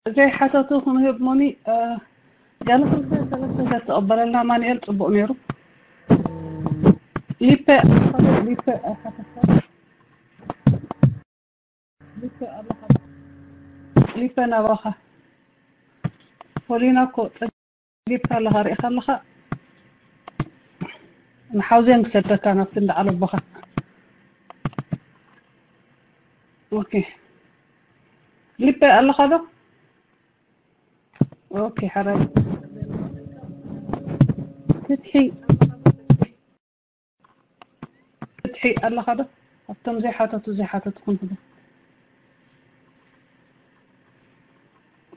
ዘይሓተቱ ክንህብ ሞኒ፣ እ፣ ገለ ክልተ ሰለስተ ዘተቐበለልና ማንኤል ጽቡቕ ነይሩ። ሊፐ፣ ሊፐ ኣይሓተትካ። ሊፐ ኣለኻ። ሊፐ ናባኻ። ፖሊና እኮ ጸጊብካ ኣለኻ፣ ርኢኻ ኣለኻ። ንሓውዜን ክሰደካ ናብቲ እንዳዓለቦኻ። ኦኬ። ሊፐ ኣለኻ ዶ? ኦኬ፣ ሓራይ። ፍትሒ፣ ፍትሒ ኣለኻ ዶ? ኣብቶም ዘይሓተቱ፣ ዘይሓተቱ ክንህቦ።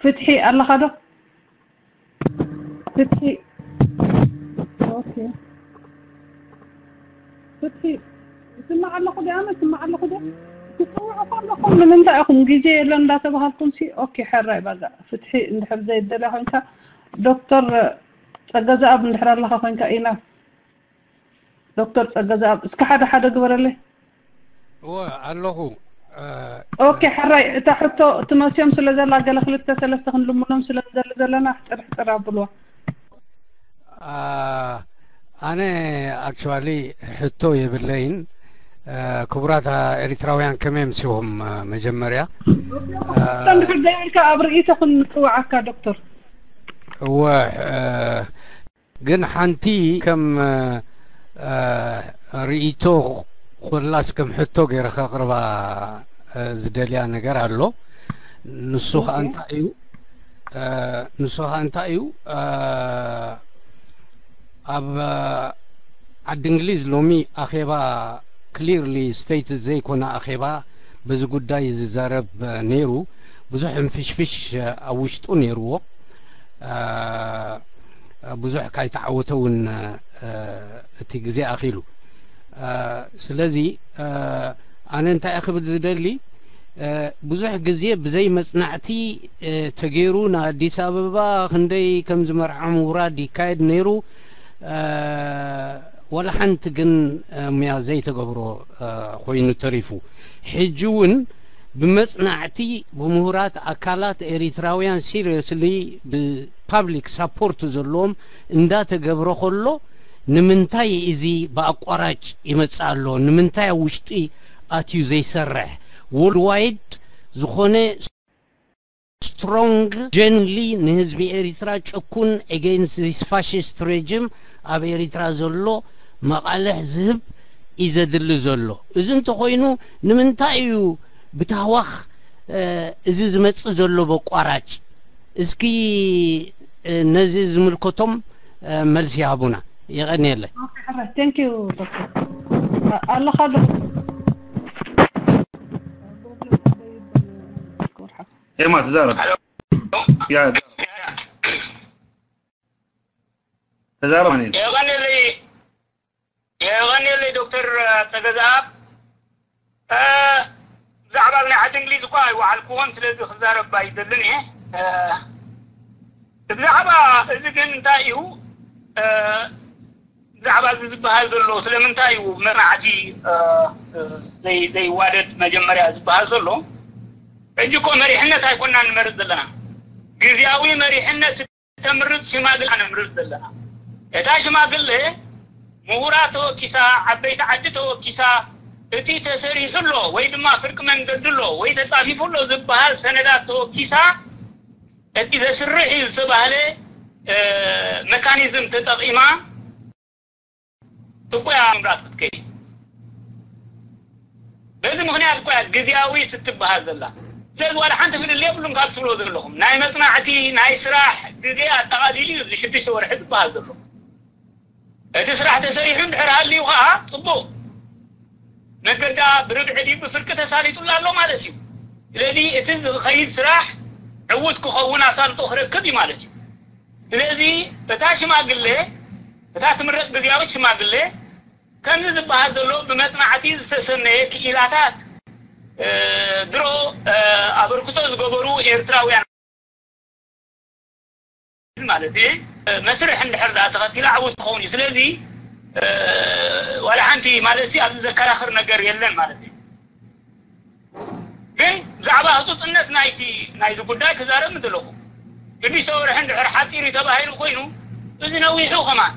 ፍትሒ ኣለኻ ዶ? ፍትሒ። ኦኬ። ፍትሒ። ይስማዕ ኣለኹ ድኣ፣ ኣነ ይስማዕ ኣለኹ ድኣ? ትጽውዑ ከለኹም ንምንታይ ኢኹም ግዜ የለን እንዳተባሃልኩም ሲ? ኦኬ፣ ሕራይ ባጋ። ፍትሒ እንድሕር ዘይደልያ ኮይንካ፣ ዶክተር ጸገዘኣብ እንድሕር ኣለኻ ኮይንካ ኢና። ዶክተር ጸገዘኣብ፣ እስከ ሓደ ሓደ ግበረለይ። እወ፣ ኣለኹ። እ፣ ኦኬ፣ ሕራይ፣ እታ ሕቶ ትመጽዮም ስለ ዘላ፣ ገለ ክልተ ሰለስተ ክንልምኖም ስለ ንደሊ ዘለና፣ ሕጽር ሕጽር ኣብልዋ። አ፣ ኣነ ኣክቹዋሊ ሕቶ የብለይን። እ፣ ክቡራት ኤሪትራውያን ከመይ ኣምሲኹም? እ፣ መጀመርያ፣ እ፣ እንድሕር ደይብልካ ኣብ ርእይቶ ክንጽውዓካ ዶክተር። እወ፣ እ፣ ግን ሓንቲ ከም፣ እ፣ እ፣ ርእይቶ ኮላስ ከም ሕቶ ገይረ ከቕርባ፣ እ፣ ዝደልያ ነገር ኣሎ። ንሱ ኸኣ ኦኬ። እንታይ እዩ? እ፣ ንሱ ኸኣ እንታይ እዩ? እ፣ ኣብ፣ እ፣ ዓዲ እንግሊዝ ሎሚ ኣኼባ ክሊርሊ ስቴት ዘይኮነ ኣኼባ በዚ ጉዳይ ዝዛረብ፣ እ፣ ነይሩ። ብዙሕ ሕንፍሽፍሽ፣ እ፣ ኣብ ውሽጡ ነይርዎ። እ፣ ብዙሕ ካይተዓወተ እውን፣ እ፣ እቲ ግዜ ኣኺሉ። እ፣ ስለዚ፣ እ፣ ኣነ እንታይ እየ ክብል ዝደሊ፣ እ፣ ብዙሕ ግዜ ብዘይ መጽናዕቲ፣ እ፣ ተገይሩ ንኣዲስ ኣበባ ክንደይ ከም ዝመርዓ ምውራድ ይካየድ ነይሩ። እ፣ ወላ ሓንቲ ግን፣ እ፣ ሙያ ዘይተገብሮ፣ እ፣ ኮይኑ ተሪፉ። ሕጂ እውን ብመጽናዕቲ ብምሁራት ኣካላት ኤሪትራውያን ሲሪየስሊ ብፓብሊክ ሳፖርት ዘለዎም እንዳተገብረ ከሎ ንምንታይ እዚ ብኣቋራጭ ይመጽእ ኣሎ? ንምንታይ ኣብ ውሽጢ ኣትዩ ዘይሰርሕ? ወርልድ ዋይድ ዝኾነ ስትሮንግ ጀንሊ ንህዝቢ ኤሪትራ ጭኩን ኤጌንስት ዚስ ፋሽስት ሬጅም ኣብ ኤሪትራ ዘሎ መቓልሕ ዝህብ እዩ ዘድሊ ዘሎ። እዚ እንተኾይኑ ንምንታይ እዩ ብታህዋኽ፣ እ፣ እዚ ዝመጽእ ዘሎ በቋራጭ? እስኪ፣ እ፣ ነዚ ዝምልከቶም፣ እ፣ መልሲ ይሃቡና። የቐንየለይ። ኦኬ፣ ሕራይ። ቴንክ ዩ ዶክተር። ኣ-፣ ኣለኻ ዶ? ኤማ፣ ተዛረብ። ያ፣ ተዛረብ። የቐንየለይ፣ የቐንየለይ ዶክተር ጸገዝኣብ። እ፣ ብዛዕባ ናይ ዓዲ እንግሊዝ እኳ ኣይወዓልክዎን፣ ስለዚ ክዛረብ ኣይደልን እየ። እ፣ ብዛዕባ እዚ ግን እንታይ እዩ፣ እ፣ ብዛዕባ እዚ ዝበሃል ዘሎ ስለምንታይ እዩ መጽናዕቲ፣ እ፣ እ፣ ዘይ-፣ ዘይዋደድ መጀመርያ ዝበሃል ዘሎ? ሕጂ እኮ መሪሕነት ኣይኮናን ንመርጽ ዘለና። ግዝያዊ መሪሕነት ተምርጽ ሽማግለ ነምርጽ ዘለና። እታ ሽማግለ ምሁራት ተወኪሳ፣ ዓበይቲ ዓዲ ተወኪሳ፣ እቲ ተሰሪሑ ኣሎ ወይ ድማ ፍርቂ መንገዲ ኣሎ ወይ ተጻፊፉ ኣሎ ዝበሃል ሰነዳት ተወኪሳ፣ እቲ ዘስርሕ እዩ ዝተባህለ፣ እ፣ መካኒዝም ተጠቒማ ጥቁያ ምምራጽ ክትከይድ። በዚ ምኽንያት እኮ እያ ግዝያዊ ስትበሃል ዘላ። ስለዚ ዋላ ሓንቲ ፍልልይ የብሉን ካብ ትብሎ ዘለኹም። ናይ መጽናዕቲ፣ ናይ ስራሕ ግዜ ኣጠቓሊሉ እዩ እዚ ሽዱሽተ ወርሒ ዝበሃል ዘሎ። እቲ ስራሕ ተሰሪሑ እንድሕር ሃልዩ ኸዓ ጽቡቕ። መገዳ ብርብዒ ድዩ ብፍርቂ ተሳሊጡላ ኣሎ ማለት እዩ። ስለዚ እቲ ዝኸይድ ስራሕ ዕዉት ክኸውን ኣሳልጦ ክረክብ እዩ ማለት እዩ። ስለዚ እታ ሽማግለ፣ እታ ትምረጽ ግዝያዊት ሽማግለ፣ ከምዚ ዝበሃል ዘሎ ብመጽናዕቲ ዝተሰነየ ክኢላታት፣ እ፣ ድሮ፣ እ፣ ኣበርክቶ ዝገበሩ ኤርትራውያን ማለት እዩ፣ እ፣ መስርሕ እንድሕር ደኣ ተኸቲላ ዕዉት ትኸውን እዩ። ስለዚ፣ እ፣ ዋላ ሓንቲ ማለት እዩ ኣብዚ ዘከራኽር ነገር የለን ማለት እዩ። ግን ብዛዕባ ህፁፅነት ናይቲ ናይዚ ጉዳይ ክዛረብ ምደለኹ። ሽዱሽተ ወርሒ እንድሕር ሓፂሩ ተባሂሉ ኮይኑ፣ እዚ ነዊሑ ከማን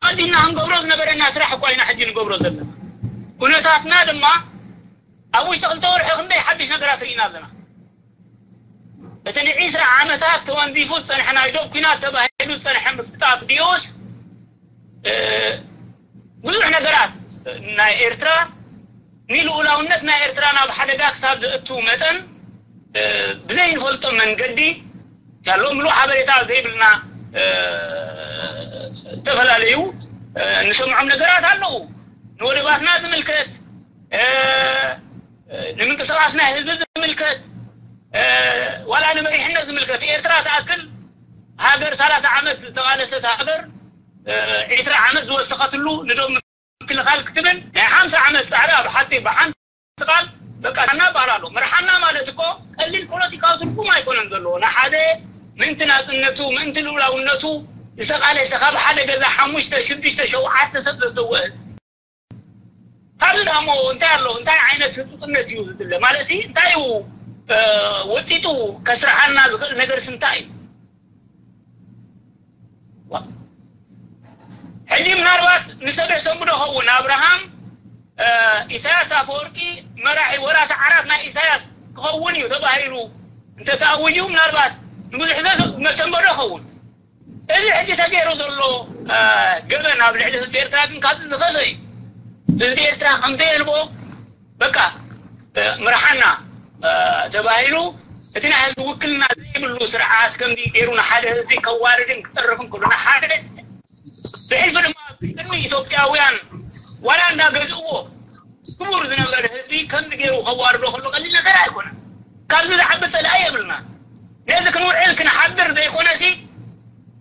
ኣቐዲምና ክንገብሮ ዝነበረና ስራሕ እኳ ኢና ሕጂ ንገብሮ ዘለና። ኩነታትና ድማ ኣብ ውሽጢ ክልተ ወርሒ ክንደይ ሓድሽ ነገራት ርኢና ኣለና። እቲ ንዒስራ ዓመታት ተወንዚፉ ዝፀንሐ ናይ ዶብ ኲናት ተባሂሉ ዝፀንሐ ምስጣፍ ድዮስ ብዙሕ ነገራት ናይ ኤርትራ ንልኡላውነት ናይ ኤርትራ ናብ ሓደጋ ክሳብ ዘእቱ መጠን ብዘይንፈልጦ መንገዲ ያለው ምሉእ ሓበሬታ ዘይብልና ዝተፈላለዩ እንሰምዖም ነገራት ኣለዉ። ንወደባትና ዝምልከት፣ ንምንቅስቃስ ናይ ህዝቢ ዝምልከት፣ ዋላ ንመሪሕነት ዝምልከት። ኤርትራ ትኣክል ሃገር ሰላሳ ዓመት ዝተቓለሰት ሃገር ዒስራ ዓመት ዝወሰኸትሉ ንዶብ ምክልኻል ክትብል ናይ ሓምሳ ዓመት ጻዕሪ ኣብ ሓፂር ብሓንቲ ቃል በቃ ና በሃል ኣሎ። መርሓና ማለት እኮ ቀሊል ፖለቲካዊ ትርጉም ኣይኮነን ዘለዎ። ንሓደ ምእንቲ ናጽነቱ፣ ምእንቲ ልኡላውነቱ ዝተቓለሰ ካብ ሓደ ገዛ ሓሙሽተ፣ ሽዱሽተ፣ ሸውዓተ ሰብ ዘሰወ ህዝቢ። ካብዚ ደሞ እንታይ ኣሎ? እንታይ ዓይነት ህጹጽነት እዩ ዝድለ? ማለት እንታይ እዩ ወጢጡ ከስርሓና ዝኽእል ነገርስ እንታይ እዩ? ሕጂ ምናልባት ንሰብ የሰንብዶ ኸውን ኣብርሃም ኢሳያስ ኣፈወርቂ መራሒ ወራሲ ዓራት ናይ ኢሳያስ ክኸውን እዩ ተባሂሉ እንተተኣውዩ ምናልባት ንብዙሕ ሰብ መሰንበዶ ኸውን። እዚ ሕጂ ተገይሩ ዘሎ ገበን ኣብ ልዕሊ ህዝቢ ኤርትራ ግን ካብዚ ዝኸፈ እዩ። ህዝቢ ኤርትራ ከምዘየልቦ በቃ ምርሓና ተባሂሉ እቲ ናይ ህዝቢ ውክልና ዘይብሉ ስርዓት ከምዚ ገይሩ ንሓደ ህዝቢ ከዋርድን ክጠርፍን ከሎ ንሓደ ብሕልፊ ድማ ቅድሚ ኢትዮጵያውያን ዋላ እንዳገዝእዎ ክቡር ዝነበረ ህዝቢ ከምዚ ገይሩ ከዋርዶ ከሎ ቀሊል ነገር ኣይኮነን። ካብዚ ዝዓቢ ጸላኢ የብልና። ነዚ ክንውዕል ክንሓድር ዘይኮነሲ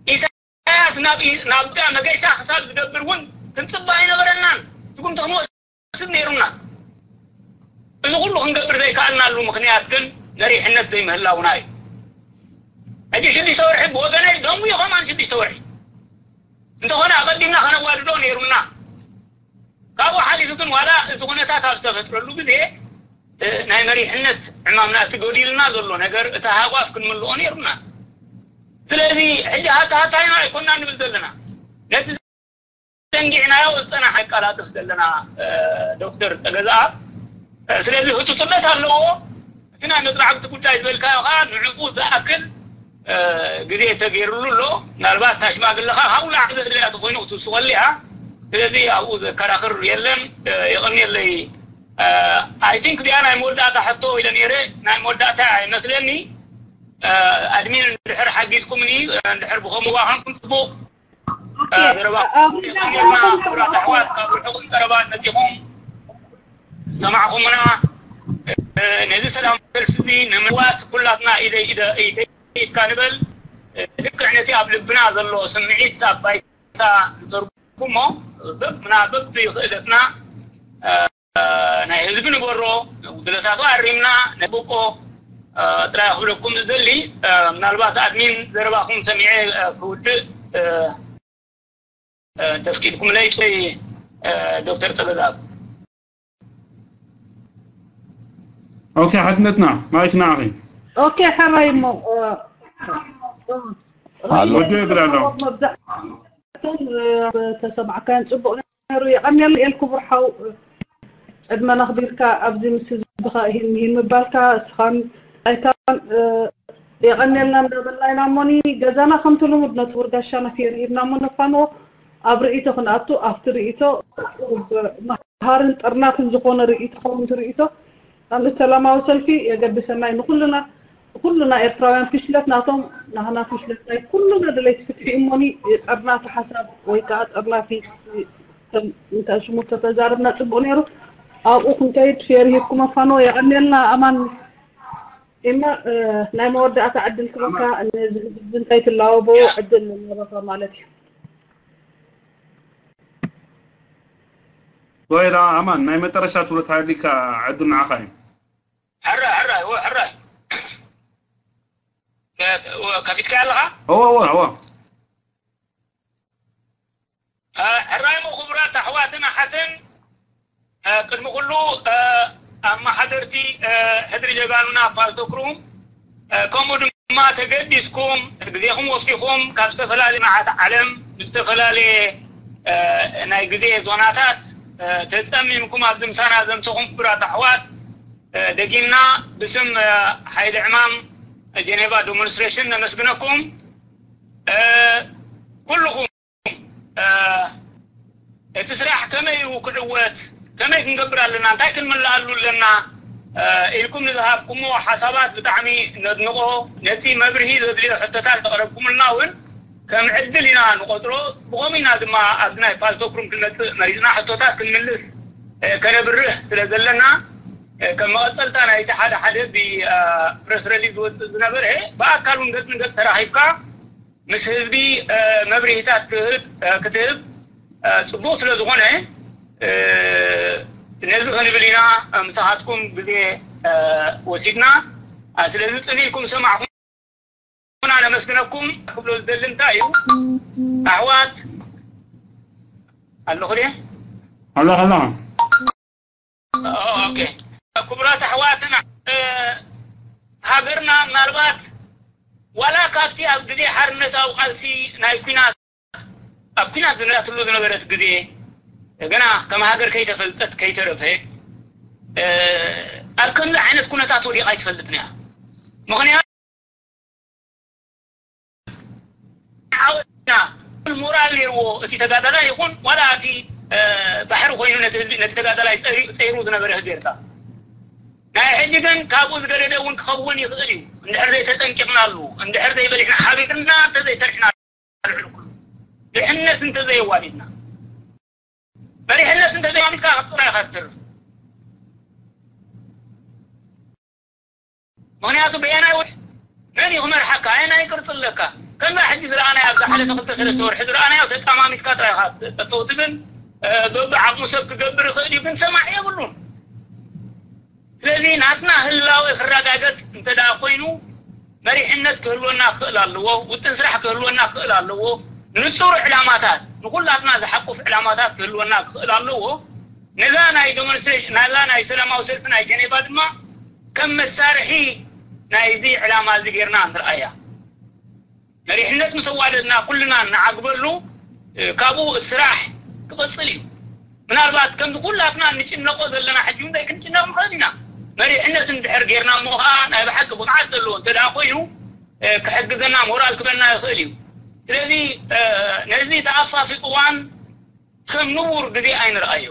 ኢሳያስ ናብ ናብ መገሻ ክሳብ ዝገብር እውን ክንጽበ ኣይነበረናን። ስጉምቲ ክንወስድ ነይሩና። እዚ ኩሉ ክንገብር ዘይከኣልናሉ ምኽንያት ግን መሪሕነት ዘይምህላውና እዩ። ሕጂ ሽዱሽተ ወርሒ ብወገነይ ደሙ እዩ ከማን ሽዱሽተ ወርሒ እንተኾነ ኣቐዲምና ከነዋድዶ ነይሩና። ካብኡ ሓሊፉ ግን ዋላ እዚ ኩነታት ኣብ ዝተፈጥረሉ ግዜ ናይ መሪሕነት ዕማምና እቲ ጎዲልና ዘሎ ነገር እቲ ሃጓፍ ክንምልኦ ነይሩና። ስለዚ ሕጂ ሃታ ሃታይና ኣይኮና ንብል ዘለና ነቲ ዘንጊዕናዮ ዝፀናሕ ኣቀላጥፍ ዘለና ዶክተር ተገዛኣ ስለዚ ህፁፅነት ኣለዎ። እቲ ናይ መፅናዕቲ ጉዳይ ዝበልካዮ ከዓ ንዕኡ ዝኣክል ግዜ ተገይርሉ ኣሎ። ምናልባት እታ ሽማግለ ከዓ ካብኡ ላዕሊ ዘድልያ ተኮይኑ ክትውስኸሉ እያ። ስለዚ ኣብኡ ዘከራኽር የለን። የቐንየለይ። ኣይ ቲንክ እዚኣ ናይ መወዳእታ ሕቶ ኢለ ነይረ። ናይ መወዳእታ ይመስለኒ። ኣድሚን እንድሕር ሓጊዝኩምኒ እንድሕር ብኸምኡ ዋሃንኩም ፅቡቕ። ዘረባኹም የቐንየልና። ክቡራት ኣሕዋት ካብ ርሑቕን ቀረባን መፂኹም ዝሰማዕኹምና ነዚ ሰላም ሰልፊ እዚ ንምልዋጥ ኩላትና ኢደ ኢደ ኢደ ኢድካ ንበል። ልክዕ ነቲ ኣብ ልብና ዘሎ ስምዒት ኣብ ባይታ ንተርጉሞ በብና በብክእለትና ናይ ህዝቢ ንበሮ ጉድለታቱ ኣሪምና ነብቆ ጥራይ ክብለኩም ዝደሊ ምናልባት ኣድሚን ዘረባኹም ሰሚዐ ክውድእ ተፍቂድኩምለይ ዶክተር ጠበዛብ። ኦኬ ሓድነትና ማይክ ንዓኺ። ኦኬ ሕራይ እሞ ወዲ ይብል ኣሎ። መብዛሕቶም ተሰማዕካዮን ፅቡቕ ነይሩ። የቐንየልና ኤል ክቡር ሓው ዕድመና ኣኽቢርካ ኣብዚ ምስ ህዝብኻ ይህን ይህን ምባልካ እስኻን ኣይካን የቐንየልና እንዳበልና ኢና እሞኒ ገዛና ከምቲ ልሙድ ነቲ ውርጋሻና ፌር ሂብና እሞ ነፋንዎ ኣብ ርእይቶ ክንኣቱ ኣብቲ ርእይቶ መሃርን ጥርናፍን ዝኾነ ርእይቶ ከምቲ ርእይቶ ኣብ ሰላማዊ ሰልፊ የገድሰና እዩ ንኩልና ኩልና ኤርትራውያን ፍሽለት ናቶም ናህና ፍሽለት ናይ ኩልና ደለይቲ ፍትሒ እሞኒ ጠርናፊ ሓሳብ ወይ ከዓ ጠርናፊ እንተ ሽሙ ተተዛረብና ፅቡቅ ነይሩ ኣብኡ ክንከይድ ፌር ሂብኩም ኣፋኖ የቀንየልና ኣማን እማ ናይ መወዳእታ ዕድል ክበካ ነዚ ህዝብ እንታይ ትላወቦ ዕድል ንበካ ማለት እዩ ወይራ ኣማን ናይ መጠረሻ ትብሎ ተሃሊካ ዕድል ንዓኻ እዩ ሕራይ ሕራይ እወ ሕራይ ከፊትካ ኣለኻ እወ እወ እወ ሕራይ እሞ ክቡራት ኣሕዋትን ኣሓትን ቅድሚ ኩሉ ኣመሓደርቲ ሕድሪ ጀጋኑና ፓልቶክሩም፣ ከምኡ ድማ ተገዲስኩም ግዜኹም ወፊኹም ካብ ዝተፈላለየ መዓት ዓለም ብዝተፈላለየ ናይ ግዜ ዞናታት ተጸሚምኩም ኣብዚ ምሳና ዘምሰኹም ክቡራት ኣሕዋት፣ ደጊምና ብስም ሓይሊ ዕማም ጀኔቫ ዴሞንስትሬሽን ነመስግነኩም። ኩልኹም እቲ ስራሕ ከመይ እዩ ክዕወት፣ ከመይ ክንገብር ኣለና፣ እንታይ ክንምልኣሉ ኣለና ኢልኩም ንዝሃብኩሞ ሓሳባት ብጣዕሚ ነድንቆ። ነቲ መብርሂ ዘድልዮ ሕቶታት ዘቕረብኩምልና እውን ከም ዕድል ኢና ንቆጽሮ። ብኸምኡ ኢና ድማ ኣብዚ ናይ ፓልቶክሩም ክንመጽእ መሪጽና። ሕቶታት ክንምልስ ከነብርህ ስለ ዘለና፣ ከም መቐጸልታ ናይቲ ሓደ ሓደ ብፕረስ ረሊዝ ዝወጽእ ዝነበረ፣ ብኣካል እውን ገጽ ንገጽ ተራኺብካ ምስ ህዝቢ መብርሂታት ክትህብ ክትህብ ጽቡቕ ስለ ዝኾነ፣ ነዚ ክንብል ኢና ምሳኻትኩም ግዜ ወሲድና። ስለዚ ጽን ኢልኩም ዝሰማዕኩምና ነመስግነኩም። ክብሎ ዝደሊ እንታይ እዩ፣ ኣሕዋት ኣለኹ ድየ? ኣሎ ኣሎ። ኦኬ። ክቡራት ኣሕዋትና፣ ሃገርና ምናልባት ዋላ ካብቲ ኣብ ግዜ ሓርነታዊ ቃልሲ ናይ ኲናት፣ ኣብ ኲናት ዝነትሉ ዝነበረት ግዜ፣ ገና ከም ሃገር ከይተፈልጠት ከይተረፈ፣ ኣብ ከምዚ ዓይነት ኩነታት ወዲቓ ኣይትፈልጥን እያ። ምኽንያቱ ዓወትና ሞራል ነይርዎ፣ እቲ ተጋዳላይ ይኹን ዋላ እቲ ባሕሪ ኮይኑ ነቲ ህዝቢ፣ ነቲ ተጋዳላይ ጸይሩ ዝነበረ ህዝቢ ኤርትራ። ናይ ሕጂ ግን ካብኡ ዝገደደ እውን ክኸውን ይኽእል እዩ፣ እንድሕር ዘይተጠንቂቕናሉ፣ እንድሕር ዘይበሊሕና ሓቢርና እንተዘይሰርሕና፣ ልዕሊ ኩሉ ድሕነት እንተዘየዋሊድና፣ መሪሕነት እንተዘይዋሊድካ ጥራይ ኢኻ ትተርፍ። ምኽንያቱ በየናይ ወ መን እዩ ክመርሓካ? ኣየናይ ቅርፂ ኣለካ? ከምዛ ሕጂ ዝረኣናዮ፣ ኣብዛ ሓለፈ ክልተ ሰለስተ ወርሒ ዝረኣናዮ፣ ተጣማሚትካ ጥራይ ኢኻ ጠጠው ትብል። በብዓቕሙ ሰብ ክገብር ይኽእል እዩ፣ ግን ሰማዒ የብሉን። ስለዚ ናትና ህላወ ክረጋገጽ እንተ ደኣ ኮይኑ፣ መሪሕነት ክህልወና ክኽእል ኣለዎ፣ ውጥን ስራሕ ክህልወና ክኽእል ኣለዎ፣ ንጹር ዕላማታት፣ ንኹላትና ዝሓቁፍ ዕላማታት ክህልወና ክኽእል ኣለዎ። ነዛ ናይ ዴሞንስትሬሽን፣ ናዛ ናይ ሰላማዊ ሰልፊ ናይ ጀኔቫ ድማ ከም መሳርሒ ናይዚ ዕላማ እዚ ጌርና ንርኣያ። መሪሕነት ምስ ኣዋደድና ኩልና እንዓግበሉ፣ ካብኡ ስራሕ ክቕጽል እዩ። ምናልባት ከምዚ ኩላትና እንጭነቆ ዘለና ሕጂ እውን ዘይክንጭነቕ ንኽእል ኢና። መሪሕነት እንድሕር ጌርና እሞ ኸዓ ናይ ብሓቂ ብቕዓት ዘለዎ እንተ ደኣ ኮይኑ፣ ክሕግዘና፣ ሞራል ክበና ይኽእል እዩ። ስለዚ ነዚ ተኣፋፊ እዋን ከም ንቡር ግዜ ኣይንርኣዮ።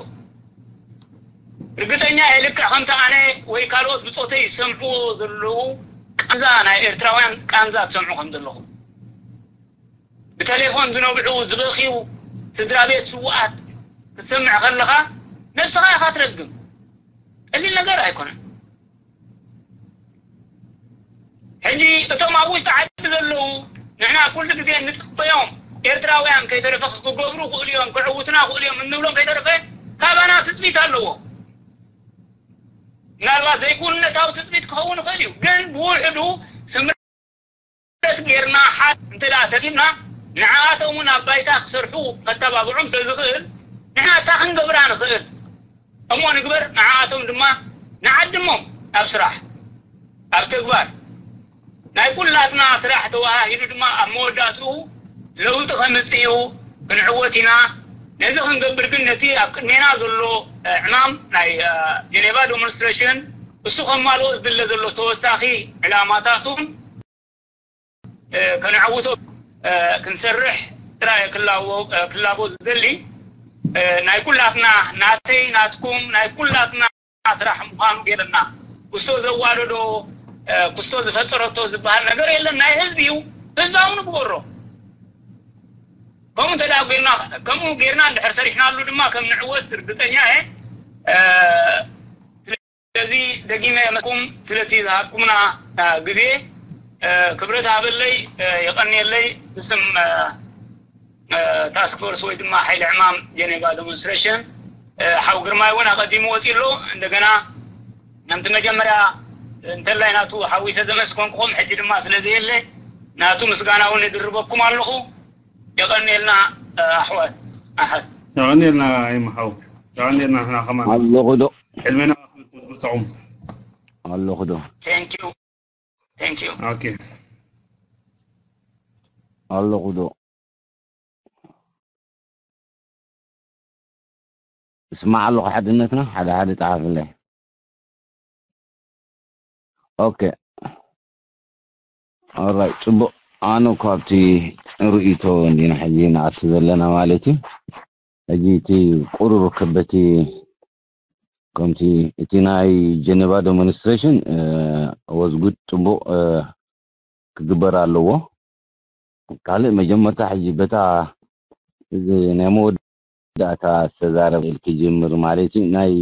ርግጸኛ እየ፣ ልክዕ ከምቲ ኣነ ወይ ካልኦት ብጾተይ ዝሰምዕዎ ዘለዉ ቃንዛ፣ ናይ ኤርትራውያን ቃንዛ ትሰምዑ ከም ዘለኹም። ብቴሌፎን ዝነብዑ፣ ዝበኽዩ ስድራ ቤት ስዉኣት ክትሰምዕ ከለኻ ነብስኻ ኢኻ ትረግም። ቀሊል ነገር ኣይኮነን። ሕጂ እቶም ኣብ ውሽጢ ዓዲ ዘለዉ፣ ንሕና ኩሉ ግዜ እንጽበዮም ኤርትራውያን ከይተረፈ ክገብሩ ክእሉ እዮም፣ ክዕውትና ክእሉ እዮም እንብሎም ከይተረፈ ካባና ትጽቢት ኣለዎ። ምናልባት ዘይክውንነታዊ ትጽቢት ክኸውን ይኽእል እዩ፣ ግን ብውሕዱ ስምረት ጌርና፣ ሓ-፣ እንተ ደኣ ተቢልና፣ ንዓኣቶም እውን ኣብ ባይታ ክሰርሑ ከተባብዖም ስለ ዝኽእል፣ ንሕና እታ ክንገብራ ንኽእል እሞ ንግበር፣ ንዓኣቶም ድማ ንዓድሞም ኣብ ስራሕ፣ ኣብ ተግባር። ናይ ኩላትና ስራሕ ተወሃሂዱ ድማ ኣብ መወዳእትኡ ለውጢ ከምጽእ እዩ፣ ክንዕወት ኢና። ነዚ ክንገብር ግን ነቲ ኣብ ቅድሜና ዘሎ፣ እ፣ ዕማም ናይ፣ እ፣ ጀኔቫ ዴሞንስትሬሽን እሱ ከማልኦ ዝድለ ዘሎ ተወሳኺ ዕላማታቱን፣ እ፣ ከነዕውቶ፣ እ፣ ክንሰርሕ ጥራይ ክላቦ፣ እ፣ ክላቦ ዝደሊ፣ እ፣ ናይ ኩላትና፣ ናተይ፣ ናትኩም፣ ናይ ኩላትና ስራሕ ምዃኑ ገይርና፣ ክስቶ ዘዋደዶ፣ እ፣ ክስቶ ዝፈጠረቶ ዝበሃል ነገር የለን። ናይ ህዝቢ እዩ። ህዝባዊ ንግበሮ። ከምኡ እንተ ደኣ ጌርና፣ ከምኡ ጌርና እንድሕር ሰሪሕናሉ ድማ ከም ንዕወት ርግጸኛ እየ። እ፣ ስለዚ ደጊመ የመስኩም ስለቲ ዝሃብኩምና፣ እ፣ ግዜ፣ እ፣ ክብረት ሃበለይ፣ እ፣ የቐንየለይ። ብስም፣ እ፣ እ፣ ታስክ ፎርስ ወይ ድማ ሓይሊ ዕማም ጀኔቫ ዴሞንስትሬሽን፣ እ፣ ሓው ግርማይ እውን ኣቐዲሙ ወፂኡ ኣሎ። እንደገና ከምቲ መጀመርያ እንተላይ ናቱ ሓዊሰ ዘመስኮንኩኹም፣ ሕጂ ድማ ስለ ዘየለ ናቱ ምስጋና እውን እድርበኩም ኣለኹ። የቐንየልና፣ እ፣ ኣሕዋት፣ ኣሓት። የቐንየልና ይምሓው። የቐንየልና ንሕና ከማን። ኣለኹ ዶ? ሕልሜና ጥዑም። ኣለኹ ዶ? Thank you. Thank you. Okay. ኣለኹ ዶ? እስማዕ ኣለኹ ሓድነትና ሓደ ሓደ ጸሓፍለይ። Okay. Alright ጽቡቕ። ኣነ ካብቲ ርእይቶ እንዲና ሕጂ ንኣቱ ዘለና ማለት እዩ። ሕጂ እቲ ቁሩብ ከበቲ ከምቲ እቲ ናይ ጀነቫ ዴሞንስትሬሽን ወዝጉድ ጽቡቕ ክግበር ኣለዎ። ካልእ መጀመርታ ሕጂ በታ እዚ ናይ መወዳእታ ዝተዛረበ ክጅምር ማለት እዩ። ናይ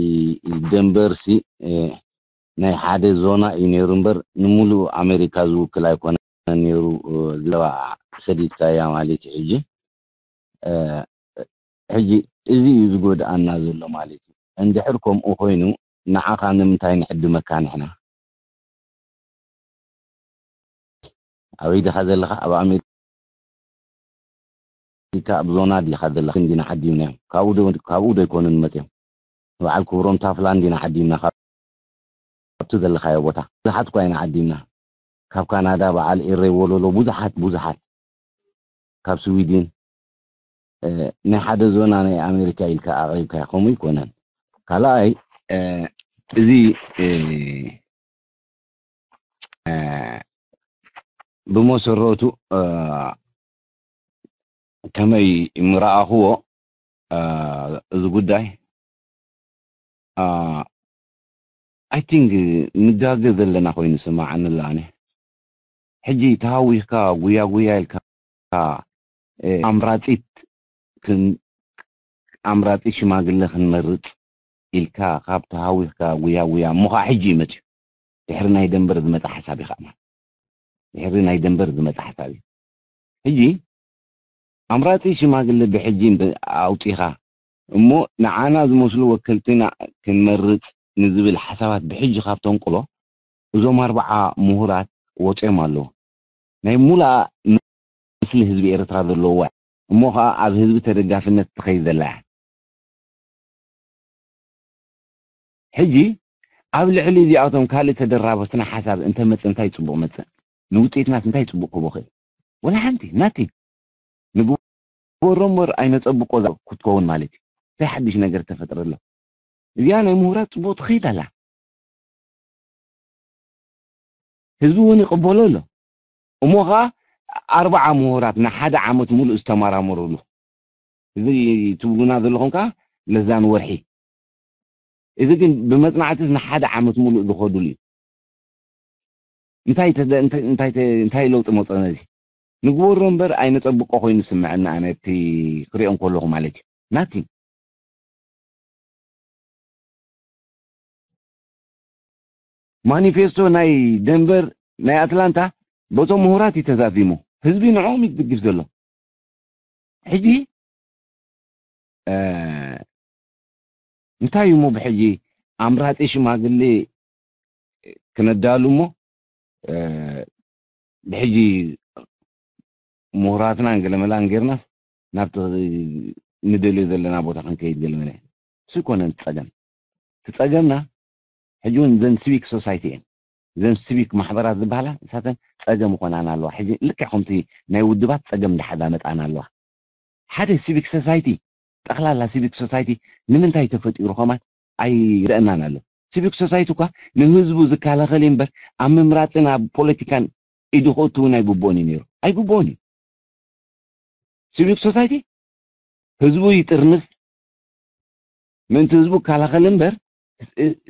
ደንበርሲ ናይ ሓደ ዞና እዩ ነይሩ እምበር ንሙሉእ ኣሜሪካ ዝውክል ኣይኮነን ነይሩ። ዝባ ሰዲድካያ ማለት እዩ። ሕጂ ሕጂ እዚ እዩ ዝጎድኣና ዘሎ ማለት እዩ። እንድሕር ከምኡ ኮይኑ ንዓኻ ንምንታይ ንዕድመካ ንሕና? ኣበይ ዲኻ ዘለኻ? ኣብ ኣሜሪካ ኣብ ዞና ዲኻ ዘለኻ? እንዲና ዓዲምናዮም። ካብኡ ዶ ኣይኮኑን መፅዮም? ንበዓል ክብሮም ታፍላ እንዲና ዓዲምና ካብቲ ዘለኻዮ ቦታ። ብዙሓት እኳ ኢና ዓዲምና። ካብ ካናዳ በዓል ኤረይ ወለሎ ብዙሓት ብዙሓት ካብ ስዊድን ናይ ሓደ ዞና ናይ ኣሜሪካ ኢልካ ኣቕሪብካ ከምኡ ይኮነን። ካልኣይ እዚ ብመሰረቱ ከመይ ምረኣኽዎ እዚ ጉዳይ I think ንጋገ ዘለና ኮይኑ ስማዓኒ ኣነ። ሕጂ ተሃዊኽካ ጉያ ጉያ ኢልካ ኣምራጺት ኣምራጺት ሽማግለ ክንመርጽ ኢልካ ካብ ተሃዊኽካ ጉያ ጉያ እሞ ከዓ ሕጂ እዩ መፅዩ። ድሕሪ ናይ ደንበር ዝመፀ ሓሳብ እዩ ከዓ ማለት ድሕሪ ናይ ደንበር ዝመፀ ሓሳብ እዩ። ሕጂ ኣምራጺ ሽማግለ ብሕጂ ኣውፂኻ እሞ ንዓና ዝመስሉ ወከልትና ክንመርፅ ንዝብል ሓሳባት ብሕጂ ካብ ተንቅሎ እዞም ኣርባዓ ምሁራት ወፂኦም ኣለዉ። ናይ ሙሉኣ ምስሊ ህዝቢ ኤርትራ ዘለዋ እሞ ከዓ ኣብ ህዝቢ ተደጋፍነት ትኸይድ ዘላ እያ። ሕጂ ኣብ ልዕሊ እዚኣቶም ካልእ ተደራበ ስነ ሓሳብ እንተመፀ እንታይ ፅቡቕ መፀ? ንውፅኢትናት እንታይ ፅቡቕ ክህቦ ክእል? ወላ ሓንቲ ናቲ ንግበሮ እምበር ኣይነፀብቆ ክትከውን ማለት እዩ። እንታይ ሓድሽ ነገር ተፈጥረ ኣሎ? እዚኣ ናይ ምሁራት ፅቡቕ ትኸይድ ኣላ። ህዝቢ እውን ይቕበሎ ኣሎ። እሞ ከዓ ኣርባዓ ምሁራት ንሓደ ዓመት ሙሉእ ዝተመራመሩሉ እዚ ትብሉና ዘለኹም ከዓ ለዛን ወርሒ እዚ ግን ብመፅናዕትስ ንሓደ ዓመት ሙሉእ ዝኸዱሉ እዩ። እንታይ ለውጢ መፀ ነዚ ንግበሮ እምበር ኣይነፀብቆ ኮይኑ ዝስምዐና ኣነ እቲ ክሪኦ እንከለኹ ማለት እዩ ናቲንግ ማኒፌስቶ ናይ ደንቨር ናይ ኣትላንታ በቶም ምሁራት እዩ ተዛዚሙ ህዝቢ ንዕኦም እዩ ዝድግፍ ዘሎ ሕጂ እንታይ እዩ እሞ ብሕጂ ኣምራፂ ሽማግሌ ክነዳሉ እሞ ብሕጂ ምሁራትናን ገለመላን ጌርናስ ናብቲ ንደልዮ ዘለና ቦታ ክንከይድ ገለመለ እሱ ይኮነን ጸገም ትጸገምና ሕጂ እውን ዘን ሲቪክ ሶሳይቲ እየን ዘን ሲቪክ ማሕበራት ዝበሃላ ንሳተን ጸገም ይኮናና ኣለዋ ሕጂ ልክዕ ከምቲ ናይ ውድባት ጸገም እንዳሓዛ መጻና ኣለዋ ሓደ ሲቪክ ሶሳይቲ ጠቕላላ ሲቪክ ሶሳይቲ ንምንታይ ተፈጢሩ ከማን ኣይረአናን ኣሎ ሲቪክ ሶሳይቲ እኳ ንህዝቡ ዝከላኸል እምበር ኣብ ምምራፅን ኣብ ፖለቲካን ኢዱ ክእቱ እውን ኣይግብኦን እዩ ነይሩ ኣይግብኦን እዩ ሲቪክ ሶሳይቲ ህዝቡ ይጥርንፍ ምእንቲ ህዝቡ ይከላኸል እምበር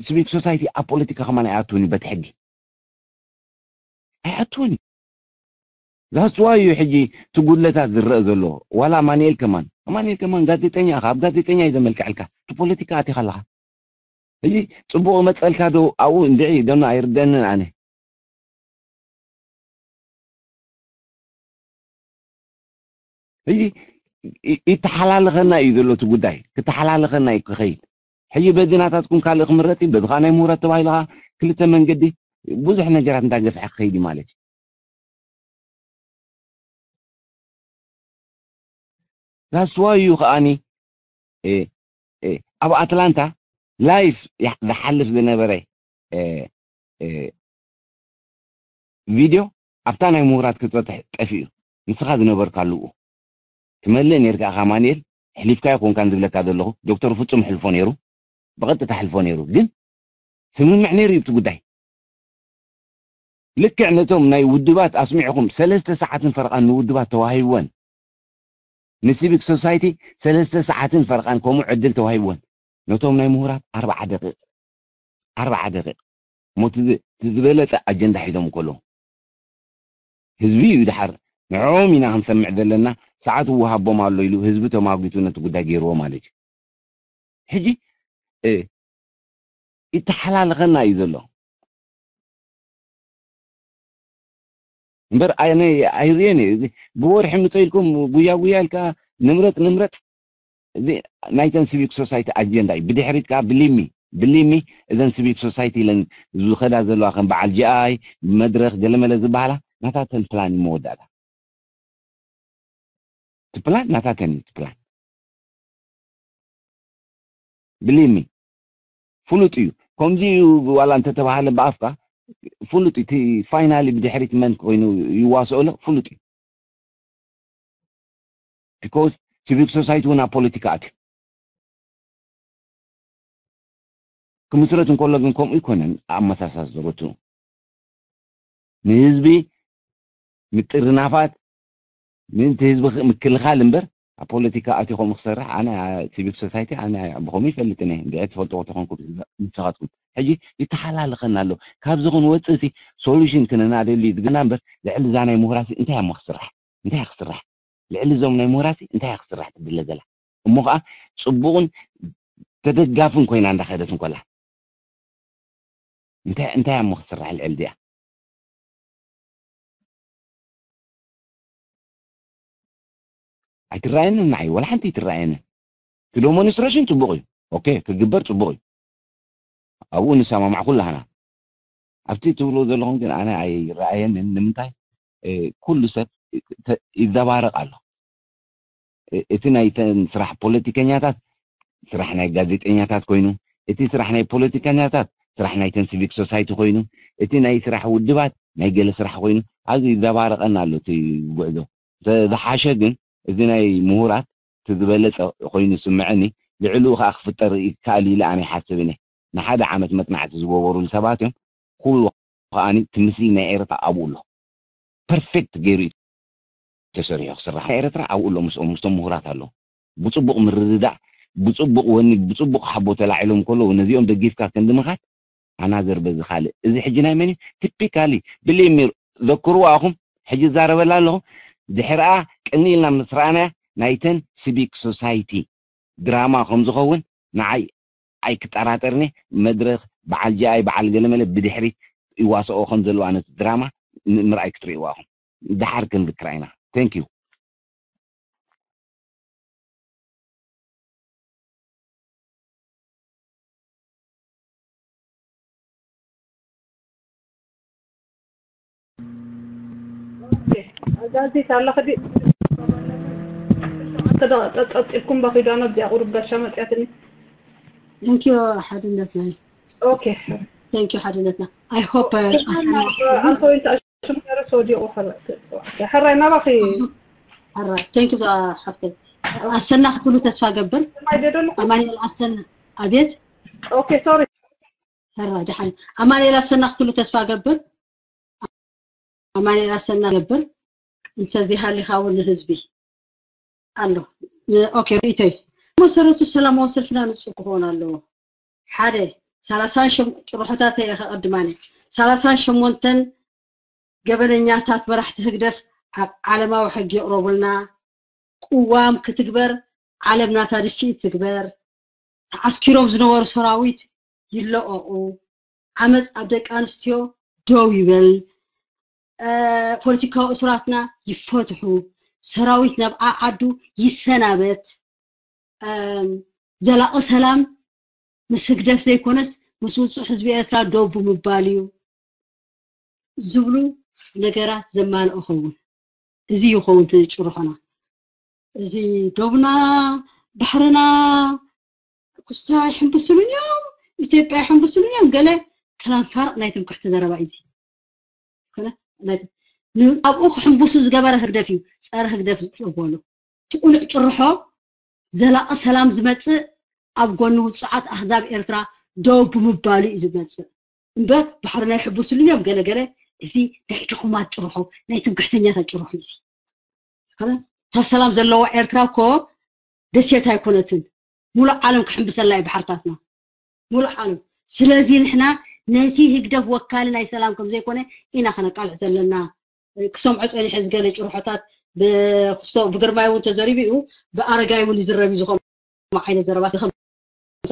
ሲቪክ ሶሳይቲ ኣብ ፖለቲካ ከማን ኣይኣትውን እዩ በቲ ሕጊ ኣይኣትውን እዩ ዛስዋ እዩ ሕጂ እቲ ጉድለታት ዝረአ ዘሎ ዋላ ኣማንኤል ከማን ኣማንኤል ከማን ጋዜጠኛ ኢኻ ኣብ ጋዜጠኛ እዩ ዘመልክዐልካ እቲ ፖለቲካ ኣቲኻ ኣለኻ ሕጂ ፅቡቅ መፀልካ ዶ ኣብኡ እንድዒ ደኖ ኣይርደንን ኣነ ሕጂ ይተሓላለኸና እዩ ዘሎ እቲ ጉዳይ ክተሓላለኸና እዩ ክኸይድ ሕጂ በዚ ናታትኩም ካልእ ክምረፅ እዩ በዚ ከዓ ናይ ምሁራት ተባሂሉ ከዓ ክልተ መንገዲ ብዙሕ ነገራት እንዳገፍሐ ክኸይድ እዩ ማለት እዩ ዛስዋ እዩ ከዓኒ ኣብ ኣትላንታ ላይፍ ዝሓልፍ ዝነበረ እ፣ እ፣ ቪድዮ ኣብታ ናይ ምሁራት ክትበፅሕ ጠፊኡ። ንስኻ ዝነበርካሉ ትመልእ ነርካ ኢኻ ኣማኑኤል፣ ሕሊፍካዮ ኮንካን ዝብለካ ዘለኹ። ዶክተር ፍጹም ሕልፎ ነይሩ፣ ብቐጥታ ሕልፎ ነይሩ። ግን ስምምዕ ነይሩ እዩ እቲ ጉዳይ። ልክዕ ነቶም ናይ ውድባት ኣስሚዕኹም ሰለስተ ሰዓትን ፈረቓን ንውድባት ተዋሂብወን፣ ንሲቪክ ሶሳይቲ ሰለስተ ሰዓትን ፈረቓን ከምኡ ዕድል ተዋሂብወን። ነቶም ናይ ምሁራት ኣርባዓ ደቂቕ፣ ኣርባዓ ደቂቕ፣ እሞ እቲ ዝ- እቲ ዝበለጸ ኣጀንዳ ሒዞም ከለዉ ህዝቢ እዩ ድሓር ንዕኦም ኢና ክንሰምዕ ዘለና፣ ሰዓት ይወሃቦም ኣሎ ኢሉ ህዝቢ ተማጒቱ ነቲ ጉዳይ ገይርዎ ማለት እዩ። ሕጂ እ፣ ይተሓላለኸና እዩ ዘሎ። እምበር ኣነ ኣይርእዮን እየ። እዚ ብወርሒ ምፀ ኢልኩም ጉያ ጉያ ኢልካ ንምረፅ ንምረፅ፣ እዚ ናይተን ሲቪክ ሶሳይቲ ኣጀንዳ እዩ። ብድሕሪት ከዓ ብሊሚ ብሊሚ እዘን ሲቪክ ሶሳይቲ ኢለን ዝኸዳ ዘለዋ ከም በዓል ጂኣይ መድረክ ገለመለ ዝበሃላ ናታተን ፕላን እዩ መወዳእታ። እቲ ፕላን ናታተን እዩ እቲ ፕላን። ብሊሚ ፍሉጥ እዩ። ከምዚ እዩ ዋላ እንተተባሃለ ብኣፍካ ፍሉጥ እዩ። እቲ ፋይናሊ ብድሕሪት መን ኮይኑ ይዋስኦ ኣሎ ፍሉጥ እዩ። ቢኮዝ ሲቪክ ሶሳይቲ እውን ኣብ ፖለቲካ ኣትዩ ክምስረት እንከሎ ግን ከምኡ ይኮነን። ኣመሳሳስ ዘረቱ ንህዝቢ ምጥርናፋት ምእንቲ ህዝቢ ክ- ምክልኻል እምበር ኣብ ፖለቲካ ኣትዩ ከምኡ ክሰርሕ ኣነ ሲቪክ ሶሳይቲ ኣነ ብኸምኡ ይፈልጥን እየ። እንድዒ ትፈልጥዎ ተኾንኩም ንስኻትኩም ሕጂ ይተሓላለኸና ኣሎ። ካብዚ ክንወፅእ ሲ ሶሉሽን ክነናደሉ እዩ ዝግና እምበር ልዕሊ እዛ ናይ ምሁራሲ እንታይ እሞ ክስራሕ እንታይ ክስራሕ ልዕሊ እዞም ናይ ምሁራሲ እንታይ ክስራሕ ትድለ ዘላ እሞ ከዓ ፅቡቕን ተደጋፍን ኮይና እንዳኸደት እንኮላ እንታይ እንታይ እሞ ክስራሕ ልዕሊ እዚኣ ኣይትረኣየንን ንዓይ ወላ ሓንቲ ኣይትረኣየንን። እቲ ዶሞንስትሬሽን ፅቡቕ እዩ። ኦኬ ክግበር ፅቡቕ እዩ። ኣብኡ ንሰማማዕ ኩላህና ኣብቲ ትብልዎ ዘለኹም ግን ኣነ ኣይረኣየንን። ንምንታይ ኩሉ ሰብ ይዘባረቕ ኣሎ። እቲ ናይተን ስራሕ ፖለቲከኛታት ስራሕ ናይ ጋዜጠኛታት ኮይኑ፣ እቲ ስራሕ ናይ ፖለቲከኛታት ስራሕ ናይተን ሲቪክ ሶሳይቲ ኮይኑ፣ እቲ ናይ ስራሕ ውድባት ናይ ገለ ስራሕ ኮይኑ ኣብዚ ይዘባረቐና ኣሎ እቲ ጉዕዞ። ዝሓሸ ግን እዚ ናይ ምሁራት እቲ ዝበለፀ ኮይኑ ይስምዐኒ። ልዕሊኡ ከዓ ክፍጠር ይከኣል ኢለ ኣነ ይሓስብን እየ። ንሓደ ዓመት መፅናዕቲ ዝገበሩሉ ሰባት እዮም። ኩሉ ከዓኒ እቲ ምስሊ ናይ ኤርትራ ኣብኡ ኣሎ። ፐርፌክት ገይሩ እዩ ተሰሪሑ ክስራሕ። ናይ ኤርትራ ኣብኡ ኣሎ ምስኦም ምስቶም ምሁራት ኣለዉ። ብፅቡቕ ምርድዳእ ብፅቡቕ ወኒ ብፅቡቕ ሓቦ ተላዒሎም ከለዉ ነዚኦም ደጊፍካ ክንዲ ምኻድ ኣናዘር በዚ ካልእ እዚ ሕጂ ናይ መን እዩ ቲፒካሊ ብሊሚር ዘክርዎ ኣኹም ሕጂ ዛረበላ ኣለኹ። ድሕርኣ ቅኒ ኢልና ምስ ረኣናያ ናይተን ሲቪክ ሶሳይቲ ድራማ ከም ዝኸውን ንዓይ ኣይክጠራጠርኒ። መድረኽ በዓል ጃኣይ በዓል ገለመለ ብድሕሪት ይዋስኦ ከም ዘለዋ ነቲ ድራማ ምርኣይ ክትርእይዋ ኢኹም። ድሓር ክንዝክራ ኢና። Thank you። ጋዜጣ ኣለኽዲ ጸብጺብኩም በኺዳኖ እዚኣ ቁሩብ ጋሻ መጽያትኒ። Thank you ሓድነትና። Okay. Thank you ሓድነትና። I hope ኣሰና ኣንተ ወይ እንታይ ሽም ገረስ ወዲቑ ሕራይ ናባኺ ሕራይ thank you ሓፍተይ። ኣሰና ክትብሉ ተስፋ ገብር። ማይ ደደልኹ ኣማኑኤል ኣሰና ኣቤት። Okay, sorry. ሕራይ ደሓን ኣማኑኤል ኣሰና ክትብሉ ተስፋ ገብር። ኣማኑኤል ኣሰና ገብር እንተዘይሃሊኻ እውን ንህዝቢ ኣሎ። ኦኬ ርእይቶይ መሰረቱ ሰላማዊ ሰልፍና ንጹር ክኸውን ኣለዎ። ሓደ ሰላሳን ሸም ጭርሖታተይ እየ ከቐድማኒ ሰላሳን ሸሞንተን ገበነኛታት መራሕቲ ህግደፍ ኣብ ዓለማዊ ሕጊ ይቕረቡልና። ቅዋም ክትግበር ዓለም ናታ ድፍኢት ትግበር። ተዓስኪሮም ዝነበሩ ሰራዊት ይለቐቑ። ዓመፅ ኣብ ደቂ ኣንስትዮ ደው ይበል። ፖለቲካዊ እሱራትና ይፈትሑ። ሰራዊት ናብ ዓዓዱ ይሰናበት። ዘላቒ ሰላም ምስ ህግደፍ ዘይኮነስ ምስ ውፁዕ ህዝቢ ኤርትራ ደው ብምባል እዩ ዝብሉ ነገራት ዘማልኦ ኸውን። እዚ ይኸውን እቲ ጭርሖና። እዚ ዶብና ባሕርና ኩስታ ይሕንብስሉን እዮም፣ ኢትዮጵያ ይሕንብስሉን እዮም ገለ ከላም ፋርቕ ናይ ትምክሕቲ ዘረባ እዩ እዚ። ኮነ ናይ ት- ን- ኣብኡ ክሕንብሱ ዝገበረ ህግደፍ እዩ። ጸረ ህግደፍ ዝበሉ እቲ ቁኑዕ ጭርሖ ዘላቒ ሰላም ዝመጽእ ኣብ ጎኒ ውጹዓት ኣህዛብ ኤርትራ ደው ብምባሉ እዩ ዝመጽእ እምበር ባሕሪ ናይ ሕቡስሉን እዮም ገለገለ። እዚ ናይ ድኹማት ጭርሖ፣ ናይ ትምክሕተኛታት ጭርሖ እዩ እዚ። እታ ሰላም ዘለዋ ኤርትራ እኮ ደሴት ኣይኮነትን። ሙሉእ ዓለም ክሕንብሰላ እዩ ባሕርታትና፣ ሙሉእ ዓለም። ስለዚ ንሕና ነቲ ህግደፍ ወካሊ ናይ ሰላም ከም ዘይኮነ ኢና ከነቃልዕ ዘለና። ክሰምዖ ጸኒሐ ዝገለ ጭርሖታት ብክስቶ ብግርማይ እውን ተዘሪቡ እዩ፣ ብኣረጋይ እውን ይዝረብ እዩ ዝኾነ ዓይነት ዘረባት ከምዚ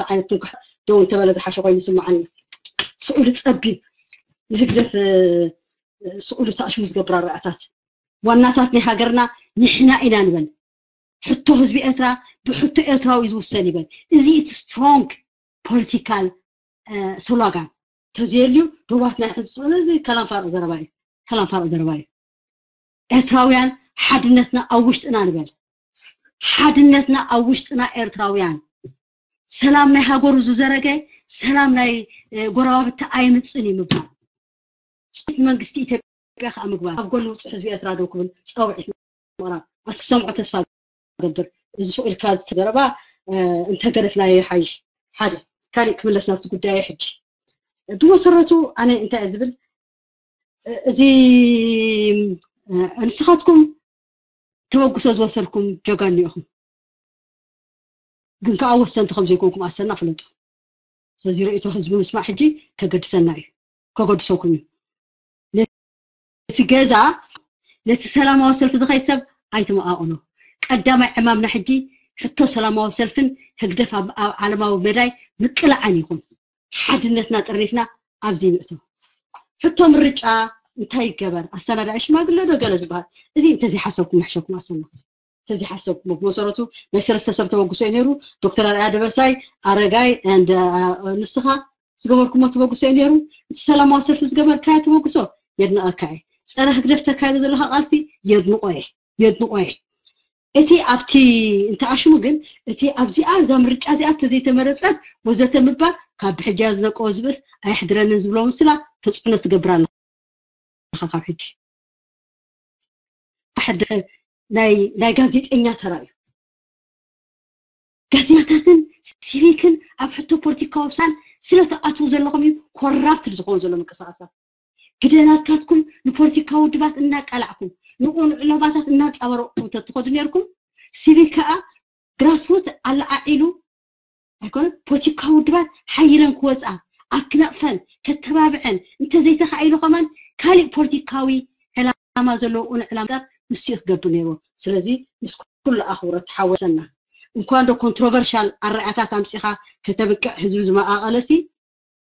ዓይነት ትንክሕ ደው እንተበለ ዝሓሸ ኮይኑ ይስምዓኒ። ስእሉ ጸቢብ፣ ንህግደፍ ስእሉ ተኣሽሙ ዝገብር ኣረኣታት። ዋናታት ናይ ሃገርና ንሕና ኢና ንበል። ሕቶ ህዝቢ ኤርትራ ብሕቶ ኤርትራዊ እዩ ዝውሰን ይበል። እዚ እቲ ስትሮንግ ፖለቲካል ስሎጋን ተዘየልዩ ዶባት ናይ ሕዝቢ እዚ ከላም ፋርቕ ዘረባ እዩ። ከላም ፋርቕ ዘረባ እዩ። ኤርትራውያን ሓድነትና ኣብ ውሽጥና ንበል። ሓድነትና ኣብ ውሽጥና ኤርትራውያን። ሰላም ናይ ሃገሩ ዝዘረገ ሰላም ናይ ጎረባብቲ ኣይምፅን እዩ ምባል። ስቴት መንግስቲ ኢትዮጵያ ከዓ ምግባር ኣብ ጎኒ ውፅእ ህዝቢ ኤርትራ ደው ክብል ፃውዒት ምቕራብ ኣስክሰምዖ ተስፋ ገብር። እዚ ስቕ ኢልካ ዝተዘረባ እንተገደፍናዮ ይሓይሽ። ሓደ ካሊእ ክምለስ ናብቲ ጉዳይ ሕጂ ብመሰረቱ ኣነ እንታይ ዝብል እዚ ንስኻትኩም ተበግሶ ዝወሰድኩም ጀጋኑ ኢኹም። ግን ከዓ ወሰንቲ ከም ዘይኮንኩም ኣሰና ፍለጡ። ስለዚ ርእቶ ህዝቢ ምስማዕ ሕጂ ከገድሰና እዩ፣ ከገድሰኩም እዩ። ነቲ ገዛ ነቲ ሰላማዊ ሰልፊ ዝኸይድ ሰብ ኣይትመቓቕሎ። ቀዳማይ ዕማምና ሕጂ ሕቶ ሰላማዊ ሰልፍን ህግደፍ ኣብ ዓለማዊ መዳይ ምቅላዕን ይኹን። ሓድነትና ጥርኒፍና ኣብዚ ንእቶ። ሕቶ ምርጫ እንታይ ይገበር? ኣሰናዳኢ ሽማግለ ዶ ገለ ዝበሃል? እዚ እንተዘይሓሰብኩም ምሕሸኩም ኣሰና። እንተዘይሓሰብኩም ብመሰረቱ ናይ ሰለስተ ሰብ ተበግሶ እዩ ነይሩ። ዶክተር ኣርኣያ ደበሳይ፣ ኣረጋይ፣ ንስኻ ዝገበርኩሞ ተበግሶ እዩ ነይሩ። እቲ ሰላማዊ ሰልፊ ዝገበርካዮ ተበግሶ የድንቐካ እየ። ፀረ ህግደፍ ተካይዶ ዘለካ ቃልሲ የድንቆ እየ፣ የድንቆ እየ። እቲ ኣብቲ እንተኣሽሙ ግን እቲ ኣብዚኣ እዛ ምርጫ እዚኣ ተዘይተመረፀት ወዘተ ምባል ካብ ብሕጃ ዝነቀወ ዝብእስ ኣየሕድረንን ዝብሎ ምስላ ተፅዕኖ ትገብር ኣለካ ካብ ሕጂ። ኣሕድረ ናይ ናይ ጋዜጠኛ ተራ እዩ። ጋዜጠኛታትን ሲቪክን ኣብ ሕቶ ፖለቲካዊ ውሳን ስለ ተኣትዉ ዘለኹም እዩ ኮራፕትድ ዝኸውን ዘሎ ምንቅስቃሳት። ግደናትካትኩም ንፖለቲካዊ ውድባት እናቃላዕኩም ንቁኑዕ ዕላማታት እናንፀባረቕኩም ተትኸዱ ነርኩም ሲቪክ ከዓ ግራስሩት ኣለዓዒሉ ኣይኮነ ፖለቲካዊ ውድባት ሓይለን ክወፃ ኣብ ክነቕፈን ከተባብዐን እንተዘይተኻኢሉ ከማን ካሊእ ፖለቲካዊ ዕላማ ዘለዎ ቁኑዕ ዕላማታት ምስ ክገብር ነይርዎ። ስለዚ ምስ ኩሉ ኣኽብሮት ሓወሰና እንኳን ዶ ኮንትሮቨርሻል ኣረኣታት ኣምፂኻ ከተብቅዕ ህዝቢ ዝመቓቐለሲ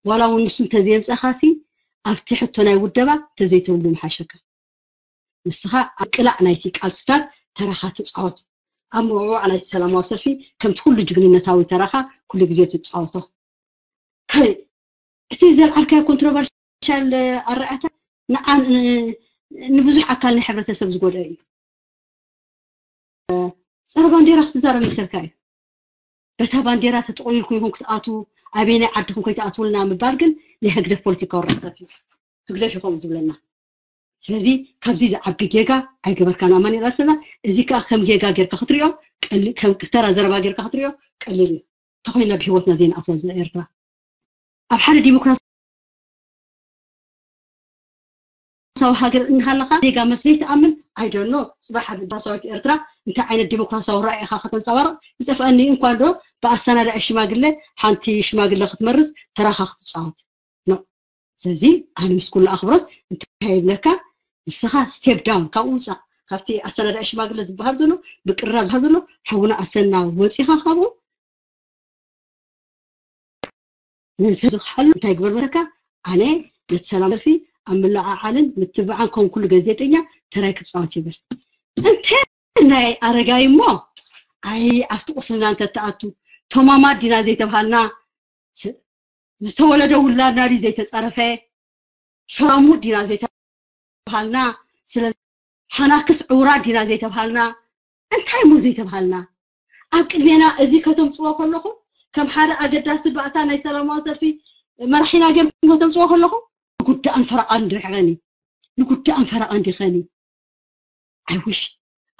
ዋላ እውን ንሱ እንተዘየምፀኻሲ ኣብቲ ሕቶ ናይ ውደባ ተዘይተብሉ ምሓሸካ። ንስኻ ኣብ ቅላዕ ናይቲ ቃልስታት ተራኻ ትፃወት። ኣብ ምውዕዋዕ ናይቲ ሰላማዊ ሰልፊ ከምቲ ኩሉ ጅግንነታዊ ተራኻ ኩሉ ግዜ ትፃወቶ። ካልእ እቲ ዘልዓልካዮ ኮንትሮቨርሻል ኣረኣታት ንዓን ንብዙሕ ኣካል ናይ ሕብረተሰብ ዝጎድአ እዩ። ፀረ ባንዴራ ክትዛረብ መሰልካ እዩ። በታ ባንዴራ ተጠቕሊልኩም ኢኹም ክትኣትዉ ኣበየናይ ዓድኹም ከይትኣትውልና ምባል ግን ናይ ህግደፍ ፖለቲካዊ ርሕቀት እዩ። ህግደፍ እዩ ከምኡ ዝብለና። ስለዚ ካብዚ ዝዓቢ ጌጋ ኣይገበርካን ኣማኑኤል ኣሰና። እዚ ከዓ ከም ጌጋ ጌርካ ክትሪኦ ቀሊ- ከም ተራ ዘረባ ጌርካ ክትሪኦ ቀሊል እዩ። ተኮይና ብሂወትና ዘይንኣትዋ ዝላ ኤርትራ ኣብ ሓደ ዲሞክራሲያዊ ሃገር እናሃለካ ዜጋ መስ ዘይትኣምን ኣይደኖ። ፅባሕ ኣብ ዲሞክራሲያዊት ኤርትራ እንታይ ዓይነት ዲሞክራሲያዊ ራእይኻ ከተንፀባርቕ ይጠፍኣኒ። እንኳን ዶ ብኣሰናዳኢ ሽማግለ ሓንቲ ሽማግለ ክትመርፅ ተራኻ ክትፃወት ኖ። ስለዚ ኣነ ምስ ኩሉ ኣኽብሮት እንታይ ይብለካ ንስኻ ስቴፕ ዳውን ካብኡ ውፃእ። ካብቲ ኣሰናዳኢ ሽማግለ ዝበሃል ዘሎ ብቅራብ ዝበሃል ዘሎ ሓውና ኣሰና ወፂኻ ካብኡ ንዝኽሓሉ እንታይ ግበር መሰካ ኣነ ነቲ ሰላም ሰልፊ ኣብ ምልዓዓልን ምትብባዓን ከም ኩሉ ጋዜጠኛ ተራይ ክፃወት ይብል እንተ ናይ ኣረጋይ እሞ ኣይ ኣብቲ ቁስልና እንተተኣቱ ተማማት ዲና ዘይተብሃልና ዝተወለደ ውላድና ድዩ ዘይተፀረፈ ሸራሙት ዲና ዘይተብሃልና ስለ ሓናክስ ዕውራት ዲና ዘይተብሃልና እንታይ እሞ ዘይተብሃልና ኣብ ቅድሜና እዚ ከተምፅዎ ከለኹም ከም ሓደ ኣገዳሲ ባእታ ናይ ሰላማዊ ሰልፊ መራሒና ገርሞ ተምፅዎ ከለኹ ንጉዳእን ፈረቓን ድሕረኒ ንጉዳእን ፈረቓን ድኸኒ ኣይውሽ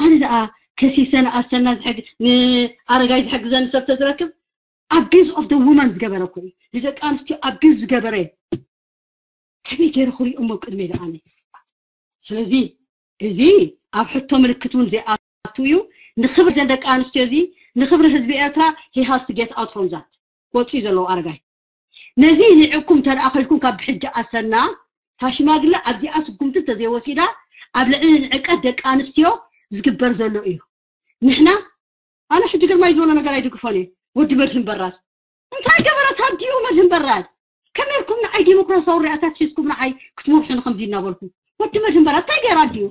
ኣነ ደኣ ከሲሰን ኣሰና ዝሕግ ንኣረጋይ ዝሕግዘኒ ሰብ ተዝረክብ abuse of the woman ዝገበረ እኮ እዩ። ንደቂ ኣንስትዮ abuse ዝገበረ ከመይ ገይረ ክሪኦም ኣብ ቅድመይ ደኣ ኣነ ስለዚ እዚ ኣብ ሕቶ ምልክት እውን ዘይኣቱ እዩ። ንክብሪ ዘን ደቂ ኣንስትዮ እዚ ንክብሪ ህዝቢ ኤርትራ he has to get out from that ወፂ ዘለዎ ኣረጋይ ነዚ ንዕኩም ተደኣኸልኩም ካብ ብሕጂ ኣሰና ታሽማግለ ኣብዚኣ ስጉምቲ ተዘይወሲዳ ኣብ ልዕሊ ንዕቀት ደቂ ኣንስትዮ ዝግበር ዘሎ እዩ። ንሕና ኣነ ሕጂ ግርማይ ዝበሎ ነገር ኣይድግፎን እየ። ወዲ መድህን በራድ እንታይ ገበረት ኣብዲኡ መድህን በራድ ከመርኩም ንዓይ ዲሞክራሲያዊ ሪኣታት ሒዝኩም ንዓይ ክትመርሑኒ ከምዚ እናበልኩም ወዲ መድህን በራድ እንታይ ገይራ ኣዲኡ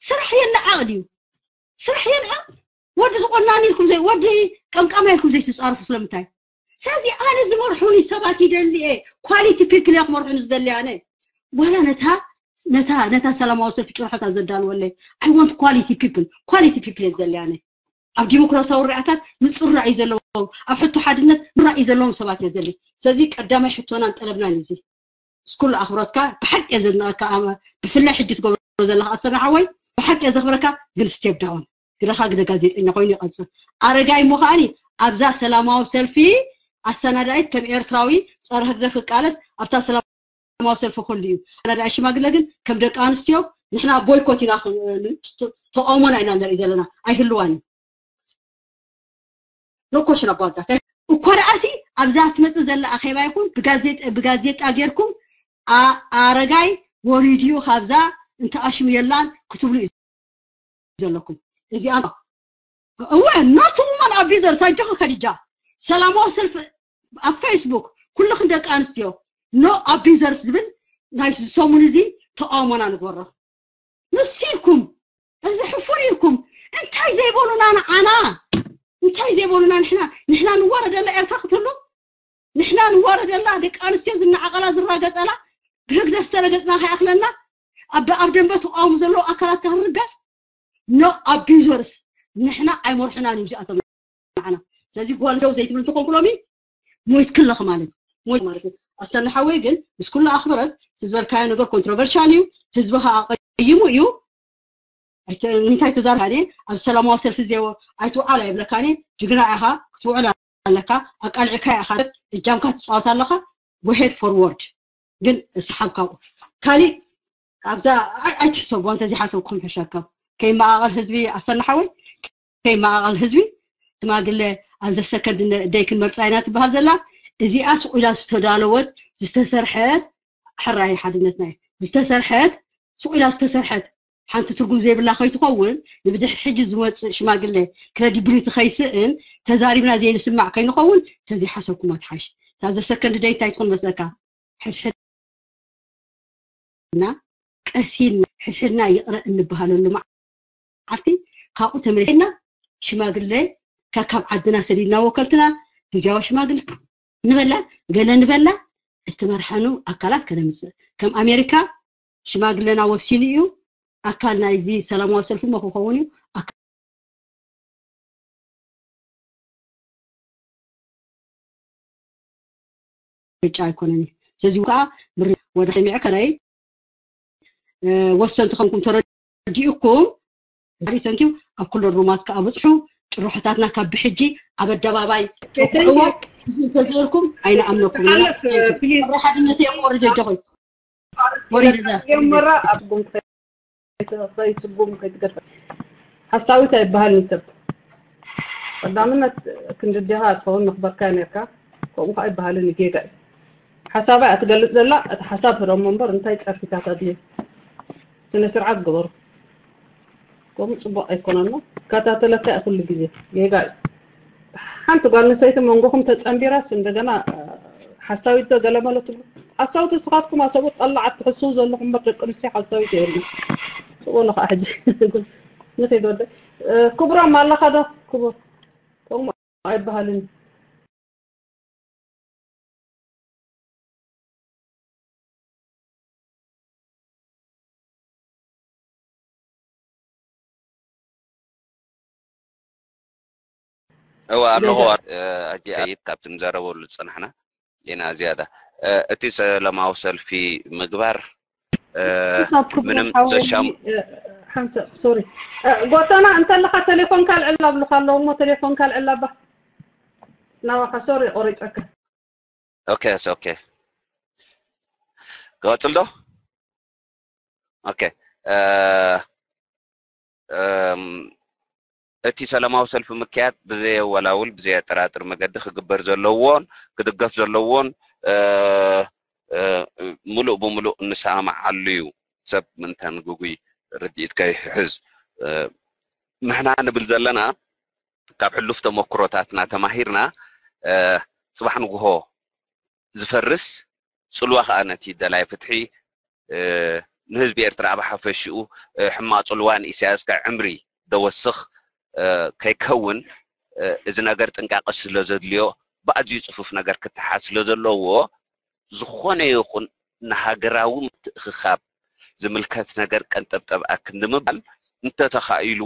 ስራሕ የለዓቕ ድዩ ስራሕ የልዓቕ ወዲ ዝቆናኒ ኢልኩም ዘይ ወዲ ቀምቃማ ኢልኩም ዘይትፃርፉ ስለምንታይ ስለዚ ኣነ ዝመርሑኒ ሰባት ይደሊ እየ quality people እየ ክመርሑኒ ዝደሊ ኣነ ዋላ ነታ ነታ ነታ ሰላማዊ ሰልፊ ጭርሖታት ዘዳልወለይ I want quality people quality people እየ ዝደሊ ኣነ ኣብ ዲሞክራሲያዊ ርኣታት ምፅራዕ እዩ ዘለዎም ኣብ ሕቶ ሓድነት ምራእ እዩ ዘለዎም ሰባት እየ ዘሊ ስለዚ ቀዳማይ ሕቶናን ጠለብናን እዚ እስኩሉ ኣኽብሮትካ ብሓቂ እየ ዘድንቐካ ብፍላይ ሕጂ ትገብሮ ዘለካ ኣሰና ሓወይ ብሓቂ እየ ዘኽብረካ ግን step down ግደኻ ግደ ጋዜጠኛ ኮይኑ ይቐፅል ኣረጋይ እሞ ከዓኒ ኣብዛ ሰላማዊ ሰልፊ ኣሰናዳኢት ከም ኤርትራዊ ፀረ ህግደፍ ክቃለስ ኣብታ ሰላማዊ ሰልፊ ኩሉ እዩ ኣሰናዳኢ ሽማግለ ግን ከም ደቂ ኣንስትዮ ንሕና boycott ኢና ተቃውሞና ኢና ንርኢ ዘለና ኣይህልዋን እዩ no question about that እኮ ደኣሲ ኣብዛ ትመፅእ ዘላ ኣኼባ ይኹን ብጋዜጣ ጌርኩም ኣረጋይ ወሪድዩ ካብዛ እንተኣሽሙ የላን ክትብሉ እዩ ዘለኩም እዚኣ እወ not woman abusers ኣጆኺ ከዲጃ ሰላማዊ ሰልፊ ኣብ ፌስቡክ ኩልኽን ደቂ ኣንስትዮ no abusers ዝብል ናይ ሰሙን እዚ ተቃውሞና ንግበሮ ንሱ ኢልኩም እዚ ሕፉር ኢልኩም እንታይ ዘይበሉና ንዓና እንታይ ዘይበሉና ንሕና ንሕና ንዋረደላ ኤርትራ ክትህሉ ንሕና ንዋረደላ ደቂ ኣንስትዮ ዝናዓቀላ ዝራገጸላ ብህግደፍ ዝተረገጽና ከይኣክለና ኣብ ኣብ ደንበ ተቃውሞ ዘለዉ ኣካላት ክንርገጽ no abusers ንሕና ኣይመርሑናን እዮም እዚኣቶም ንዓና ስለዚ ጓል ዘው ዘይትብል እንተኾንኩ ሎሚ ሞይትክለኺ ማለት ሞይት ማለት እዩ ኣሰና ሓወይ ግን ምስ ኩሉ ኣኽብረት እቲ ዝበልካዮ ነገር controversial እዩ ህዝቢ ከዓ ቀይሙ እዩ እንታይ ተዛርካኒ ኣብ ሰላማዊ ሰልፊ ዜዎ ኣይትውዓል ኣይብለካኒ ጅግና ኢኻ ክትውዕል ኣለካ ኣቃልዕካ ኢኻ እጃምካ ትፃወት ኣለካ go ahead forward ግን ስሓብ ካብኡ ካሊእ ኣብዛ ኣይትሕሰቡ እንተዚ ሓሰብኩም ሕሸካ ከይመቃቀል ህዝቢ ኣሰና ሓወይ ከይመቃቀል ህዝቢ ሽማግለ ኣብዘ ሰከንድ ደይ ክንመርፃ ኢና ትበሃል ዘላ እዚኣ ስቁ ኢላ ዝተዳለወት ዝተሰርሐት ሕራይ ሓድነትና እዩ ዝተሰርሐት ስቁ ኢላ ዝተሰርሐት ሓንቲ ትርጉም ዘይብላ ከይትኸውን ንብድሕሪ ሕጂ ዝመፅእ ሽማግለ ክረዲብሊቲ ከይስእን ተዛሪብና ዘይንስማዕ ከይንኸውን ተዘይሓሰብኩማ ትሓይሽ እታ ዘሰከንድ ደይ እንታይ ትኾን መስለካ ሕድሕድና ቀሲን ሕድሕድና ይቕረ እንበሃለሉ መዓልቲ ካብኡ ተመሊስና ሽማግለ ካብ ዓድና ሰዲድና ወከልትና ግዝያዊ ሽማግለ ንበላ ገለ ንበላ እትመርሐኑ ኣካላት ከነምፅእ ከም ኣሜሪካ ሽማግለና ወሲኑ እዩ ኣካል ናይዚ ሰላማዊ ሰልፊ ሞ ክኸውን እዩ ምርጫ ኣይኮነን እዩ ስለዚ ከዓ ወደ ሚዕከረይ ወሰንቲ ከምኩም ተረዲኡኩም ዛሪ ሰንቲው ኣብ ኩለን ሩማት ከዓ ብፅሑ ጭርሖታትና ካብ ብሕጂ ኣብ ኣደባባይ ተኩዕዎ እዚ እንተዘርኩም ኣይንኣምነኩም ሓድነት የቆርድ ኣጆኹም ወሪድ እዛ ጀመራ ኣብ ጉም ከይስጉም ከይትገድፈ ሓሳዊት ኣይበሃልን ሰብ ቀዳምነት ክንድዲኻ ትኸውን ንኽበርካ ነርካ ከምኡ ከዓ ይበሃልን ጌጋ እዩ ሓሳባ እያ ትገልፅ ዘላ እቲ ሓሳብ ህረሞ እምበር እንታይ ፀርፊታት ኣድልየ ስነ ስርዓት ግበሩ ከምኡ ፅቡቅ ኣይኮነን እሞ ይከታተለካ እየ ኩሉ ግዜ ጌጋ እዩ ሓንቲ ጓል ኣንስተይቲ መንጎኹም ተፀንቢራስ እንደገና ሓሳዊት ዶ ገለ በሎ ትብሉ ሓሳዊት ንስኻትኩም ኣሰብኡት ጠላዓት ትሕስው ዘለኹም እምበር ደቂ ኣንስትዮ ሓሳዊት የብልና ስብኡሉ ከዓ ሕጂ ንኺድ ወደ ክቡሮም ኣለኻ ዶ ክቡር ከምኡ ኣይበሃልን እወ ኣለኹ ኣጂ ኣይት ካብቲ ንዘረበሉ ዝፀናሕና ሌና ዝያዳ እቲ ሰላማዊ ሰልፊ ምግባር ምንም ዘሻም ሓንሰብ ሶሪ ጎተና እንተለካ ቴሌፎንካ ልዕል ኣብሉካ ኣለዎ እሞ ቴሌፎንካ ልዕል ኣባ ናባካ ሶሪ ቆሪፀካ okay okay ቀፅል ዶ okay እቲ ሰላማዊ ሰልፊ ምክያድ ብዘየወላውል ብዘየጠራጥር መገዲ ክግበር ዘለዎን ክድገፍ ዘለዎን ምሉእ ብምሉእ እንሰማማዓሉ እዩ። ሰብ ምንተን ግጉይ ርድኢት ከይሕዝ ንሕና ንብል ዘለና ካብ ሕሉፍ ተመክሮታትና ተማሂርና ፅባሕ ንግሆ ዝፈርስ ፅልዋ ከዓ ነቲ ደላይ ፍትሒ ንህዝቢ ኤርትራ ኣብ ሓፈሽኡ ሕማቕ ጽልዋ ንኢሳያስ ከዕምሪ ደወስኽ ከይከውን እዚ ነገር ጥንቃቐ ስለ ዘድልዮ ብኣዝዩ ጽፉፍ ነገር ክተሓዝ ስለ ዘለዎ ዝኾነ ይኹን ንሃገራዊ ምትእኽኻብ ዝምልከት ነገር ቀንጠብጠብ ኣክንዲ ምባል እንተተኻኢሉ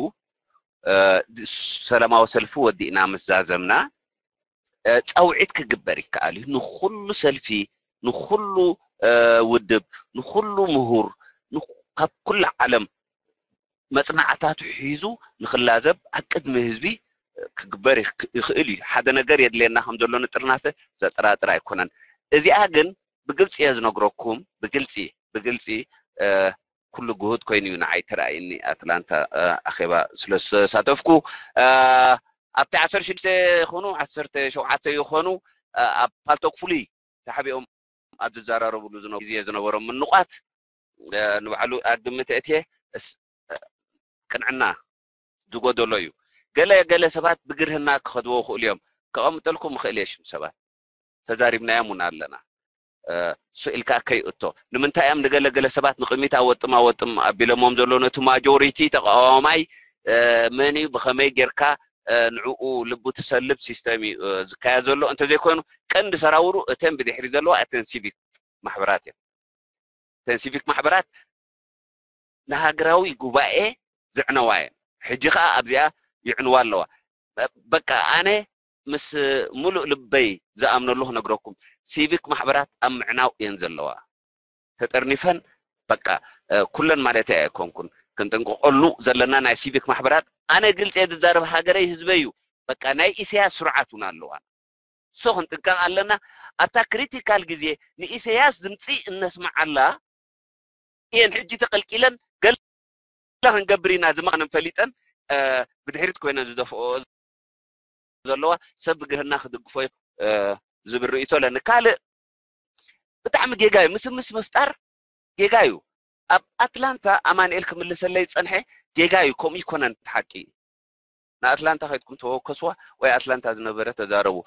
ሰላማዊ ሰልፊ ወዲእና ምስ ዛዘምና ፃውዒት ክግበር ይከኣል እዩ። ንኹሉ ሰልፊ፣ ንኹሉ ውድብ፣ ንኹሉ ምሁር፣ ካብ ኩሉ ዓለም መፅናዕታቱ ሒዙ ንክላዘብ ኣብ ቅድሚ ህዝቢ ክግበር ይኽእል እዩ። ሓደ ነገር የድልየና ከም ዘሎ ንጥርናፈ ዘጠራጥር ኣይኮነን። እዚኣ ግን ብግልፂ እየ ዝነግረኩም፣ ብግልፂ ብግልፂ ኩሉ ግሁድ ኮይኑ እዩ ንዓይ ተራእይኒ ኣትላንታ ኣኼባ ስለ ዝተሳተፍኩ ኣብቲ ዓሰርተ ሽዱሽተ ይኾኑ ዓሰርተ ሸውዓተ ይኾኑ ኣብ ፓልቶክ ፍሉይ ተሓቢኦም ኣብ ዝዘራረብሉ ግዜ ዝነበሮም ምንቋት ንባዕሉ ኣግምት እትየ ቅንዕና ዝጎደሎ እዩ። ገለ ገለ ሰባት ብግርህና ክኸድዎ ይኽእሉ እዮም። ከቐምጠልኩም ይኽእል እየ ሽም ሰባት ተዛሪብናዮም እውን ኣለና። ስኢልካ ከይእቶ ንምንታይ እዮም ንገለገለ ሰባት ንቕድሚት ኣወጥም ኣወጥም ኣቢሎሞም ዘሎ ነቲ ማጆሪቲ ተቃዋማይ መን እዩ ብኸመይ ጌርካ ንዕኡ ልቡ ትሰልብ ሲስተም እዩ ዝካየድ ዘሎ እንተዘይኮይኑ ቀንዲ ሰራውሩ እተን ብድሕሪ ዘለዋ እተን ሲቪክ ማሕበራት እየን እተን ሲቪክ ማሕበራት ንሃገራዊ ጉባኤ ዝዕነዋ እየን ሕጂ ከዓ ኣብዚኣ ይዕንዋ ኣለዋ በቃ ኣነ ምስ ሙሉእ ልበይ ዝኣምነሉ ክነግረኩም ሲቪክ ማሕበራት ኣብ ምዕናው እየን ዘለዋ ተጠርኒፈን በቃ ኩለን ማለት ኣይኮንኩን ክንጥንቀቀሉ ዘለና ናይ ሲቪክ ማሕበራት ኣነ ግልፂ ዝዛረብ ሃገረይ ህዝበይ እዩ በቃ ናይ ኢሳያስ ስርዓት እውን ኣለዋ so ክንጥንቀቅ ኣለና ኣብታ ክሪቲካል ግዜ ንኢሳያስ ድምፂ እነስምዓላ እየን ሕጂ ተቀልቂለን ገለ ክንገብር ኢና ዝመቀነን ፈሊጠን ብድሕሪት ኮይነን ዝደፍኦ ዘለዋ ሰብ ብግርህና ክድግፎ ዝብል ርእይቶ ኣለኒ ካልእ ብጣዕሚ ጌጋ እዩ ምስምስ ምፍጣር ጌጋ እዩ ኣብ ኣትላንታ ኣማንኤል ክምልሰለይ ዝፀንሐ ጌጋ እዩ ከምኡ ይኮነን ሓቂ ንኣትላንታ ከድኩም ተወከስዋ ወይ ኣትላንታ ዝነበረ ተዛረቡ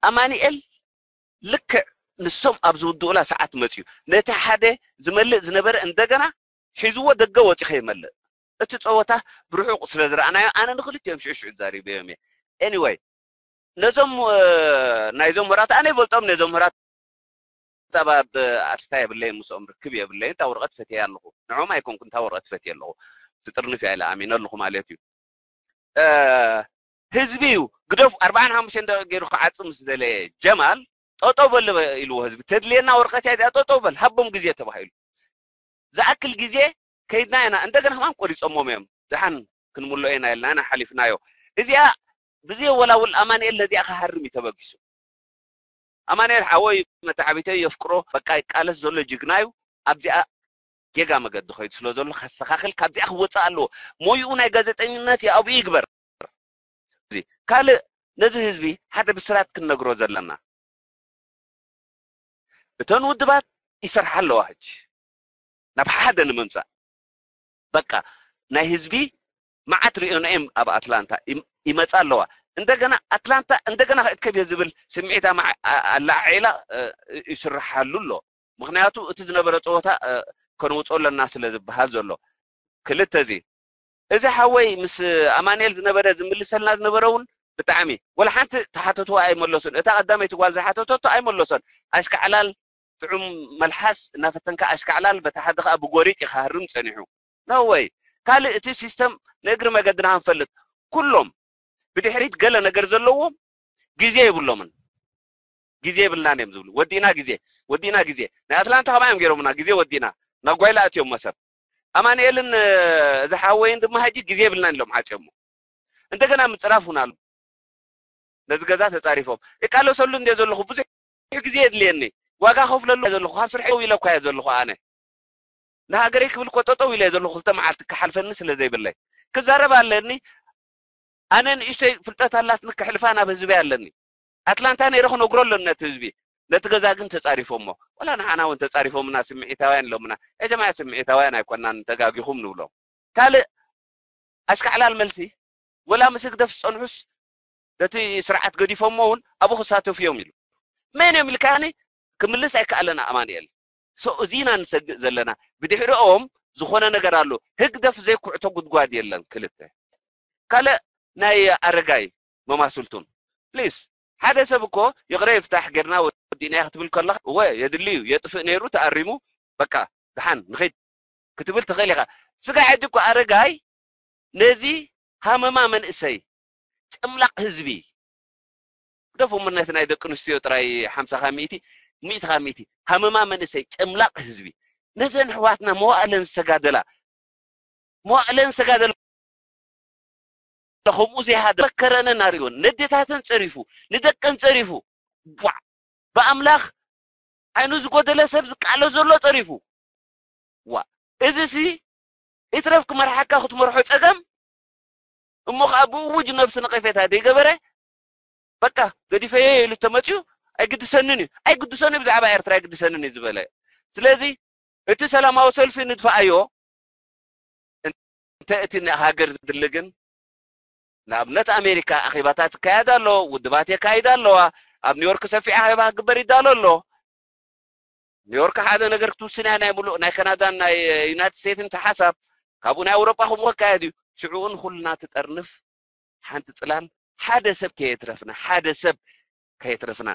ኣማንኤል ልክዕ ንሶም ኣብ ዝውድኡላ ሰዓት መፅዩ ነቲ ሓደ ዝመልእ ዝነበረ እንደገና ሒዝዎ ደገ ወፂ ከይመልእ እቲ ፀወታ ብርሑቕ ስለ ዝረኣናዮ ኣነ ንክልቲኦም ሽዑ ሽዑ ተዛሪበዮም እየ anyway ነዞም ናይዞም ወራት ኣነ ይፈልጦም ነዞም ወራት ኣብ ኣርስታ የብለይ ምስኦም ርክብ የብለይ እንታ ወረቀት ፈትየ ኣለኹ ንዖም ኣይኮንኩ እንታ ወረቀት ፈትየ ኣለኹ ትጥርንፍ እያ ኢለ ኣሚነ ኣለኹ ማለት እዩ ህዝቢ እዩ ግደፍ ኣርባዓን ሓሙሽተን ደቂ ገይሩ ክዓፅም ምስ ደለየ ጀማል ጠጠው በል ኢልዎ ህዝቢ ተድልየና ወረቀት እያ እዚኣ ጠጠው በል ሃቦም ግዜ ተባሂሉ ዝኣክል ግዜ ከይድና ኢና እንደገና ከማን ቆሪፆሞም እዮም ድሓን ክንምልኦ ኢና ኢልና ኢና ሓሊፍናዮ እዚኣ ብዘየወላውል ኣማንኤል ነዚኣ ክሃርም እዩ ተበጊሱ ኣማንኤል ሓወይ መተዓቢተይ የፍቅሮ በቃ ይቃለስ ዘሎ ጅግና እዩ ኣብዚኣ ጌጋ መገዲ ከይዱ ስለ ዘሎ ከስተኻኽል ካብዚኣ ክወፅእ ኣለዎ ሞይኡ ናይ ጋዜጠኝነት የኣብኡ ይግበር ካልእ ነዚ ህዝቢ ሓደ ብስራት ክንነግሮ ዘለና እተን ውድባት ይሰርሓ ኣለዋ ሕጂ ናብ ሓደ ንምምፃእ በቃ ናይ ህዝቢ መዓት ሪኦና እዮም ኣብ ኣትላንታ ይመፃ ኣለዋ እንደገና ኣትላንታ እንደገና ክትከብ እየ ዝብል ስምዒት ኣላዓዒላ ይስርሓሉ ኣሎ ምክንያቱ እቲ ዝነበረ ፀወታ ከንውፆ ኣለና ስለ ዝበሃል ዘሎ ክልተ እዚ እዚ ሓወይ ምስ ኣማንኤል ዝነበረ ዝምልሰልና ዝነበረ እውን ብጣዕሚ ወላ ሓንቲ ተሓተትዋ ኣይመለሱን እታ ቀዳመይቲ ጓል ዝሓተተቶ ኣይመለሶን ኣሽካዕላል ጥዑም መልሓስ እናፈተንካ ኣሽካዕላል በታ ሓደ ከዓ ብጎሪጥ ይክሃርም ፀኒሑ ነወይ ካልእ እቲ ሲስተም ንእግሪ መገድና ክንፈልጥ ኩሎም ብድሕሪት ገለ ነገር ዘለዎም ግዜ የብሎምን ግዜ የብልናን እዮም ዝብሉ። ወዲእና ግዜ፣ ወዲእና ግዜ። ናይ ኣትላንታ ከማይ እዮም ገይሮምና፣ ግዜ ወዲእና። ናብ ጓይላ ኣትዮሞ ሰብ። ኣማኑኤልን፣ እ፣ እዚ ሓወይን ድማ ሕጂ ግዜ የብልናን ኢሎም ሓጨሞ። እንደገና ምጽራፍ እውን ኣሎ። ነዚ ገዛ ተጻሪፎም። ይቃለሰሉ እንደ ዘለኹ ብዙሕ ግዜ የድልየኒ። ዋጋ ከፍለሉ እየ ዘለኹ። ካብ ስርሐይ ደው ኢለ እኳ እየ ዘለኹ ኣነ። ንሃገረይ ክብል እኮ ጠጠው ኢለ እየ ዘለኹ። ክልተ መዓልቲ ክሓልፈኒ ስለ ዘይብለይ። ክዛረብ ኣለኒ። ኣነ ንእሽተይ ፍልጠት ኣላትኒ ክሕልፋ ናብ ህዝበይ ኣለኒ። ኣትላንታ ነይረ ክነግሮ ኣለኒ ነቲ ህዝቢ። ነቲ ገዛ ግን ተጻሪፎሞ። ወላ ንዓና እውን ተጻሪፎምና ስምዒታውያን ኢሎምና። ኤጀማያ ስምዒታውያን ኣይኮናን ተጋጊኹም ንብሎም። ካልእ ኣሽካዕላል መልሲ ወላ ምስ ህግደፍ ዝጸንሑስ ነቲ ስርዓት ገዲፎሞ እውን ኣብኡ ክሳተፉ እዮም ኢሉ። መን እዮም ኢልካኒ ክምልስ ኣይከኣለን ኣማኑኤል። So እዚ ኢና ንሰግእ ዘለና። ብድሕሪኦም ዝኾነ ነገር ኣሎ። ህግደፍ ዘይኩዕቶ ጉድጓድ የለን። ክልተ ካልእ ናይ ኣረጋይ መማስልቱን ፕሊስ ሓደ ሰብ እኮ ይቕረ ይፍታሕ ጌርና ወዲእና ክትብል ከለኻ እወ የድሊ እዩ የጥፍእ ነይሩ ተኣሪሙ በቃ ድሓን ንኸይድ ክትብል ትኽእል ኢኻ። ስጋ ሕጂ እኮ ኣረጋይ ነዚ ሃመማ መንእሰይ ጨምላቕ ህዝቢ ግደፎም ነቲ ናይ ደቂ ኣንስትዮ ጥራይ ሓምሳ ካብ ሚእቲ ሚእቲ ካብ ሚእቲ ሃመማ መንእሰይ ጨምላቕ ህዝቢ ነዘን ኣሕዋትና መዋእለን ዝተጋደላ መዋእለን ዝተጋደላ ከምኡ ዘይሃደ መከረንን ኣርእዮን ነዴታተን ጸሪፉ ንደቀን ጸሪፉ ቧዕ ብኣምላኽ ዓይኑ ዝጎደለ ሰብ ዝቃሎ ዘሎ ጸሪፉ ዋ እዚ ሲ ይትረፍ ክመርሓካ ክትመርሖ ጸገም እሞ ከዓ ብእውጅ ነብሲ ነቐፌታ ዘይገበረ በቃ ገዲፈዮ ኢሉ ተመፅዩ ኣይግድሰንን እዩ ኣይግድሰን እዩ ብዛዕባ ኤርትራ ኣይግድሰንን እዩ ዝበለ ስለዚ እቲ ሰላማዊ ሰልፊ ንድፍኣዮ እንተ እቲ ሃገር ዝድሊ ግን ንኣብነት ኣሜሪካ ኣኼባታት ይካየድ ኣሎ ውድባት የካይዳ ኣለዋ ኣብ ኒውዮርክ ሰፊሕ ኣኼባ ክግበር ይዳሎ ኣሎ ኒውዮርክ ሓደ ነገር ክትውስን እያ ናይ ሙሉእ ናይ ካናዳን ናይ ዩናይትድ ስቴትስን ተሓሳብ ካብኡ ናይ ኣውሮጳ ከምኡ ክካየድ እዩ ሽዑኡ ንኩልና ትጠርንፍ ሓንቲ ፅላል ሓደ ሰብ ከየትረፍና ሓደ ሰብ ከየትረፍና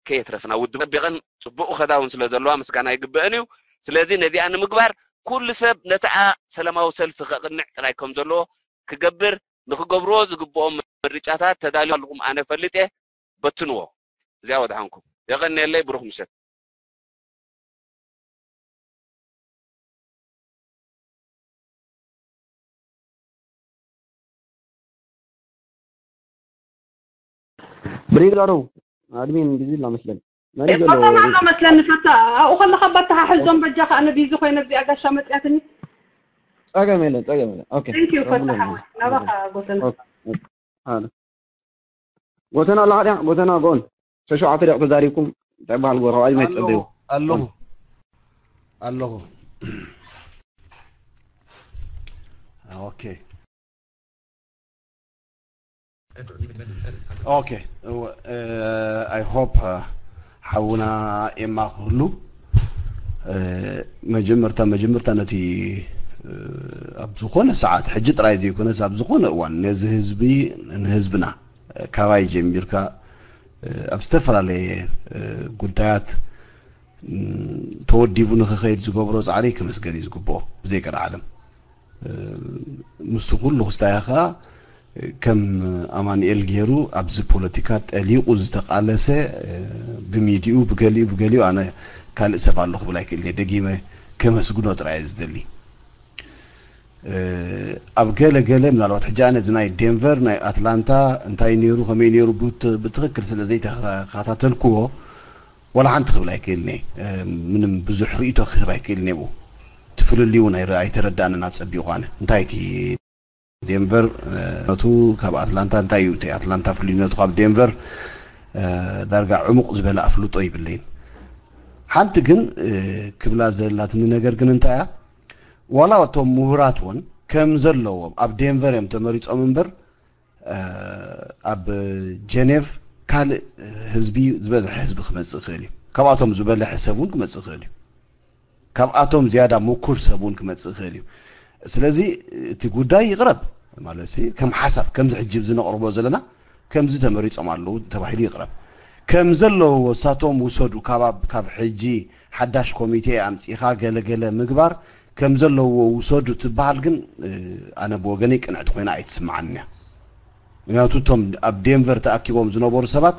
ከየትረፍና ውድብ ጠቢቐን ፅቡቕ ከዳውን ስለ ዘለዋ ምስጋና ይግበአን እዩ ስለዚ ነዚኣ ንምግባር ኩሉ ሰብ ነተኣ ሰላማዊ ሰልፊ ከቕንዕ ጥራይ ከም ዘለዎ ክገብር ንክገብርዎ ዝግብኦም ምርጫታት ተዳልዩ ኣለኹም ኣነ ፈልጥ እየ በትንዎ እዚኣ ወድሓንኩም የቐንየለይ ብሩኽ ምሸት ብሪጋዶ ኣድሚን ቢዚ ላ መስለን መን እዩ ዘሎ ቆጠና ኣሎ መስለኒ ፈታ ኣብኡ ከለካ ባተሓሕዞም በጃ ከኣ ነቢዚ ኮይነ ኣብዚኣ ጋሻ መፅያትኒ ጸገም የለን ጸገም የለን ኦኬ Thank you ፈታ ሓወይ ናባካ ጎተና ሓደ ጎተና ኣለኻ ድያ ጎተና ጎን ሸሸውዓተ ደቂቕ ተዛሪብኩም እንታይ በሃል ጎረባይ መይ ትጸበዩ ኣለኹ ኣለኹ ኦኬ ኦኬ I hope ሓውና ኤማ ክህሉ መጀመርታ መጀመርታ ነቲ ኣብ ዝኾነ ሰዓት ሕጂ ጥራይ ዘይኮነስ ኣብ ዝኾነ እዋን ነዚ ህዝቢ ንህዝብና ካባይ ጀሚርካ ኣብ ዝተፈላለየ ጉዳያት ተወዲቡ ንክኸይድ ዝገብሮ ፃዕሪ ክምስገን እዩ ዝግብኦ ብዘይ ቀልዓለም ምስቲ ኩሉ ክስታይ ከዓ ከም ኣማንኤል ገይሩ ኣብዚ ፖለቲካ ጠሊቑ ዝተቃለሰ ብሚድኡ ብገሊኡ ብገሊኡ ኣነ ካልእ ሰብ ኣሎ ክብል ኣይክእል እየ ደጊመ ከመስግኖ ጥራይ እየ ዝደሊ ኣብ ገለ ገለ ምናልባት ሕጂ ኣነ እዚ ናይ ዴንቨር ናይ ኣትላንታ እንታይ ነይሩ ከመይ ነይሩ ብትክክል ስለ ዘይተከታተልክዎ ዋላ ሓንቲ ክብል ኣይክእልን እየ ምንም ብዙሕ ርእቶ ክህብ ኣይክእልን እየ እቲ ፍልልይ እውን ኣይተረዳእንን ኣፀቢቑ ኣነ እንታይ እቲ ዴንቨር ነቱ ካብ ኣትላንታ እንታይ እዩ እቲ ኣትላንታ ፍልልይነቱ ካብ ዴንቨር ዳርጋ ዕሙቕ ዝበለ ኣፍልጦ ይብለይን ሓንቲ ግን ክብላ ዘላትኒ ነገር ግን እንታይ እያ ዋላ እቶም ምሁራት እውን ከም ዘለዎም ኣብ ዴንቨር እዮም ተመሪፆም እምበር ኣብ ጀኔቭ ካልእ ህዝቢ ዝበዝሐ ህዝቢ ክመፅእ ይኽእል እዩ ካብኣቶም ዝበለሐ ሰብ እውን ክመፅእ ይኽእል እዩ ካብኣቶም ዝያዳ ምኩር ሰብ እውን ክመፅእ ይኽእል እዩ ስለዚ እቲ ጉዳይ ይቕረብ ማለት ከም ሓሳብ ከምዚ ሕጂ ዝነቕርቦ ዘለና ከምዚ ተመሪፆም ኣለዉ ተባሂሉ ይቕረብ ከም ዘለዎ እሳቶም ውሰዱ ካብ ካብ ሕጂ ሓዳሽ ኮሚቴ ኣምፂኻ ገለገለ ምግባር ከም ዘለዎ ውሰዱ ትበሃል ግን ኣነ ብወገነይ ቅንዕቲ ኮይና ኣይትስምዓንያ ምክንያቱ እቶም ኣብ ዴንቨር ተኣኪቦም ዝነበሩ ሰባት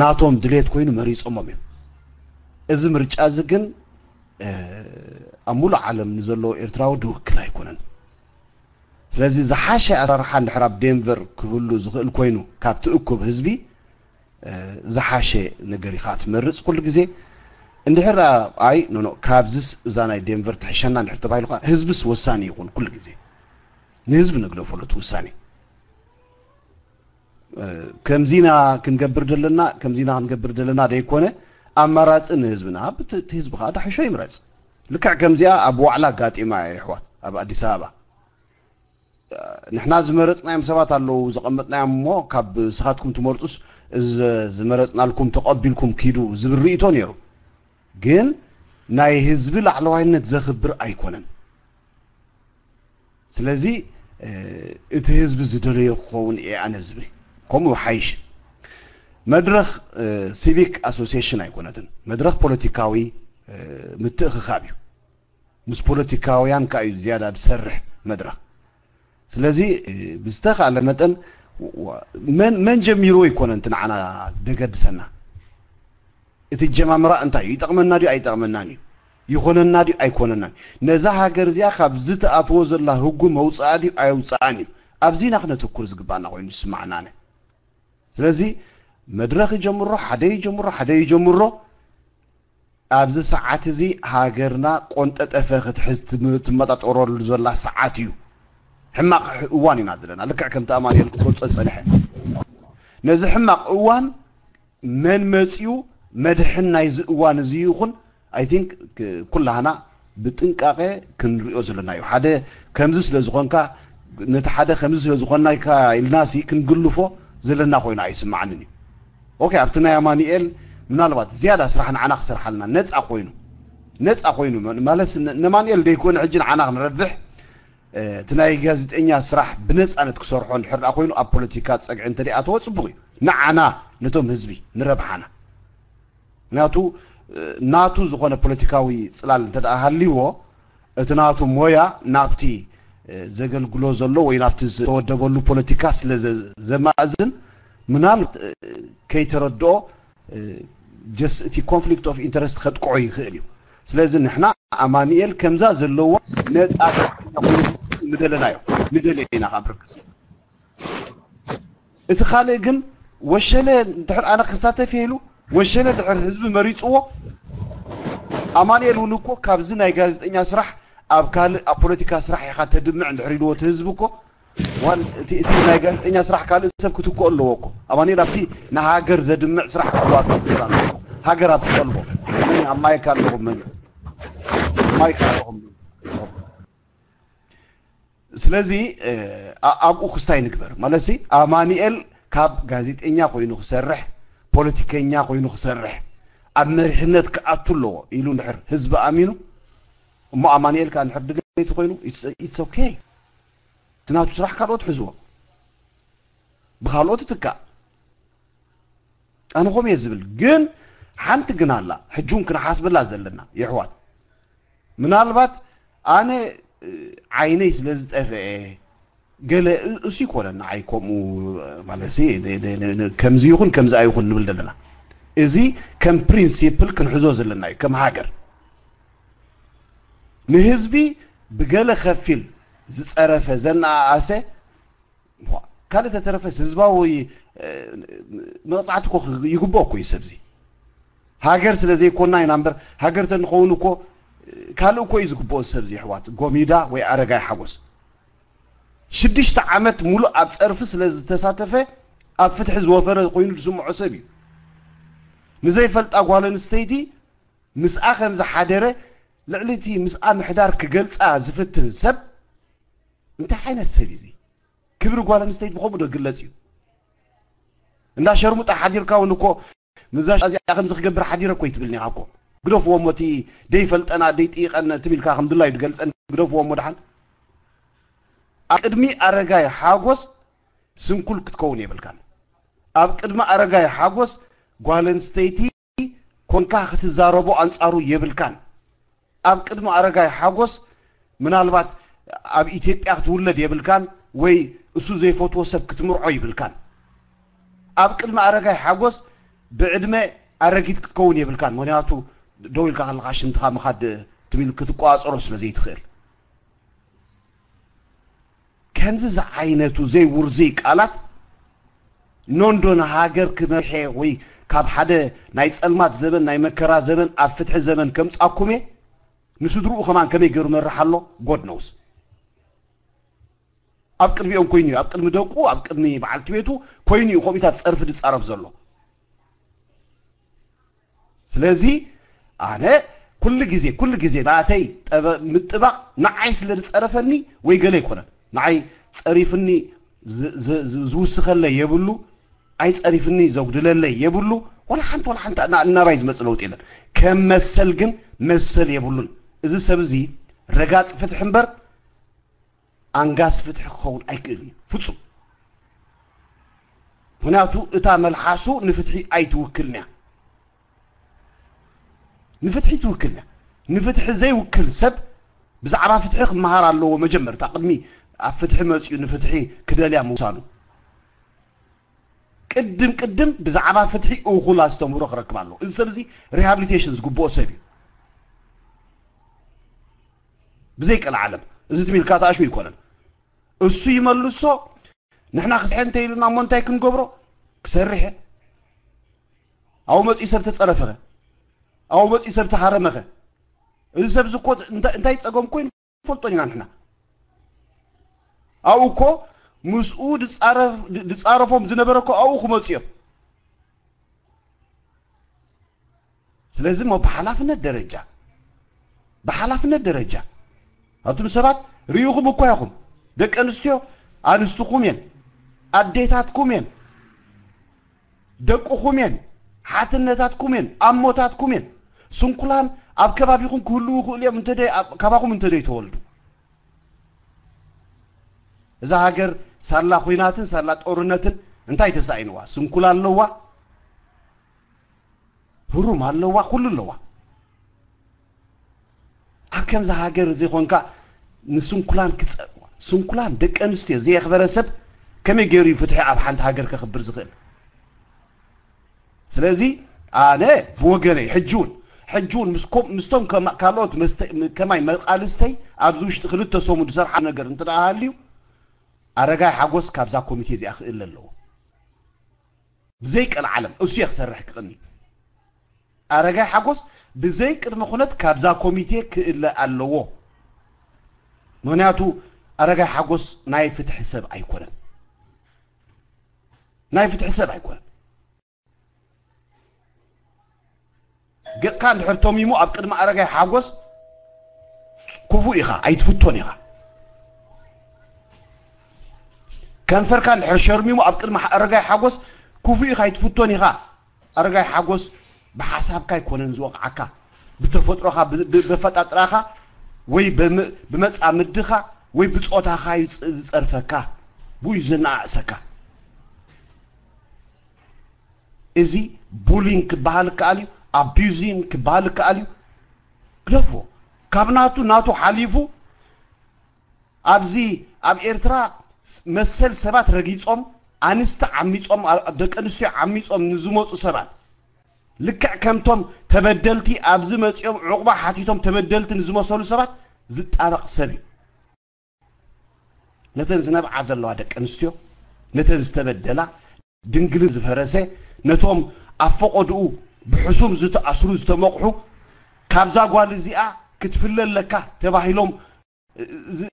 ናቶም ድሌት ኮይኑ መሪጾሞም እዮም። እዚ ምርጫ እዚ ግን ኣብ ሙሉእ ዓለም ንዘለዉ ኤርትራዊ ድውክል ኣይኮነን። ስለዚ ዝሓሸ ኣሰራርሓ እንድሕር ኣብ ዴንቨር ክህሉ ዝኽእል ኮይኑ ካብቲ እኩብ ህዝቢ ዝሓሸ ነገር ኢኻ ትመርጽ ኩሉ ግዜ። እንድሕር ኣይ ኖ ኖ ካብዚስ እዛ ናይ ዴንቨር ትሕሸና እንድሕር ተባሂሉ ከዓ ህዝብስ ወሳኒ ይኹን ኩሉ ግዜ። ንህዝቢ ንግደፈሉ እቲ ውሳኔ። ከምዚና ክንገብር ዘለና ከምዚና ክንገብር ዘለና ደይኮነ ኣማራፂ ንህዝብና እቲ ህዝቢ ከዓ ዳሕሾ ይምረፅ። ልክዕ ከምዚኣ ኣብ ዋዕላ ኣጋጢማ እያ ይሕዋት ኣብ ኣዲስ ኣበባ። ንሕና ዝመረፅናዮም ሰባት ኣለዉ ዘቐመጥናዮም እሞ ካብ ስኻትኩም ትመርፁስ ዝመረፅናልኩም ተቐቢልኩም ኪዱ ዝብል ርእቶ ነይሩ። ግን ናይ ህዝቢ ላዕለዋይነት ዘኽብር ኣይኮነን። ስለዚ እቲ ህዝቢ ዝደለዮ ክኸውን እየ ኣነ ዝብል ከምኡ ሓይሽ። መድረኽ ሲቪክ ኣሶሲሽን ኣይኮነትን። መድረኽ ፖለቲካዊ ምትእኽኻብ እዩ። ምስ ፖለቲካውያን ከዓ እዩ ዝያዳ ዝሰርሕ መድረኽ። ስለዚ ብዝተኻለ መጠን መን ጀሚርዎ ይኮነን እቲ ንዓና ደገድሰና። እቲ ጀማምራ እንታይ እዩ? ይጠቕመና ድዩ ኣይጠቕመናን እዩ? ይኾነና ድዩ ኣይኮነናን? ነዛ ሃገር እዚኣ ካብ ዝትኣትዎ ዘላ ህጉ መውፅኣ ድዩ ኣየውፅኣን እዩ? ኣብዚና ክነተኩር ዝግባና ኮይኑ ዝስማዕና ኣነ። ስለዚ መድረኽ ይጀምሮ ሓደ ይጀምሮ ሓደ ይጀምሮ ኣብዚ ሰዓት እዚ ሃገርና ቆንጠጠፈ ክትሕዝ ትመጣጠረሉ ዘላ ሰዓት እዩ። ሕማቕ እዋን ኢና ዘለና ልክዕ ከምቲ ኣማኑኤል ክገልጾ ዝጸንሐ ነዚ ሕማቕ እዋን መን መጽዩ መድሕን ናይዚ እዋን እዚ ይኹን I think ኩላህና ብጥንቃቐ ክንሪኦ ዘለና እዩ። ሓደ ከምዚ ስለ ዝኾንካ ነቲ ሓደ ከምዚ ስለ ዝኾናካ ኢልናሲ ክንግልፎ ዘለና ኮይኑ ኣይስማዓንን እዩ። ኦኬ ኣብቲ ናይ ኣማኑኤል ምናልባት ዝያዳ ስራሕ ንዓና ክሰርሓልና ነፃ ኮይኑ ነፃ ኮይኑ ማለት ነማኑኤል ደይኮነ ሕጂ ንዓና ክንረብሕ እቲ ናይ ጋዜጠኛ ስራሕ ብነፃነት ክሰርሖ እንድሕር ደኣ ኮይኑ ኣብ ፖለቲካ ፀግዒ እንተደኣ ተወ ፅቡቅ እዩ። ንዓና ነቶም ህዝቢ ንረብሓና ምክንያቱ ናቱ ዝኾነ ፖለቲካዊ ፅላል እንተ ደኣ ሃልይዎ እቲ ናቱ ሞያ ናብቲ ዘገልግሎ ዘሎ ወይ ናብቲ ዝተወደበሉ ፖለቲካ ስለ ዘማእዝን ምናልባት ከይተረድኦ just እቲ conflict of interest ከጥቅዖ ይኽእል እዩ። ስለዚ ንሕና ኣማኑኤል ከምዛ ዘለዎ ነፃ ጋዜጠኛ ኮይኑ ንደለናዮ ንደልዮ ኢና ካብ ርክስ እቲ ካልእ ግን ወሸለ ድሕር ኣነ ክሳተፍ ኢሉ ወሸለ ድሕር ህዝቢ መሪፅዎ ኣማኑኤል እውን እኮ ካብዚ ናይ ጋዜጠኛ ስራሕ ኣብ ካልእ ኣብ ፖለቲካ ስራሕ ኢኻ ተድምዕ እንድሕር ኢልዎ እቲ ህዝቢ እኮ ዋን እቲ እቲ ናይ ጋዜጠኛ ስራሕ ካልእ ሰብ ክትክኦ ኣለዎ እኮ ኣማኑኤል ኣብቲ ንሃገር ዘድምዕ ስራሕ ክዋፈ ሃገር ኣብ ትጠልቦ መን ኣብ ማይክ ኣለኹም መን ኣብ ማይክ ኣለኹም ስለዚ ኣብኡ ክስታይ ንግበር ማለት ኣማኑኤል ካብ ጋዜጠኛ ኮይኑ ክሰርሕ ፖለቲከኛ ኮይኑ ክሰርሕ ኣብ መሪሕነት ክኣቱ ኣለዎ ኢሉ እንድሕር ህዝቢ ኣሚኑ እሞ ኣማኑኤል ከዓ እንድሕር ድሌቲ ኮይኑ it's okay እቲ ናቱ ስራሕ ካልኦት ሕዝዎ ብካልኦት ትካእ ኣነ ከምኡ እየ ዝብል ግን ሓንቲ ግን ኣላ ሕጂ እውን ክንሓስበላ ዘለና የሕዋት ምናልባት ኣነ ዓይነይ ስለ ዝጠፍአ ገለ እሱ ይኮነ ንዓይ ከምኡ ማለት ከምዚ ይኹን ከምዚ ኣይኹን ንብል ዘለና እዚ ከም ፕሪንሲፕል ክንሕዞ ዘለና እዩ ከም ሃገር ንህዝቢ ብገለ ከፊል ዝፀረፈ ዘነኣኣሰ ካልእ ተተረፈስ ህዝባዊ መቕፃዕቲ እኮ ይግብኦ እኮ እዩ ሰብዚ ሃገር ስለ ዘይኮና ኢና እምበር ሃገር ተንኸውን እኮ ካልእ እኮ እዩ ዝግብኦ ሰብዚ ኣሕዋት ጎሚዳ ወይ ኣረጋይ ሓጎስ ሽዱሽተ ዓመት ሙሉእ ኣብ ፀርፊ ስለ ዝተሳተፈ ኣብ ፍትሒ ዝወፈረ ኮይኑ ዝስምዖ ሰብ እዩ ንዘይፈልጣ ጓል ኣንስተይቲ ምስኣ ከም ዝሓደረ ልዕሊ እቲ ምስኣ ምሕዳር ክገልፃ ዝፍትን ሰብ እንታይ ዓይነት ሰብ እዩ ክብሪ ጓል ኣንስተይቲ ብኸምኡ ዶ ግለፅ እዩ እንዳ ሸርሙጣ ሓዲርካ እውን እኮ ምዛ እዚኣ ከምዚ ክገብር ሓዲረ እኮ ይትብልኒ ኢኻ እኮ ግደፍዎ እሞ እቲ ደይፈልጠና ደይጥይቐን ትም ኢልካ ከም ድላዩ ድገልፀን ግደፍዎ እሞ ድሓን ኣብ ቅድሚ ኣረጋይ ሓጎስ ስንኩል ክትከውን የብልካን ኣብ ቅድሚ ኣረጋይ ሓጎስ ጓል ኣንስተይቲ ኮንካ ክትዛረቦ ኣንጻሩ የብልካን። ኣብ ቅድሚ ኣረጋይ ሓጎስ ምናልባት ኣብ ኢትዮጵያ ክትውለድ የብልካን ወይ እሱ ዘይፈትዎ ሰብ ክትምርዖ ይብልካን። ኣብ ቅድሚ ኣረጋይ ሓጎስ ብዕድመ ኣረጊት ክትከውን የብልካን። ምክንያቱ ደው ኢልካ ከለካ ሽንትኻ ምኻድ ትብል ክትቆጻጸሮ ስለ ዘይትኽእል። ከምዚ ዝዓይነቱ ዘይውርዙይ ቃላት ኖንዶ ንሃገር ክመርሐ ወይ ካብ ሓደ ናይ ጸልማት ዘበን፣ ናይ መከራ ዘበን ኣብ ፍትሒ ዘበን ከምጻኩም እየ፣ ንስድርኡ ከማን ከመይ ገይሩ መርሕ ኣሎ? God knows። ኣብ ቅድሚኦም ኮይኑ እዩ፣ ኣብ ቅድሚ ደቁ፣ ኣብ ቅድሚ በዓልቲ ቤቱ ኮይኑ እዩ ከምኡታት ጸርፊ ዝጻረፍ ዘሎ። ስለዚ ኣነ ኩሉ ግዜ፣ ኩሉ ግዜ ናተይ ጠበ-፣ ምጥባቕ ንዓይ ስለ ዝጸረፈኒ ወይ ገለ ኣይኮነን። ንዓይ ጸሪፍኒ ዝ-፣ ዝ-፣ ዝ-፣ ዝውስኸለይ የብሉ፣ ኣይጸሪፍኒ ዘጉድለለይ የብሉ። ወላ ሓንቲ፣ ወላ ሓንቲ እና-፣ እናባይ ዝመጽእ ለውጢ የለን። ከም መሰል ግን መሰል የብሉን። እዚ ሰብ እዚ ረጋጽ ፍትሒ እምበር ኣንጋስ ፍትሒ ክኸውን ኣይክእልን እዩ፣ ፍጹም። ምክንያቱ እታ መልሓሱ ንፍትሒ ኣይትውክልን እያ። ንፍትሒ ትውክልን እያ። ንፍትሒ ዘይውክል ሰብ ብዛዕባ ፍትሒ ክመሃር ኣለዎ። መጀመርታ ቅድሚ ኣብ ፍትሒ መጺኡ ንፍትሒ ክደልያ ምውሳኑ። ቅድም ቅድም ብዛዕባ ፍትሒ እኹል ኣስተምህሮ ክረክብ ኣለዎ። እዚ ሰብ እዚ ሪሃብሊቴሽን ዝግብኦ ሰብ እዩ። ብዘይ ቀልዓለም። እዚ ትም ኢልካ ተኣሽሙ ኣይኮነን። እሱ ይመልሶ። ንሕና ክስሐ እንተ ኢሉና እሞ እንታይ ክንገብሮ? ክሰርሕ እየ። ኣብኡ መጺኡ ሰብ ተጸረፈኸ? ኣብኡ መጺኡ ሰብ ተሃረመኸ? እዚ ሰብ እዚ እኮ እንታ-፣ እንታይ ጸገም ኮይኑ ፈልጦን ኢና ንሕና። ኣብኡ እኮ ምስኡ ድጻረፍ-፣ ድጻረፎም ዝነበረ እኮ ኣብኡ ክመጹ እዮም። ስለዚ እሞ ብሓላፍነት ደረጃ፣ ብሓላፍነት ደረጃ ኣቱም ሰባት ርኢኹም እኮ ኢኹም። ደቂ ኣንስትዮ ኣንስትኹም እየን፣ ኣዴታትኩም እየን፣ ደቅኹም እየን፣ ሓትነታትኩም እየን፣ ኣሞታትኩም እየን። ስንኩላን ኣብ ከባቢኹም ክህልዉ ይኽእሉ እዮም እንተ ደይ-፣ ኣብ-፣ ካባኹም እንተ ደይተወልዱ። እዛ ሃገር ሳላ ኹናትን ሳላ ጦርነትን እንታይ ተሳኢንዋ? ስንኩላን ኣለዋ፣ ህሩም ኣለዋ፣ ኩሉ ኣለዋ። ኣብ ከምዚ ሃገር እዚ ኾንካ ንስንኩላን ክጸ-፣ ስንኩላን ደቂ ኣንስትዮ ዘየኽበረ ሰብ ከመይ ገይሩ እዩ ፍትሒ ኣብ ሓንቲ ሃገር ከኽብር ዝኽእል? ስለዚ ኣነ ብወገነይ ሕጂ እውን፣ ሕጂ እውን ምስ ኮም-፣ ምስቶም ከማ-፣ ካልኦት መስተ-፣ ከማይ መቃልስተይ ኣብዚ ውሽጢ ክልተ ሰሙን ዝሰርሓ ነገር እንተ ደኣ ሃልዩ፣ ኣረጋይ ሓጎስ ካብዛ ኮሚቴ እዚኣ ክእለ ኣለዎ። ብዘይ ቀልዓለም እሱ እየ ክሰርሕ ክቕኒ። ኣረጋይ ሓጎስ ብዘይ ቅድመ ኩነት ካብዛ ኮሚቴ ክእለ ኣለዎ። ምክንያቱ ኣረጋይ ሓጎስ ናይ ፍትሒ ሰብ ኣይኮነን። ናይ ፍትሒ ሰብ ኣይኮነን። ገጽካ እንድሕር ተሚሙ ኣብ ቅድሚ ኣረጋይ ሓጎስ ክፉእ ኢኻ፣ ኣይትፍቶን ኢኻ። ከንፈርካ እንድሕር ሸርሚሙ ኣብ ቅድሚ ኣረጋይ ሓጎስ ክፉእ ኢኻ፣ ኣይትፍቶን ኢኻ። ኣረጋይ ሓጎስ ብሓሳብካ ኣይኮነን ዝወቕዓካ፣ ብተፈጥሮኻ፣ ብ-፣ ብ-፣ በፈጣጥራኻ ወይ በም-፣ ብመጻምድኻ ወይ ብጾታኻ እዩ ዝጸ-፣ ዝጸርፈካ፣ ብኡ እዩ ዘነኣእሰካ። እዚ ቡሊን ክበሃል ይከኣል እዩ፣ ኣቢዩዚን ክበሃል ይከኣል እዩ። ግደፍዎ። ካብ ናቱ፣ ናቱ ሓሊፉ ኣብዚ ኣብ ኤርትራ ስ-፣ መሰል ሰባት ረጊጾም፣ ኣንስቲ ዓሚጾም፣ ኣ-፣ ደቂ ኣንስትዮ ዓሚጾም ንዝመጹ ሰባት፣ ልክዕ ከምቶም ተበደልቲ ኣብዚ መጺኦም ዑቕባ ሓቲቶም ተበደልቲ ንዝመሰሉ ሰባት ዝጣበቕ ሰብ እዩ። ነተን ዝነብዓ ዘለዋ ደቂ ኣንስትዮ፣ ነተን ዝተበደላ፣ ድንግልን ዝፈረሰ፣ ነቶም ኣብ ፈቐድኡ ብሕሱም ዝተኣስሩ፣ ዝተመቕሑ፣ ካብዛ ጓል እዚኣ ክትፍለ ኣለካ ተባሂሎም፣ እ-፣ ዝ-፣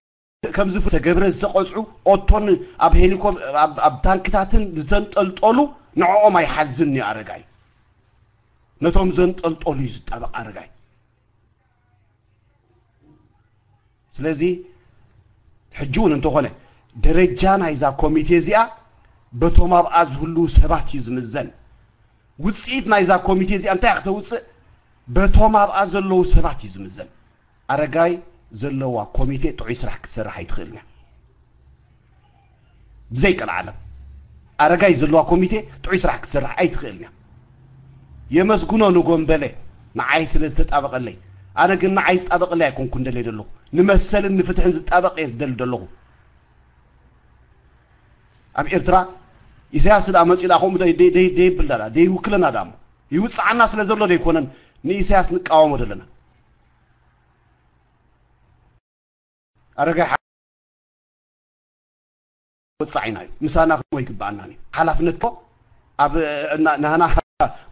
ከም ዝፍ-፣ ተገብረ ዝተቐጽዑ፣ ኦቶን ኣብ ሄሊኮፕ-፣ ኣብ፣ ኣብ ታንክታትን ዝተንጠልጠሉ፣ ንዕኦም ኣይሓዝን እዩ ኣረጋይ። ነቶም ዘንጠልጠሉ እዩ ዝጣበቕ ኣረጋይ። ስለዚ ሕጂ እውን እንተኾነ ደረጃ ናይዛ ኮሚቴ እዚኣ በቶም ኣብኣ ዝህልዉ ሰባት እዩ ዝምዘን። ውጽኢት ናይዛ ኮሚቴ እዚኣ እንታይ እያ ክተውጽእ? በቶም ኣብኣ ዘለዉ ሰባት እዩ ዝምዘን። ኣረጋይ ዘለዋ ኮሚቴ ጥዑይ ስራሕ ክትሰርሕ ኣይትኽእልን እያ። ብዘይ ቀልዓለም ኣረጋይ ዘለዋ ኮሚቴ ጥዑይ ስራሕ ክትሰርሕ ኣይትኽእልን እያ። የመስግኖ ንጎንበለ ንዓይ ስለ ዝተጣበቐለይ። ኣነ ግን ንዓይ ዝጣበቐለይ ኣይኮንኩን ደልየ ዘለኹ። ንመሰልን ንፍትሕን ዝጣበቕ እየ ዝደሊ ዘለኹ። ኣብ ኤርትራ ኢሳያስ ደኣ መጺኡ ደኣ ከምኡ ደይ- ደይ- ደይ- ደይብል ደኣ ደይውክለና ደኣ እሞ ይውጽዓና ስለ ዘሎ ደይኮነን ንኢሳያስ ንቃወሞ ዘለና። ኣረጋይ ሓ- ወጻዒና እዩ። ምሳና ክህልዎ ኣይግባኣናን እዩ። ሓላፍነት እኮ ኣብ እና- ናህና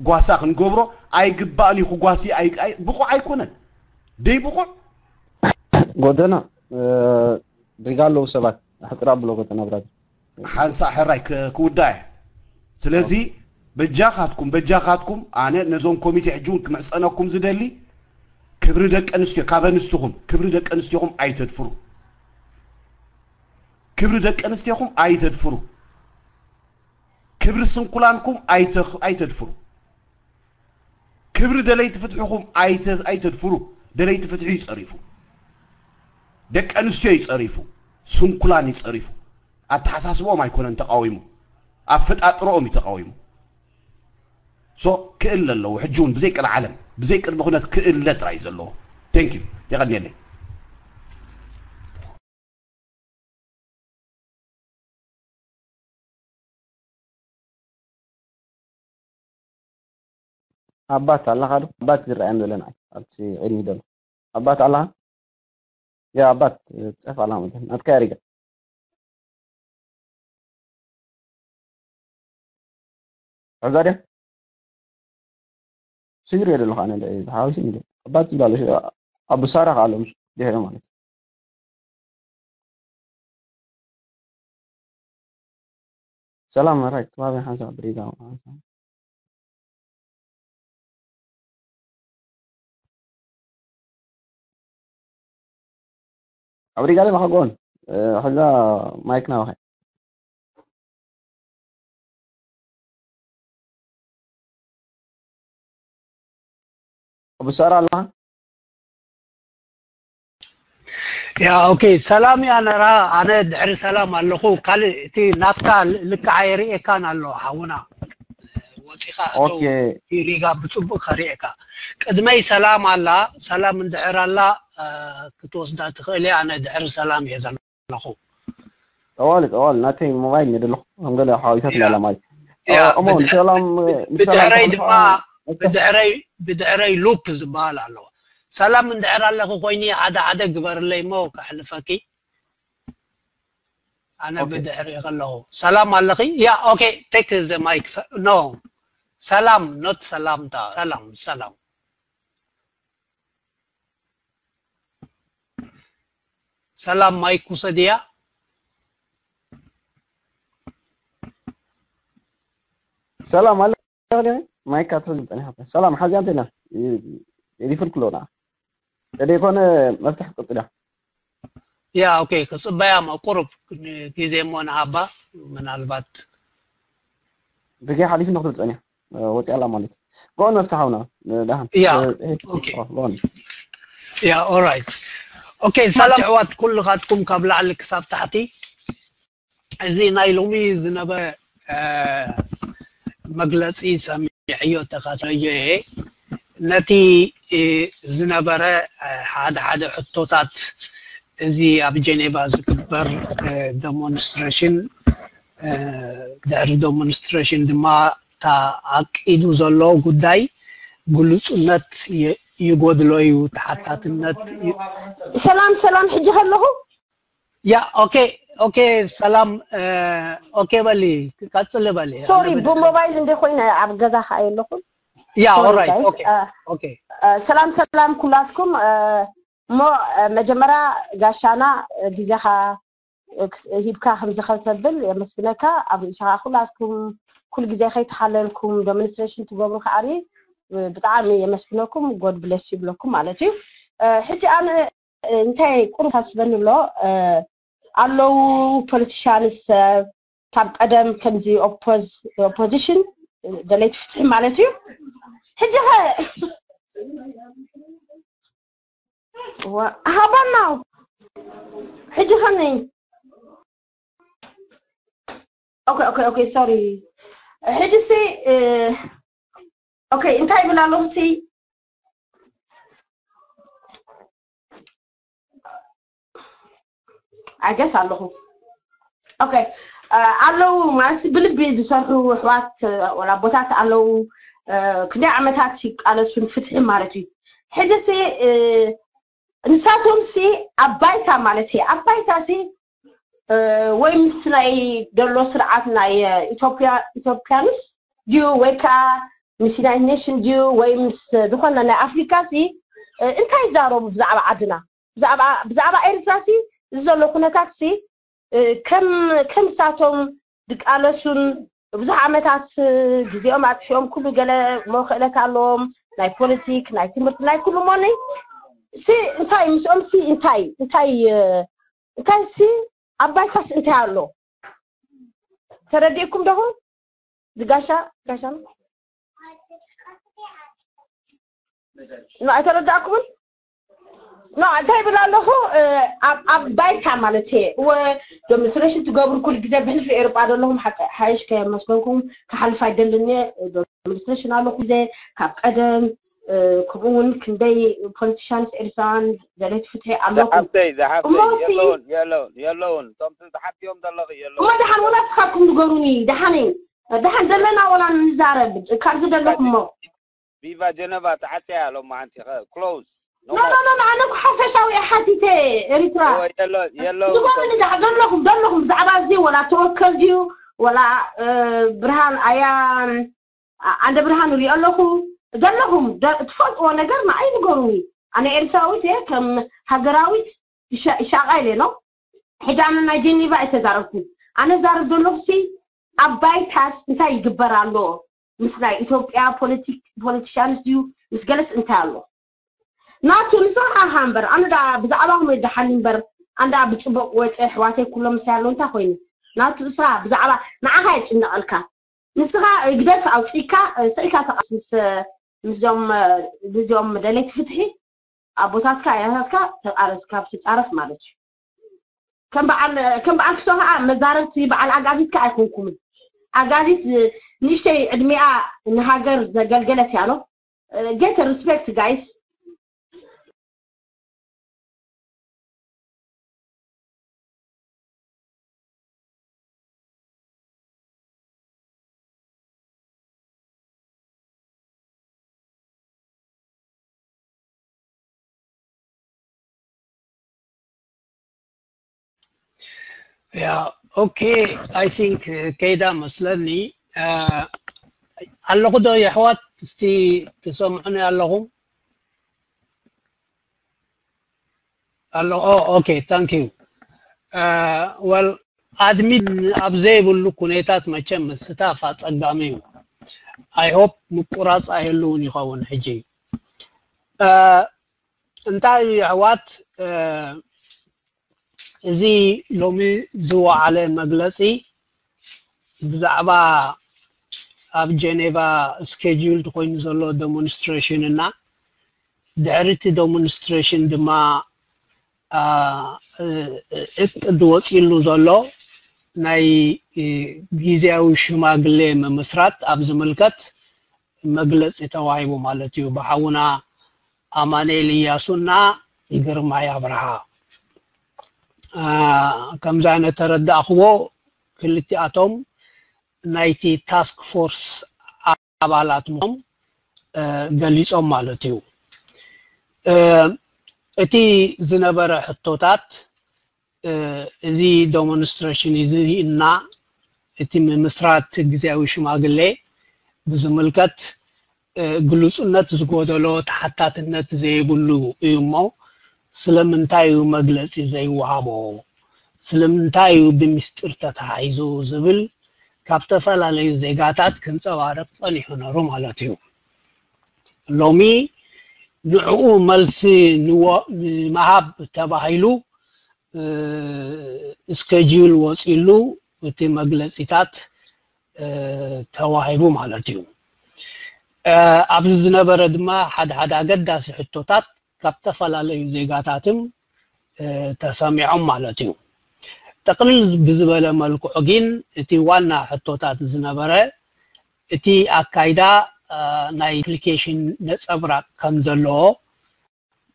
ጓሳ ክንገብሮ ኣይግባእን እዩ። ክጓሲ ኣይ- ኣይ- ብቑዕ ኣይኮነን። ደይ ብቑዕ ጎደና እ፣ ሪጋ ኣለዉ ሰባት ኣሕፅር ኣብሎ ጎደና ብራዘር። ሓንሳእ ሕራይ ክ- ክውዳእ እየ። ስለዚ በጃኻትኩም በጃኻትኩም ኣነ ነዞም ኮሚቴ ሕጂ እውን ክምሕፀነኩም ዝደሊ ክብሪ ደቂ ኣንስትዮ ካብ ኣንስትኹም ክብሪ ደቂ ኣንስትዮኹም ኣይተድፍሩ። ክብሪ ደቂ ኣንስትዮኹም ኣይተድፍሩ። ክብሪ ስንኩላንኩም ኣይተ- ኣይተድፍሩ። ክብሪ ደለይቲ ፍትሕኹም ኣይተ- ኣይተድፍሩ። ደለይቲ ፍትሒ እዩ ፀሪፉ። ደቂ ኣንስትዮ እዩ ፀሪፉ። ስንኩላን እዩ ፀሪፉ። ኣተሓሳስቦም ኣይኮነን ተቃዊሙ፣ ኣፈጣጥሮኦም እዩ ተቃዊሙ። ሶ ክእለ ኣለዎ ሕጂ እውን ብዘይ ቀልዓለም ብዘይ ቅድሚ ኩነት ክእለ ጥራይ እዩ ዘለዎ። Thank you፣ የቀንየለይ። ኣባት ኣለኻ ዶ? ኣባት ዝረኣየም ዘለና ኣብቲ ቅድሚ ዘሎ ኣባት ኣለኻ? ያ ኣባት ትጸፍ ኣላ ማለት ናትካ ያሪጋ ሕዛ ድያ ሽግር የደለኹ ኣነ ሓዊሱ ሚ ኣባት ዝብላሉ ኣቡ ሳራ ከዓ ኣሎ ምስ ድሕሪ ማለት ሰላም ራይት ከባቢ ሓንሳብ ብሪጋ ኣብ ሪጋ ኣለኻ ጎን ሕዛ ማይክ ናባኸ ብሰራ ኣለኻ ያ ኦኬ ሰላም ያ ነራ ኣነ ድሕሪ ሰላም ኣለኹ ካልእ እቲ ናትካ ልክዓ የርእየካን ኣሎ ሓውና ወፂኻ እቶ ሪጋ ብፅቡቅ ከሪእካ ቅድመይ ሰላም ኣላ ሰላም እንድሕር ኣላ ክትወስዳ ትኽእል እያ ኣነ ድሕሪ ሰላም እየ ዘለኹ ጠዋሊ ጠዋሊ ናተይ ሞባይል ነደለኹ ከም ገለ ሓዋዊሳት ናላ ማለት እሞ ሰላም ብድሕረይ ድማ ብድሕረይ ብድሕረይ ሉፕ ዝበሃል ኣለዎ ሰላም እንድሕር ኣለኺ ኮይኒ ሓደ ሓደ ግበርለይ እሞ ከሕልፈኪ ኣነ ብድሕሪ ከለኹ ሰላም ኣለኺ ያ ኦኬ take the mic no ሰላም not ሰላምታ ሰላም ሰላም ሰላም ማይክ ውሰድያ ሰላም ኣለ ማይክ ኣትሕዝ ጸኒሓ ሰላም ሓዚያ እንተና ሪፍል ክሎና ተደይኮነ መፍትሕ ክትቅጽል እያ ያ ኦኬ ክጽበያ ማ ቁሩብ ግዜ እሞ ንሃባ ምናልባት ብገይ ሓሊፍ ንክትብል ጸኒያ ወፂያ ኣላ ማለት ጎን መፍትሕ ሃውና ደሃን ያ ኦራይት ኦኬ ሰላም ኣሕዋት ኩልኻትኩም ካብ ላዕሊ ክሳብ ታሕቲ እዚ ናይ ሎሚ ዝነበረ መግለፂ ሰሚዐዮ ተኸታተለዮ እየ ነቲ ዝነበረ ሓደ ሓደ ሕቶታት እዚ ኣብ ጀኔቫ ዝግበር ዴሞንስትሬሽን ድሕሪ ዴሞንስትሬሽን ድማ ተኣቂዱ ዘሎ ጉዳይ ግሉፁነት ይጎድሎ እዩ ተሓታትነት ሰላም ሰላም ሕጂ ከለኹ ያ ኦኬ ኦኬ ሰላም ኦኬ በሊ ቀጽሊ በሊ ሶሪ ብሞባይል እንደ ኮይነ ኣብ ገዛ ከኣ የለኹም ያ ኦራይት ኦኬ ኦኬ ሰላም ሰላም ኩላትኩም እሞ መጀመርያ ጋሻና ግዜኻ ሂብካ ከምዚ ከተብል የመስግነካ ኣብ ርእስኻ ኩላትኩም ኩል ግዜ ከይተሓለልኩም ዶሚኒስትሬሽን ትገብሩ ከዓኒ ብጣዕሚ የመስግነኩም ጎድ ብለስ ይብለኩም ማለት እዩ ሕጂ ኣነ እንታይ ቁሩብ ታስበኒ ኣሎ ኣለዉ ፖለቲሻንስ ሰብ ካብ ቀደም ከምዚ ኦፖዚሽን ደለይቲ ፍትሒ ማለት እዩ ሕጂ ኸ ሃባና ሕጂ ኸኒ ኦኬ ኦኬ ኦኬ ሶሪ ሕጂ ሲ ኦኬ እንታይ ይብል ኣለኹ ሲ I guess ኣለኹ okay ኣለዉ ማለት ብልቢ ዝሰርሑ ኣሕዋት ወላ ኣቦታት ኣለዉ። ክንደይ ዓመታት ይቃለሱ ንፍትሒ ማለት እዩ። ሕጂ ሲ ንሳቶም ሲ ኣብ ባይታ ማለት እዩ ኣብ ባይታ ሲ ወይ ምስ ናይ ደሎ ስርዓት ናይ ኢትዮጵያ ኢትዮጵያንስ ድዩ ወይ ከዓ ምስ ዩናይትድ ኔሽን ድዩ ወይ ምስ ዝኾነ ናይ ኣፍሪካ ሲ እንታይ ይዛረቡ ብዛዕባ ዓድና ብዛዕባ ኤርትራ ሲ እዚ ዘሎ ኩነታት ሲ ከም ከም ሳቶም ድቃለሱን ብዙሕ ዓመታት ግዜኦም ኣጥፊኦም ኩሉ ገለ ሞ ክእለት ኣለዎም ናይ ፖለቲክ ናይ ትምህርቲ ናይ ኩሉ ሞኒ ሲ እንታይ ምስኦም ሲ እንታይ እንታይ እንታይ ሲ ኣብ ባይታስ እንታይ ኣሎ ተረዲእኩም ደኹም ዝጋሻ ጋሻ ኣይተረዳእኩምን ኖ እንታይ ይብል ኣለኹ ኣብ ባይታ ማለት እየ እወ ዶሚኒስትሬሽን ትገብሩ ኩሉ ግዜ ብሕልፊ ኤርጳ ዘለኹም ሓይሽ ከመስገንኩም ክሓልፍ ኣይደልን እየ ዶሚኒስትሬሽን ኣለኹ ግዜ ካብ ቀደም ከምኡ እውን ክንደይ ፖለቲሽያንስ ኤርትራውያን ደለይቲ ፍትሒ ኣለኹም እሞ ሲ የለውን እቶም ዝሓትዮም ዘለኹ የለውን እሞ ደሓን ወላ ስኻትኩም ንገሩኒ ደሓነይ ደሓን ደለና ወላ ንዛረብ ካብዚ ደለኹም እሞ ቪቫ ጀነቫ ተዓፅያ ሎማዓንቲ close ኖ ኖ ኖ ኣነ እኮ ሓፈሻዊ እየ ሓቲተ ኤሪትራ ንገሩኒ ደለኹም ደለኹም ብዛዕባ እዚ ወላ ተወከል ድዩ ወላ ብርሃን ኣያ ኣንደ ብርሃን ሪኦ ኣለኹ ደለኹም ትፈልጥዎ ነገር ንዓይ ንገሩኒ ኣነ ኤርትራዊት እየ ከም ሃገራዊት ይሻቃ ኢለ ኖ ሕጂ ኣነ ናይ ጀኒቫ እየ ተዛረብኩ ኣነ ዛረብ ደለኹ ሲ ኣብ ባይታስ እንታይ ይግበር ኣሎ ምስ ናይ ኢትዮጵያ ፖለቲሽያንስ ድዩ ምስ ገለስ እንታይ ኣሎ ናቱ ንስኻ ኢኻ እምበር ኣነ ዳ ብዛዕባኹም ደሓኒ እምበር ኣንዳ ብፅቡቅ ወፀ ኣሕዋተይ ኩሎም ምሳይ ኣለዉ እንታይ ኮይኑ ናቱ እሳ ብዛዕባ ንዓኻ የጭነቐልካ ንስኻ ግደፍ ኣውፅእካ ስእልካ ተቃስ ምስ ምስዞም ምስዞም ደለይቲ ፍትሒ ኣቦታትካ ኣያታትካ ተቃረስ ካብ ትፃረፍ ማለት እዩ ከም በዓል ከም በዓል ክሶ ከዓ መዛረብቲ በዓል ኣጋዚት ከዓ ኣይኮንኩምን ኣጋዚት ንእሽተይ ዕድሜኣ ንሃገር ዘገልገለት እያ ኖ get respect guys Yeah, okay. I think ከይዳ መስለኒ ኣለኹ ዶ የሕዋት እስቲ ትሰምዑኒ ኣለኹም ኣሎ okay thank you well admin ኣብ ዘይብሉ ኩነታት መቸም ምስታፍ ኣፀጋሚ እዩ I hope ምቁራፅ ኣይህልውን ይኸውን ሕጂ እንታይ እዩ ኣሕዋት እዚ ሎሚ ዝወዓለ መግለፂ ብዛዕባ ኣብ ጀኔቫ scheduled ኮይኑ ዘሎ demonstration እና ድሕሪ እቲ demonstration ድማ እቅድ ወፂሉ ዘሎ ናይ ግዝያዊ ሽማግሌ ምምስራት ኣብ ዝምልከት መግለፂ ተዋሂቡ ማለት እዩ ብሓውና ኣማኑኤል እያሱና ግርማይ ኣብርሃ ከምዛ ነተረዳእክዎ ክልቲኣቶም ናይቲ task force ኣባላት ምኾም ገሊፆም ማለት እዩ እቲ ዝነበረ ሕቶታት እዚ demonstration እዚ እና እቲ ምምስራት ግዝያዊ ሽማግሌ ብዝምልከት ግሉፅነት ዝጎደሎ ተሓታትነት ዘይብሉ እዩ እሞ ስለምንታይ እዩ መግለፂ ዘይወሃቦ ስለምንታይ እዩ ብምስጢር ተታሒዙ ዝብል ካብ ዝተፈላለዩ ዜጋታት ክንፀባረቅ ፀኒሑ ነሩ ማለት እዩ ሎሚ ንዕኡ መልሲ ንምሃብ ተባሂሉ schedule ወፂሉ እቲ መግለፂታት ተዋሂቡ ማለት እዩ ኣብዚ ዝነበረ ድማ ሓደ ሓደ ኣገዳሲ ሕቶታት ካብ ዝተፈላለዩ ዜጋታትም ተሰሚዖም ማለት እዩ ጠቅልል ብዝበለ መልክዑ ግን እቲ ዋና ሕቶታት ዝነበረ እቲ ኣካይዳ ናይ application ነፀብራቅ ከም ዘለዎ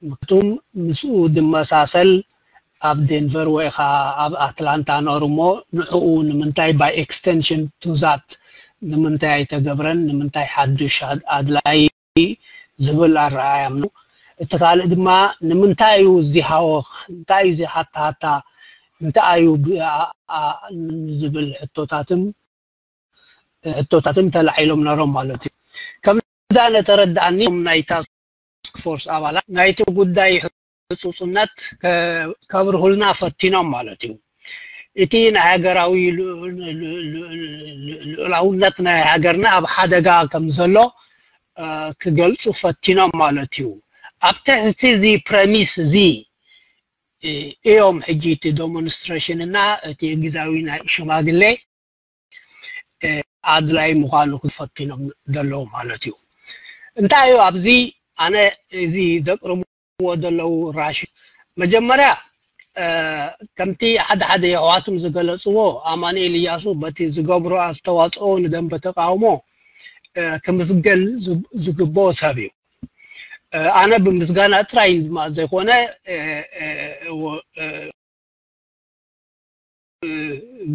ምክቱም ምስኡ ድመሳሰል ኣብ ዴንቨር ወይ ኸዓ ኣብ ኣትላንታ ነሩ እሞ ንዕኡ ንምንታይ by extension to that ንምንታይ ኣይተገብረን ንምንታይ ሓዱሽ ኣድላይ ዝብል ኣረኣእያ ኣሎ። እቲ ካልእ ድማ ንምንታይ እዩ እዚ ሃወኽ እንታይ እዩ እዚ ሃታሃታ እንታይ እዩ ዝብል ሕቶታትን ሕቶታትን ተላዒሎም ነሮም ማለት እዩ። ከምዛ ነተረዳእኒ ናይ task force ኣባላት ናይቲ ጉዳይ ህፁፅነት ከብርሁልና ፈቲኖም ማለት እዩ። እቲ ናይ ሃገራዊ ልኡላውነት ናይ ሃገርና ኣብ ሓደጋ ከም ዘሎ ክገልፁ ፈቲኖም ማለት እዩ። ኣብ ትሕቲ እዚ premise እዚ እዮም ሕጂ እቲ demonstration እና እቲ ግዛዊ ናይ ሽማግሌ ኣድላይ ምዃኑ ክፈትኖም ዘለዉ ማለት እዩ። እንታይ እዩ ኣብዚ ኣነ እዚ ዘቅርብዎ ዘለዉ ራሽ መጀመርያ ከምቲ ሓደ ሓደ የሕዋትም ዝገለፅዎ ኣማኑኤል እያሱ በቲ ዝገብሮ ኣስተዋፅኦ ንደንበ ተቃውሞ ክምስገን ዝግብኦ ሰብ እዩ። ኣነ ብምስጋና ጥራይ ድማ ዘይኮነ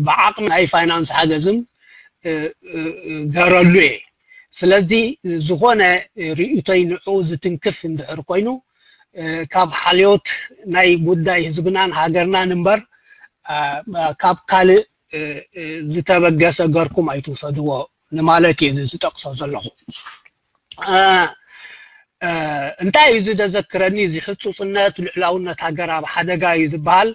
ብዓቕሚ ናይ ፋይናንስ ሓገዝም ገረሉ እየ። ስለዚ ዝኾነ ርእይቶይ ንዕኡ ዝትንክፍ እንድሕር ኮይኑ ካብ ሓልዮት ናይ ጉዳይ ህዝብናን ሃገርናን እምበር ካብ ካልእ ዝተበገሰ ገርኩም ኣይትውሰድዎ ንማለት እየ ዝጠቅሶ ዘለኹ። እንታይ እዩ እዚ ዘዘክረኒ እዚ ሕፁፅነት ልዕላውነት ሃገር ኣብ ሓደጋ እዩ ዝበሃል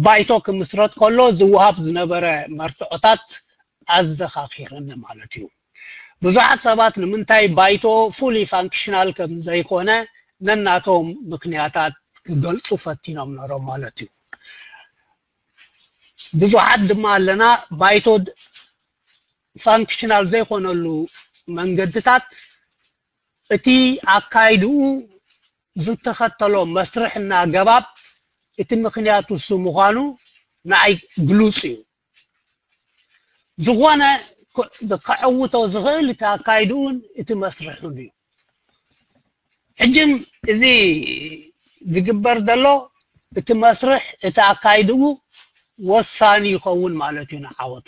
ባይቶ ክምስረት ከሎ ዝወሃብ ዝነበረ መርትዖታት ኣዘኻኺርኒ ማለት እዩ። ብዙሓት ሰባት ንምንታይ ባይቶ fully functional ከም ዘይኮነ ነናቶም ምክንያታት ክገልፁ ፈቲኖም ነሮም ማለት እዩ። ብዙሓት ድማ ኣለና ባይቶ functional ዘይኮነሉ መንገድታት እቲ ኣካይድኡ ዝተኸተሎ መስርሕና ኣገባብ እቲ ምክንያት እሱ ምዃኑ ንዓይ ግሉፅ እዩ። ዝኾነ ከዕውቶ ዝኽእል እቲ ኣካይድኡን እቲ መስርሑን እዩ። ሕጅም እዚ ዝግበር ዘሎ እቲ መስርሕ እቲ ኣካይድኡ ወሳኒ ይኸውን ማለት እዩ ንዓወቱ።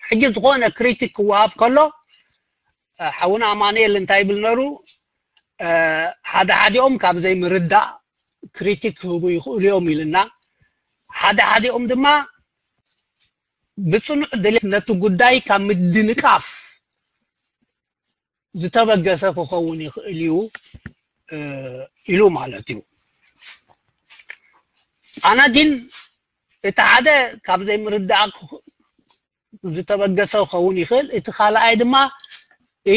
ሕጂ ዝኾነ ክሪቲክ ክወሃብ ከሎ ሓውና ኣማኑኤል እንታይ ይብል ነሩ ሓደ ሓዲኦም ካብ ዘይምርዳእ ክሪቲክ ክህቡ ይኽእሉ እዮም ኢልና ሓደ ሓዲኦም ድማ ብፅኑዕ ድሌት ነቲ ጉዳይ ካብ ምድንቃፍ ዝተበገሰ ክኸውን ይኽእል እዩ ኢሉ ማለት እዩ። ኣነ ግን እቲ ሓደ ካብ ዘይምርዳእ ዝተበገሰ ክኸውን ይኽእል። እቲ ካልኣይ ድማ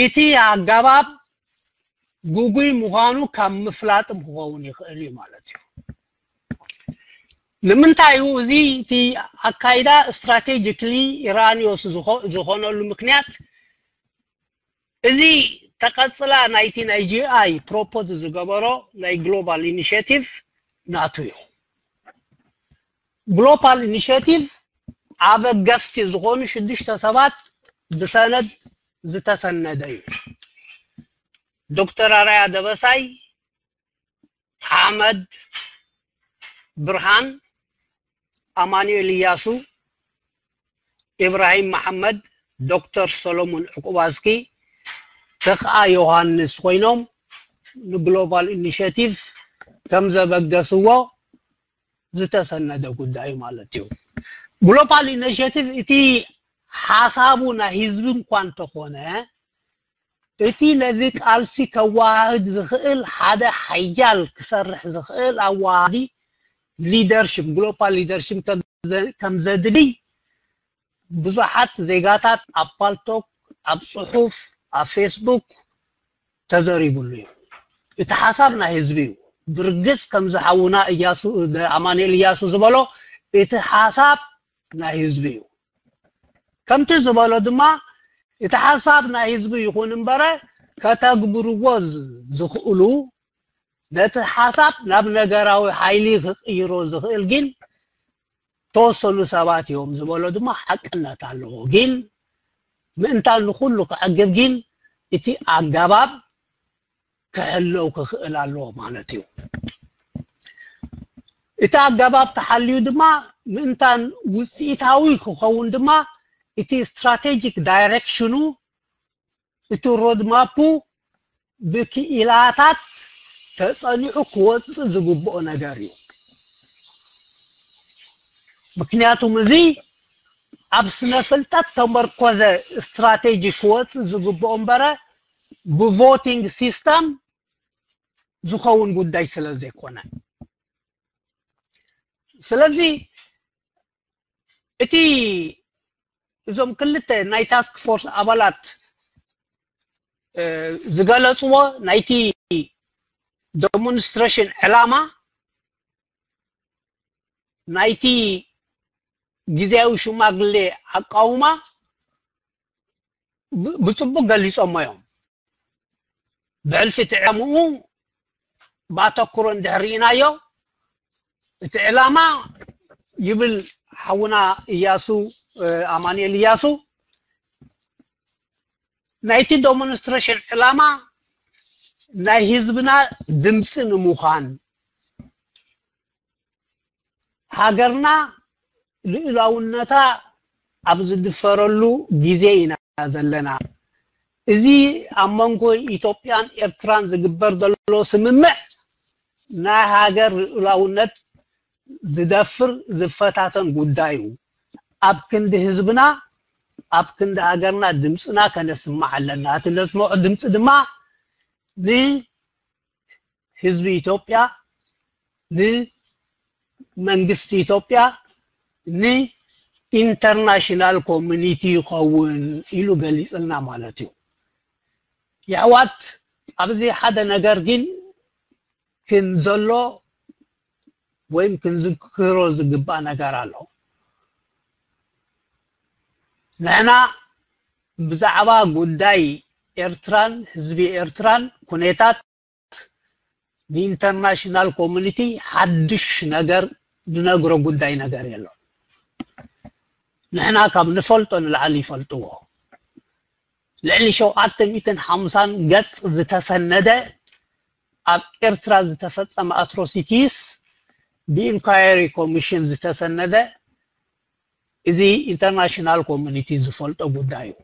እቲ ኣገባብ ጉጉይ ምዃኑ ካብ ምፍላጥም ክኸውን ይኽእል እዩ ማለት እዩ። ንምንታይ እዩ እዚ እቲ ኣካይዳ strategically erroneous ዝኾነሉ ምክንያት እዚ ተቐጽላ ናይቲ ናይ GI propose ዝገበሮ ናይ global initiative ናቱ እዩ። Global initiative ኣበገስቲ ዝኾኑ ሽዱሽተ ሰባት ብሰነድ ዝተሰነደ እዩ። ዶክተር ኣራያ ደበሳይ፣ ሓመድ ብርሃን፣ ኣማኑኤል እያሱ፣ ኢብራሂም መሓመድ፣ ዶክተር ሰሎሞን ዕቁባዝኪ፣ ተኽኣ ዮሃንስ ኮይኖም ን global initiative ከም ዘበገስዎ ዝተሰነደ ጉዳይ ማለት እዩ። Global initiative እቲ ሓሳቡ ናይ ህዝቢ እንኳ እንተኾነ እቲ ነዚ ቃልሲ ከወሃህድ ዝኽእል ሓደ ሓያል ክሰርሕ ዝኽእል ኣወሃሃዲ leadership global leadership ከም ዘድልይ ብዙሓት ዜጋታት ኣብ ፓልቶክ ኣብ ፅሑፍ ኣብ ፌስቡክ ተዘሪብሉ እዩ። እቲ ሓሳብ ናይ ህዝቢ እዩ። ብርግፅ ከም ዝሓውና እያሱ ኣማኑኤል እያሱ ዝበሎ እቲ ሓሳብ ናይ ህዝቢ እዩ። ከምቲ ዝበሎ ድማ እቲ ሓሳብ ናይ ህዝቢ ይኹን እምበረ ከተግብርዎ ዝኽእሉ ነቲ ሓሳብ ናብ ነገራዊ ሓይሊ ክቕይሮ ዝኽእል ግን ተወሰኑ ሰባት እዮም ዝበሎ ድማ ሓቅነት ኣለዎ። ግን ምእንታን ንኹሉ ክዕግብ ግን እቲ ኣገባብ ክሕለው ክኽእል ኣለዎ ማለት እዩ። እቲ ኣገባብ ተሓልዩ ድማ ምእንታን ውፅኢታዊ ክኸውን ድማ እቲ ስትራቴጂክ ዳይሬክሽኑ እቲ ሮድማፑ ብክኢላታት ተጸኒዑ ክወጽእ ዝግብኦ ነገር እዩ። ምክንያቱም እዚ ኣብ ስነ ፍልጠት ተመርኮዘ ስትራቴጂ ክወጽእ ዝግብኦ እምበረ ብቮቲንግ ሲስተም ዝኸውን ጉዳይ ስለ ዘይኮነ ስለዚ እቲ እዞም ክልተ ናይ ታስክ ፎርስ ኣባላት ዝገለፅዎ ናይቲ ዴሞንስትሬሽን ዕላማ ናይቲ ግዜያዊ ሽማግሌ ኣቃውማ ብፅቡቅ ገሊፆሞ እዮም። ብሕልፊ እቲ ዕላምኡ ብኣተኩሮ እንድሕር ርኢናዮ እቲ ዕላማ ይብል ሓውና እያሱ ኣማኑኤል እያሱ ናይቲ ዴሞንስትሬሽን ዕላማ ናይ ህዝብና ድምፂ ንምዃን ሃገርና ልኡላውነታ ኣብ ዝድፈረሉ ግዜ ኢና ዘለና። እዚ ኣብ መንጎ ኢትዮጵያን ኤርትራን ዝግበር ዘሎ ስምምዕ ናይ ሃገር ልኡላውነት ዝደፍር ዝፈታተን ጉዳይ እዩ። ኣብ ክንዲ ህዝብና ኣብ ክንዲ ሃገርና ድምፅና ከነስማዕ ኣለና። እቲ ነስምዖ ድምፂ ድማ ንህዝቢ ኢትዮጵያ፣ ንመንግስቲ ኢትዮጵያ፣ ንኢንተርናሽናል ኮሚኒቲ ይኸውን ኢሉ ገሊፅልና ማለት እዩ። የሕዋት ኣብዚ ሓደ ነገር ግን ክንዘሎ ወይም ክንዝክሮ ዝግባእ ነገር ኣሎ። ንሕና ብዛዕባ ጉዳይ ኤርትራን ህዝቢ ኤርትራን ኩነታት ንኢንተርናሽናል ኮሚኒቲ ሓድሽ ነገር ንነግሮ ጉዳይ ነገር የሎን። ንሕና ካብ ንፈልጦ ንላዕሊ ይፈልጥዎ። ልዕሊ ሸውዓተ ሚእትን ሓምሳን ገጽ ዝተሰነደ ኣብ ኤርትራ ዝተፈጸመ ኣትሮሲቲስ ብኢንኳየሪ ኮሚሽን ዝተሰነደ እዚ ኢንተርናሽናል ኮሚኒቲ ዝፈልጦ ጉዳይ እዩ።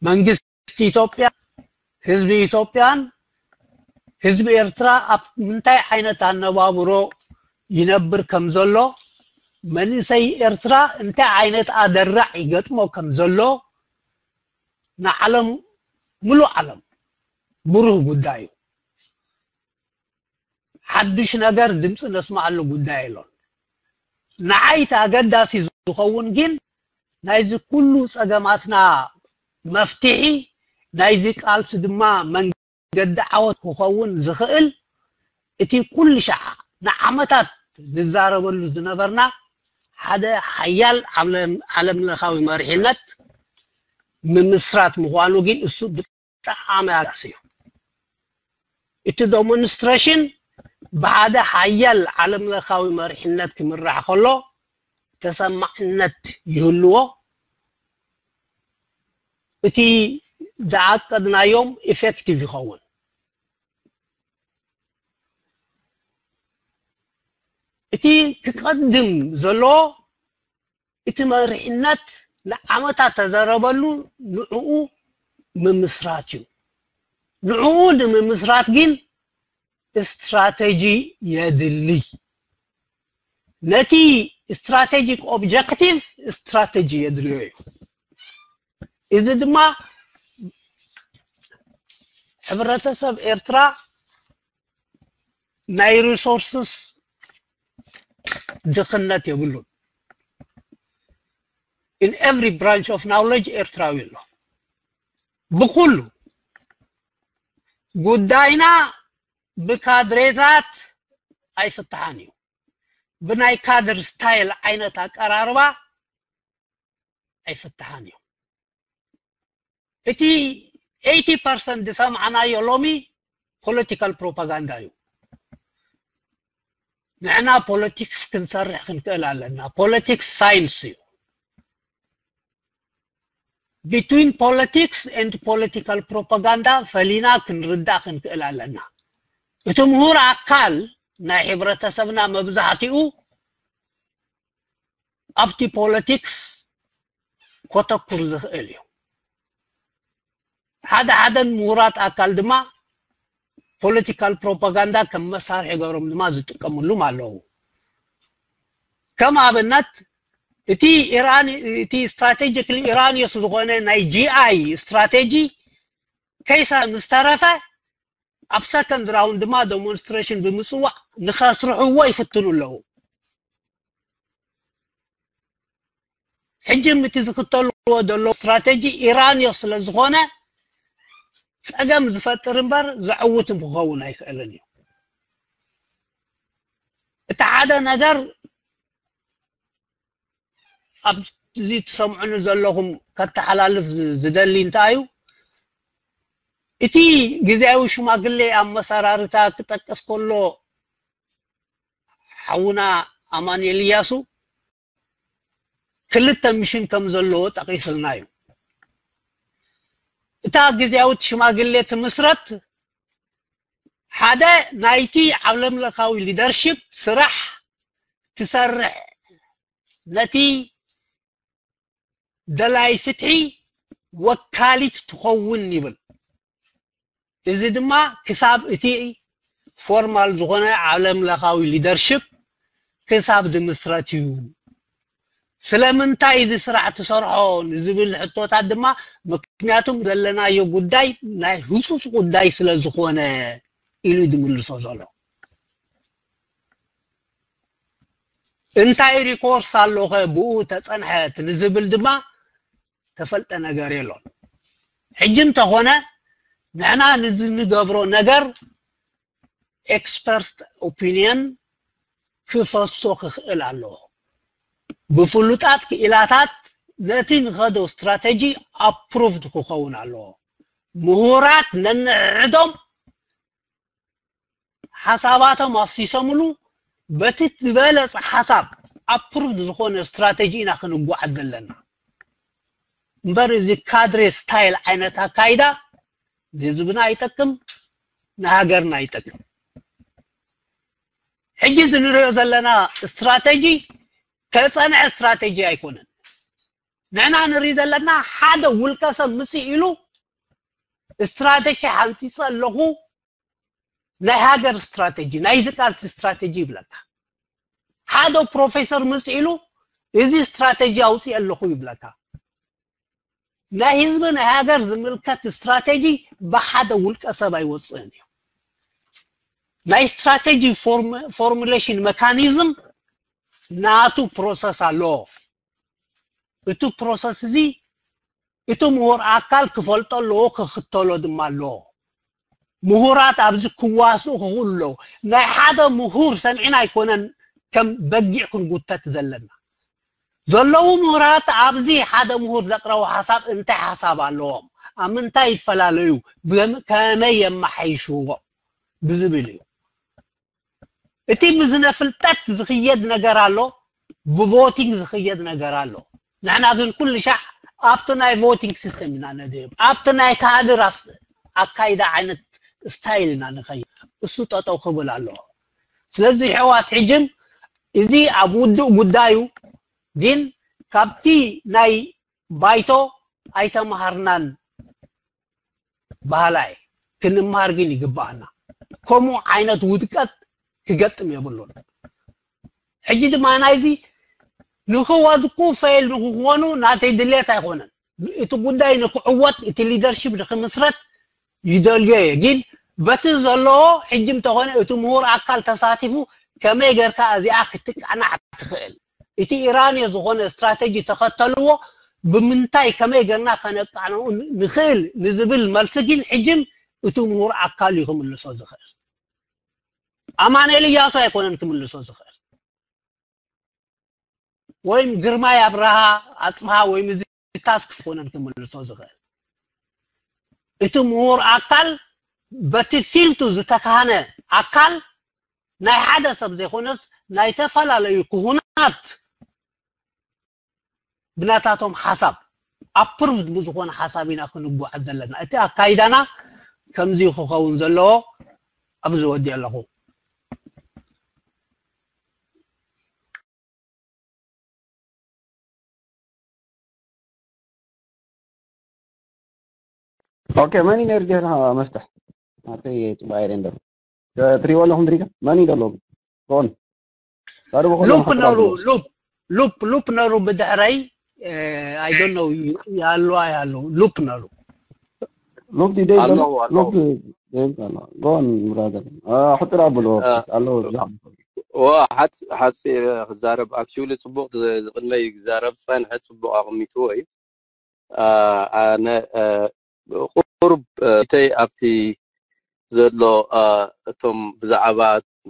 መንግስቲ ኢትዮጵያ ህዝቢ ኢትዮጵያን ህዝቢ ኤርትራ ኣብ ምንታይ ዓይነት ኣነባብሮ ይነብር ከም ዘሎ መንእሰይ ኤርትራ እንታይ ዓይነት ኣደራዕ ይገጥሞ ከም ዘሎ ንዓለም ሙሉእ ዓለም ብሩህ ጉዳይ እዩ። ሓድሽ ነገር ድምፂ ነስማዓሉ ጉዳይ የሎን። ንዓይ እቲ ኣገዳሲ ዝኸውን ግን ናይዚ ኩሉ ፀገማትና መፍትሒ ናይዚ ቃልሲ ድማ መንገዲ ዓወት ክኸውን ዝኽእል እቲ ኩሉ ሻዓ ንዓመታት ንዛረበሉ ዝነበርና ሓደ ሓያል ዓለም ለኻዊ መሪሕነት ምምስራት ምዃኑ ግን እሱ ብጣዕሚ ኣገዳሲ እዩ። እቲ ዴሞንስትሬሽን ብሓደ ሓያል ዓለም ለኻዊ መሪሕነት ክምራሕ ከሎ ተሰማዕነት ይህልዎ። እቲ ዝዓቀድናዮም ኢፌክቲቭ ይኸውን። እቲ ክቐድም ዘለዎ እቲ መሪሕነት ንዓመታት ተዘረበሉ ንዕኡ ምምስራት እዩ። ንዕኡ ንምምስራት ግን ስትራተጂ የድሊ። ነቲ ስትራቴጂክ ኦብጀክቲቭ ስትራተጂ የድልዮ እዩ። እዚ ድማ ሕብረተሰብ ኤርትራ ናይ ሪሶርስስ ድኽነት የብሉን። In every branch of knowledge ኤርትራዊ ኣሎ። ብኩሉ ጉዳይና ብካድሬታት ኣይፍትሓን እዩ። ብናይ ካድር ስታይል ዓይነት ኣቀራርባ ኣይፍትሓን እዩ። እቲ ኤይቲ ፐርሰንት ዝሰምዓናዮ ሎሚ ፖለቲካል ፕሮፓጋንዳ እዩ። ንሕና ፖለቲክስ ክንሰርሕ ክንክእል ኣለና። ፖለቲክስ ሳይንስ እዩ። between politics and political propaganda ፈሊና ክንርዳእ ክንክእል ኣለና። እቲ ምሁር ኣካል ናይ ሕብረተሰብና መብዛሕትኡ ኣብቲ ፖለቲክስ ኮተኩር ዝኽእል እዩ። ሓደ ሓደ ምሁራት ኣካል ድማ ፖለቲካል ፕሮፓጋንዳ ከም መሳርሒ ገሮም ድማ ዝጥቀምሉም ኣለዉ። ከም ኣብነት እቲ ኢራን እቲ ስትራቴጂክሊ ኢራንዮስ ዝኾነ ናይ ጂኣይ ስትራቴጂ ከይሳ ምስ ተረፈ ኣብ ሰከንድ ራውንድ ድማ ዴሞንስትሬሽን ብምፅዋዕ ንኸስርሕዎ ይፍትኑ ኣለዉ። ሕጂ እቲ ዝኽተልዎ ዘሎ ስትራቴጂ ኢራንዮ ስለ ዝኾነ ፀገም ዝፈጥር እምበር ዘዕውት ክኸውን ኣይክእልን እዩ። እቲ ሓደ ነገር ኣብዚ ትሰምዑኒ ዘለኹም ከተሓላልፍ ዝደሊ እንታይ እዩ? እቲ ግዜያዊ ሽማግሌ ኣመሰራርታ ክጠቅስ ከሎ ሓውና ኣማኑኤል እያሱ ክልተ ሚሽን ከም ዘለዎ ጠቂስልና እዩ። እታ ግዜያዊት ሽማግሌ ትምስረት ሓደ ናይቲ ዓለምለኻዊ ሊደርሺፕ ስራሕ ትሰርሕ ነቲ ደላይ ፍትሒ ወካሊት ትኸውን ይብል። እዚ ድማ ክሳብ እቲ ፎርማል ዝኾነ ዓለምለኻዊ ሊደርሽፕ ክሳብ ዝምስረት እዩ። ስለምንታይ እዚ ስራሕ ትሰርሖ ንዝብል ሕቶታት ድማ ምክንያቱም ዘለናዮ ጉዳይ ናይ ህፁፅ ጉዳይ ስለ ዝኾነ ኢሉ ዝምልሶ ዘሎ። እንታይ ሪኮርስ ኣሎኸ ብኡ ተፀንሐት ንዝብል ድማ ተፈልጠ ነገር የሎን። ሕጂ እንተኾነ ንሕና ንዝንገብሮ ነገር ኤክስፐርት ኦፒንየን ክፈሶ ክኽእል ኣለዎ። ብፍሉጣት ክኢላታት ነቲ ንኸዶ ስትራቴጂ ኣፕሩቭድ ክኸውን ኣለዎ። ምሁራት ነንሕዶም ሓሳባቶም ኣፍሲሶምሉ በቲ ዝበለፀ ሓሳብ ኣፕሩቭድ ዝኾነ ስትራቴጂ ኢና ክንጓዓዝ ዘለና። እምበር እዚ ካድሬ ስታይል ዓይነት ኣካይዳ ንህዝብና ኣይጠቅም፣ ንሃገርና ኣይጠቅም። ሕጂ እዚ ንሪኦ ዘለና ስትራቴጂ ተፀንዐ ስትራቴጂ ኣይኮነን። ንሕና ንርኢ ዘለና ሓደ ውልቀ ሰብ ምፅእ ኢሉ ስትራቴጂ ሓንፂፀ ኣለኹ ናይ ሃገር ስትራቴጂ ናይ ዝቃልሲ ስትራቴጂ ይብለካ። ሓደ ፕሮፌሰር ምስ ኢሉ እዚ ስትራቴጂ ኣውፅእ ኣለኹ ይብለካ። ናይ ህዝቢ ናይ ሃገር ዝምልከት ስትራቴጂ ብሓደ ውልቀ ሰብ ኣይወፅእን እዩ። ናይ ስትራቴጂ ፎርሙሌሽን መካኒዝም ናቱ ፕሮሰስ ኣለዎ። እቲ ፕሮሰስ እዚ እቲ ምሁር ኣካል ክፈልጦ ኣለዎ፣ ክኽተሎ ድማ ኣለዎ። ምሁራት ኣብዚ ክዋስኡ ክኽእሉ ኣለዎ። ናይ ሓደ ምሁር ሰሚዕና ኣይኮነን ከም በጊዕ ክንጉተት ዘለና። ዘለዉ ምሁራት ኣብዚ ሓደ ምሁር ዘቅረቦ ሓሳብ እንታይ ሓሳብ ኣለዎም፣ ኣብ ምንታይ ይፈላለዩ፣ ብም- ከመይ የመሓይሽዎ ብዝብል እዩ። እቲ ብዝነ ፍልጠት ዝኽየድ ነገር ኣሎ፣ ብቮቲንግ ዝኽየድ ነገር ኣሎ። ንሕና ግን ኩሉ ሻዕ ኣብቲ ናይ ቮቲንግ ሲስተም ኢና ነድህብ፣ ኣብቲ ናይ ካድር ኣስ- ኣካይዳ ዓይነት ስታይል ኢና ንኸይድ። እሱ ጠጠው ክብል ኣለዎ። ስለዚ ሕዋት ሕጅም እዚ ኣብ ውዱእ ጉዳዩ ግን ካብቲ ናይ ባይቶ ኣይተምሃርናን ባህላይ ክንምሃር ግን ይግባኣና። ከምኡ ዓይነት ውድቀት ክገጥም የብሉን። ሕጂ ድማ ናይዚ ንክወድቁ ፈይል ንክኾኑ ናተይ ድሌት ኣይኮነን። እቲ ጉዳይ ንክዕወት እቲ ሊደርሺፕ ንክምስረት ይደልዮ እየ። ግን በቲ ዘለዎ ሕጂ እንተኾነ እቲ ምሁር ኣካል ተሳቲፉ ከመይ ጌርካ እዚኣ ክትቃናዕ ትኽእል፣ እቲ ኢራንዮ ዝኾነ ስትራቴጂ ተኸተልዎ ብምንታይ ከመይ ጌርና ከነቃንዑ ንኽእል ንዝብል መልሲ ግን ሕጅም እቲ ምሁር ኣካል እዩ ክምልሶ ዝኽእል። ኣማኑኤል እያሱ ኣይኮነን ክምልሶ ዝኽእል፣ ወይም ግርማይ ኣብርሃ ኣፅብሃ ወይም እዚ ታስክ ኣይኮነን ክምልሶ ዝኽእል። እቲ ምሁር ኣካል በቲ ፊልቱ ዝተካህነ ኣካል ናይ ሓደ ሰብ ዘይኮነስ ናይ ተፈላለዩ ክሁናት ብናታቶም ሓሳብ ኣፕሩቭድ ብዝኾነ ሓሳብ ኢና ክንጓዓዝ ዘለና። እቲ ኣካይዳና ከምዚ ክኸውን ዘለዎ ኣብዚ ወዲኦ ኣለኹ። ኦኬ፣ መን እዩ ነይሩ ጌርና መፍትሕ? ኣተይ ጽባይ ሬንደር። ትሪእዎ ኣለኹም ድሪጋ? መን እዩ ደሎ? ኮን። ታዲያ በኮን ሉፕ ሓጥራ ነሩ ብሎ። ሉፕ ሉፕ ሉፕ ነሩ ብድሕረይ I don't know ያሉ ያሉ ሉፕ ነሩ ሉፕ ዲ ደይ ኣለዉ፣ ደሎ? ኣለዉ። ሉፕ ደይ ደሎ። ጎን ብራዘር። አ፣ ሕጥራ ብሎ። አ፣ ኣለዎ፣ ብዛዕባ። ዋ፣ ሓጽ-፣ ሓጺር ክዛረብ፣ ኣክቹሊ ጽቡቕ ዝ-፣ ዝቕድመይ ክዛረብ ዝጸንሐ ጽቡቕ ኣቕሚጥዎ እዩ። አ፣ ኣነ፣ አ፣ ቁሩብ፣ አ፣ እተይ ኣብቲ ዘሎ፣ አ፣ እቶም ብዛዕባ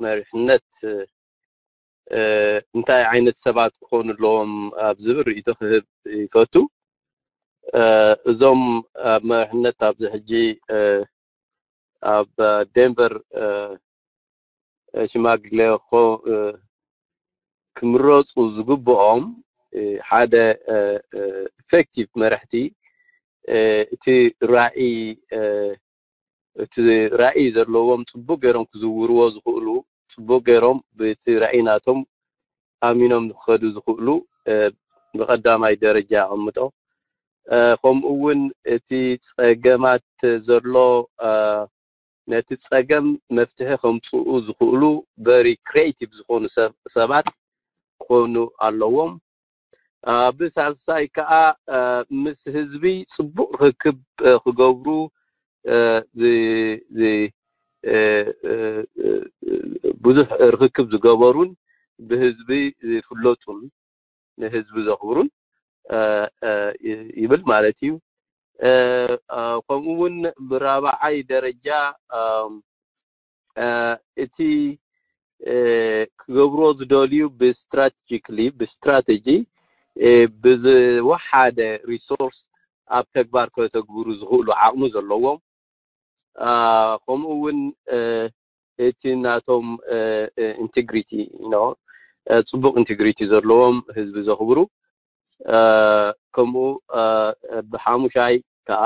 መሪሕነት፣ አ፣ እንታይ ዓይነት ሰባት ክኾኑ ኣለዎም ኣብ ዝብል ርእይቶ ክህብ ይፈቱ። አ፣ እዞም ኣብ መሪሕነት ኣብዚ ሕጂ፣ አ፣ ኣብ ዴንቨር፣ አ፣ ሽማግሌ ኮ-፣ አ፣ ክምረፁ ዝግብኦም፣ አ፣ ሓደ፣ አ፣ አ፣ ኢፌክቲቭ መራሕቲ፣ አ፣ እቲ ራእይ፣ አ፣ እቲ ራእይ ዘለዎም ጽቡቕ ገይሮም ክዝውርዎ ዝኽእሉ፣ ጽቡቕ ገይሮም ብቲ ራእይ ናቶም ኣሚኖም ክኸዱ ዝኽእሉ፣ አ፣ ብቐዳማይ ደረጃ ኣቐምጦ። አ፣ ከምኡ እውን እቲ ጸገማት ዘሎ፣ አ፣ ነቲ ጸገም መፍትሒ ከምጽኡ ዝኽእሉ ቨሪ ክሪኤቲቭ ዝኾኑ ሰብ-፣ ሰባት ክኾኑ ኣለዎም። አ፣ ብሳልሳይ ከኣ፣ አ፣ ምስ ህዝቢ ጽቡቕ ርክብ፣ አ፣ ክገብሩ፣ አ፣ ዝ-፣ ዝ-፣ አ፣ አ፣ አ፣ ብዙሕ ርክብ ዝገበሩን ብህዝቢ ዝፍለጡን ንህዝቢ ዘኽብሩን፣ አ፣ አ፣ ይ-፣ ይብል ማለት እዩ። አ፣ አ፣ ከምኡ እውን ብራብዓይ ደረጃ፣ አ፣ አ፣ እቲ፣ አ፣ ክገብርዎ ዝደልዩ ብስትራቴጂክሊ፣ ብስትራቴጂ፣ አ፣ ብዝወሓደ ሪሶርስ ኣብ ተግባር ከተግብሩ ዝኽእሉ ዓቕሚ ዘለዎም፣ አ፣ ከምኡ እውን፣ አ፣ እቲ ናቶም፣ አ፣ አ፣ ኢንቴግሪቲ፣ you know፣ አ፣ ጽቡቕ ኢንቴግሪቲ ዘለዎም፣ ህዝቢ ዘኽብሩ፣ አ፣ ከምኡ፣ አ፣ ብሓሙሻይ ከኣ፣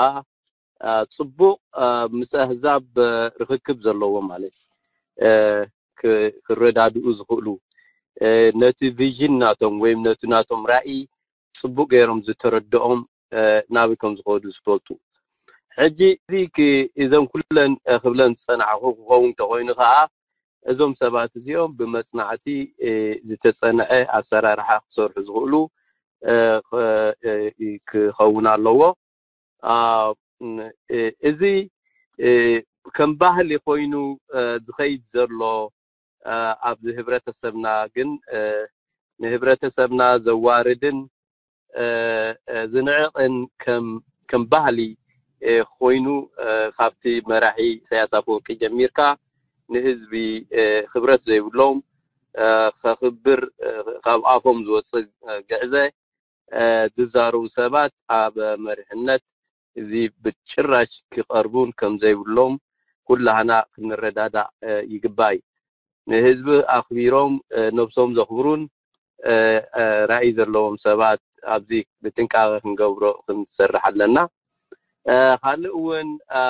አ፣ ጽቡቕ፣ አ፣ ምስ ኣህዛብ፣ አ፣ ርኽክብ ዘለዎም ማለት እዩ። አ፣ ክ-፣ ክረዳድኡ ዝኽእሉ፣ አ፣ ነቲ ቪዥን ናቶም ወይም ነቲ ናቶም ራእይ ጽቡቕ ገይሮም ዝተረድኦም፣ አ፣ ናበይ ከም ዝኸዱ ዝፈልጡ። ሕጂ እዚ ክ-፣ እዘን ኩለን፣ አ፣ ክብለን ዝጸናሕኩ ክኸውን እንተኾይኑ ከኣ፣ እዞም ሰባት እዚኦም ብመጽናዕቲ፣ አ፣ ዝተጸንዐ ኣሰራርሓ ክሰርሑ ዝኽእሉ፣ አ፣ ኸ-፣ አ፣ ክኸውን ኣለዎ። አ፣ ም፣ እ፣ እዚ፣ እ፣ ከም ባህሊ ኮይኑ፣ እ፣ ዝኸይድ ዘሎ፣ እ፣ ኣብዚ ህብረተሰብና ግን፣ እ፣ ንህብረተሰብና ዘዋርድን፣ እ፣ እ፣ ዝንዕቕን ከም፣ ከም ባህሊ፣ እ፣ ኮይኑ፣ እ፣ ካብቲ መራሒ ኢሳያስ ኣፈወርቂ ጀሚርካ ንህዝቢ፣ እ፣ ክብረት ዘይብሎም፣ እ፣ ከኽብር፣ እ፣ ካብ ኣፎም ዝወጽእ፣ እ፣ ግዕዘ፣ እ፣ ዝዛረቡ ሰባት ኣብ መሪሕነት እዚ ብጭራሽ ክቐርቡን ከም ዘይብሎም ኩላህና ክንረዳዳእ፣ እ፣ ይግባእ እዩ። ንህዝቢ ኣኽቢሮም፣ እ፣ ነብሶም ዘኽብሩን፣ እ፣ እ፣ ራእይ ዘለዎም ሰባት ኣብዚ ብጥንቃቐ ክንገብሮ ክንሰርሕ ኣለና። እ፣ ካልእ እውን፣ እ፣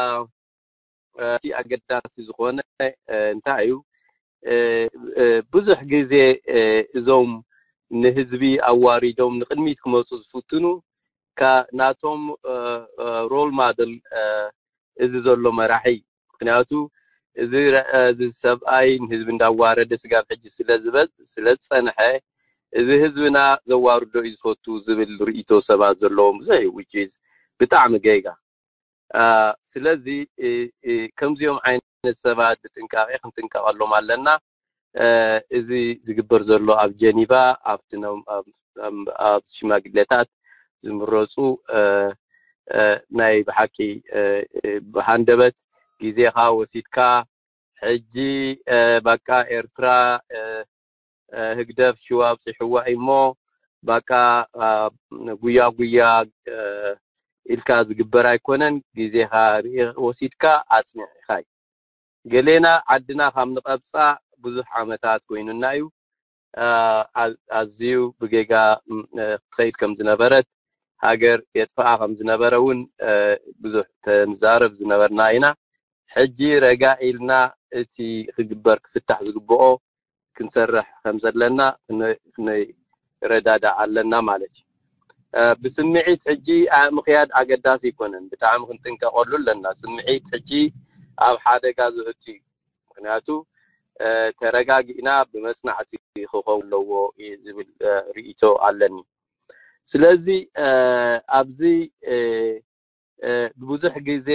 እቲ ኣገዳሲ ዝኾነ፣ እ፣ እንታይ እዩ? እ፣ እ፣ ብዙሕ ግዜ፣ እ፣ እዞም ንህዝቢ ኣዋሪዶም ንቕድሚት ክመጹ ዝፍትኑ፣ ካ-፣ ናቶም፣ እ፣ እ፣ ሮል ማደል፣ እ፣ እዚ ዘሎ መራሒ እዩ። ምኽንያቱ እዚ ረ-፣ እዚ ሰብኣይ ንህዝቢ እንዳዋረደ ስጋብ ሕጂ ስለ ዝበ-፣ ስለ ዝጸንሐ፣ እዚ ህዝብና ዘዋርዶ እዩ ዝፈቱ ዝብል ርእይቶ ሰባት ዘለዎም ብዙሕ እዩ፣ which is ብጣዕሚ ጌጋ። አ፣ ስለዚ፣ እ፣ እ፣ ከምዚኦም ዓይነት ሰባት ብጥንቃቄ ክንጥንቀቐሎም ኣለና። እ፣ እዚ ዝግበር ዘሎ ኣብ ጀኒቫ፣ ኣብቲ ነ-፣ ኣብ፣ ኣብ፣ ኣብ ሽማግሌታት ዝምረጹ፣ እ፣ እ፣ ናይ ብሓቂ፣ እ፣ እ፣ ብሃንደበት ግዜኻ ወሲድካ፣ ሕጂ፣ እ፣ በቃ ኤርትራ፣ እ፣ እ፣ ህግደፍ ሽዋ ኣብጺሕዋ እሞ፣ በቃ፣ አ፣ ጉያ ጉያ፣ እ፣ ኢልካ ዝግበር ኣይኮነን። ግዜኻ ርእ-፣ ወሲድካ ኣጽንዕ ኢኻ እዩ። ገሌና ዓድና ካብ ንቐብጻ ብዙሕ ዓመታት ኮይኑና እዩ። አ፣ ኣ-፣ ኣዝዩ ብጌጋ፣ ም፣ እ፣ ትኸይድ ከም ዝነበረት፣ ሃገር የጥፍኣ ከም ዝነበረ እውን ብዙሕ ተንዛረብ ዝነበርና ኢና። ሕጂ ረጋ ኢልና እቲ ክግበር ክፍታሕ ዝግብኦ ክንሰርሕ ከም ዘለና ክንረዳዳእ ኣለና ማለት እዩ። ብስምዒት ሕጂ ምኽያድ ኣገዳሲ ኣይኮነን። ብጣዕሚ ክንጥንቀቐሉ ኣለና። ስምዒት ሕጂ ኣብ ሓደጋ ዘእቱ እዩ። ምክንያቱ ተረጋጊእና ብመፅናዕቲ ክኸውን ኣለዎ ዝብል ርእይቶ ኣለኒ። ስለዚ ኣብዚ ብዙሕ ግዜ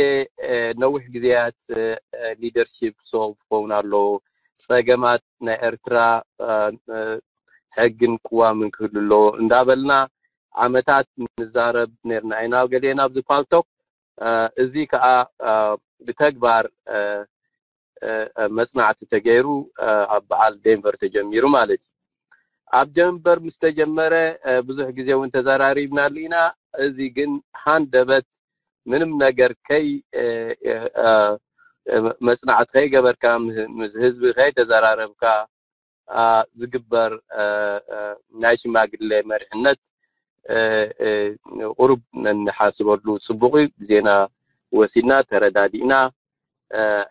ነዊሕ ግዜያት ሊደርሺፕ ሶልቭ ክኸውን ኣለዎ። ፀገማት ናይ ኤርትራ ሕግን ቅዋምን ክህሉ ኣለዎ እንዳበልና ዓመታት ንዛረብ ነርና ኢና ገሌና ኣብዚ ፓልቶክ። እዚ ከዓ ብተግባር መፅናዕቲ ተገይሩ ኣብ በዓል ዴንቨር ተጀሚሩ ማለት እዩ። ኣብ ጀንበር ምስ ተጀመረ ብዙሕ ግዜ እውን ተዘራሪብናሉ ኢና። እዚ ግን ሃንደበት ምንም ነገር ከይ መፅናዕቲ ከይገበርካ ምስ ህዝቢ ከይተዘራረብካ ዝግበር ናይ ሽማግሌ መሪሕነት ቁሩብ ነንሓስበሉ ፅቡቅ እዩ። ግዜና ወሲድና ተረዳዲእና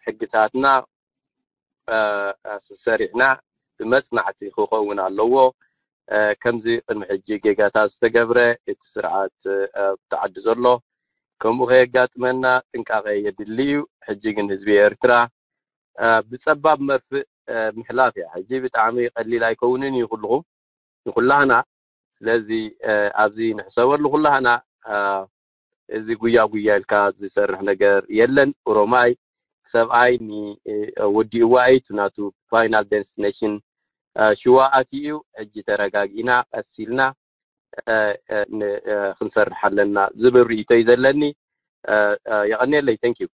ሕግታትና ሰሪሕና ብመፅናዕቲ ክኸውን ኣለዎ። ከምዚ ቅድሚ ሕጂ ጌጋታት ዝተገብረ እቲ ስርዓት ኣብቲ ዓዲ ዘሎ ከምኡ ከየጋጥመና ጥንቃቐ የድሊ እዩ። ሕጂ ግን ህዝቢ ኤርትራ ብፀባብ መርፍእ ምሕላፍ እያ። ሕጂ ብጣዕሚ ቀሊል ኣይከውንን እዩ ኩልኹም ንኩላህና። ስለዚ ኣብዚ ንሕሰበሉ ኩላህና። እዚ ጉያ ጉያ ኢልካ ዝሰርሕ ነገር የለን። ኦሮማይ ሰብኣይ ወዲእዋ እዩ ናቱ ፋይናል ዴስቲኔሽን ሽዋ ኣትዩ እዩ። ሕጂ ተረጋጊእና ቀስ ኢልና ክንሰርሕ ኣለና ዝብል ርእይቶ እዩ ዘለኒ። የቐንየለይ። Thank you።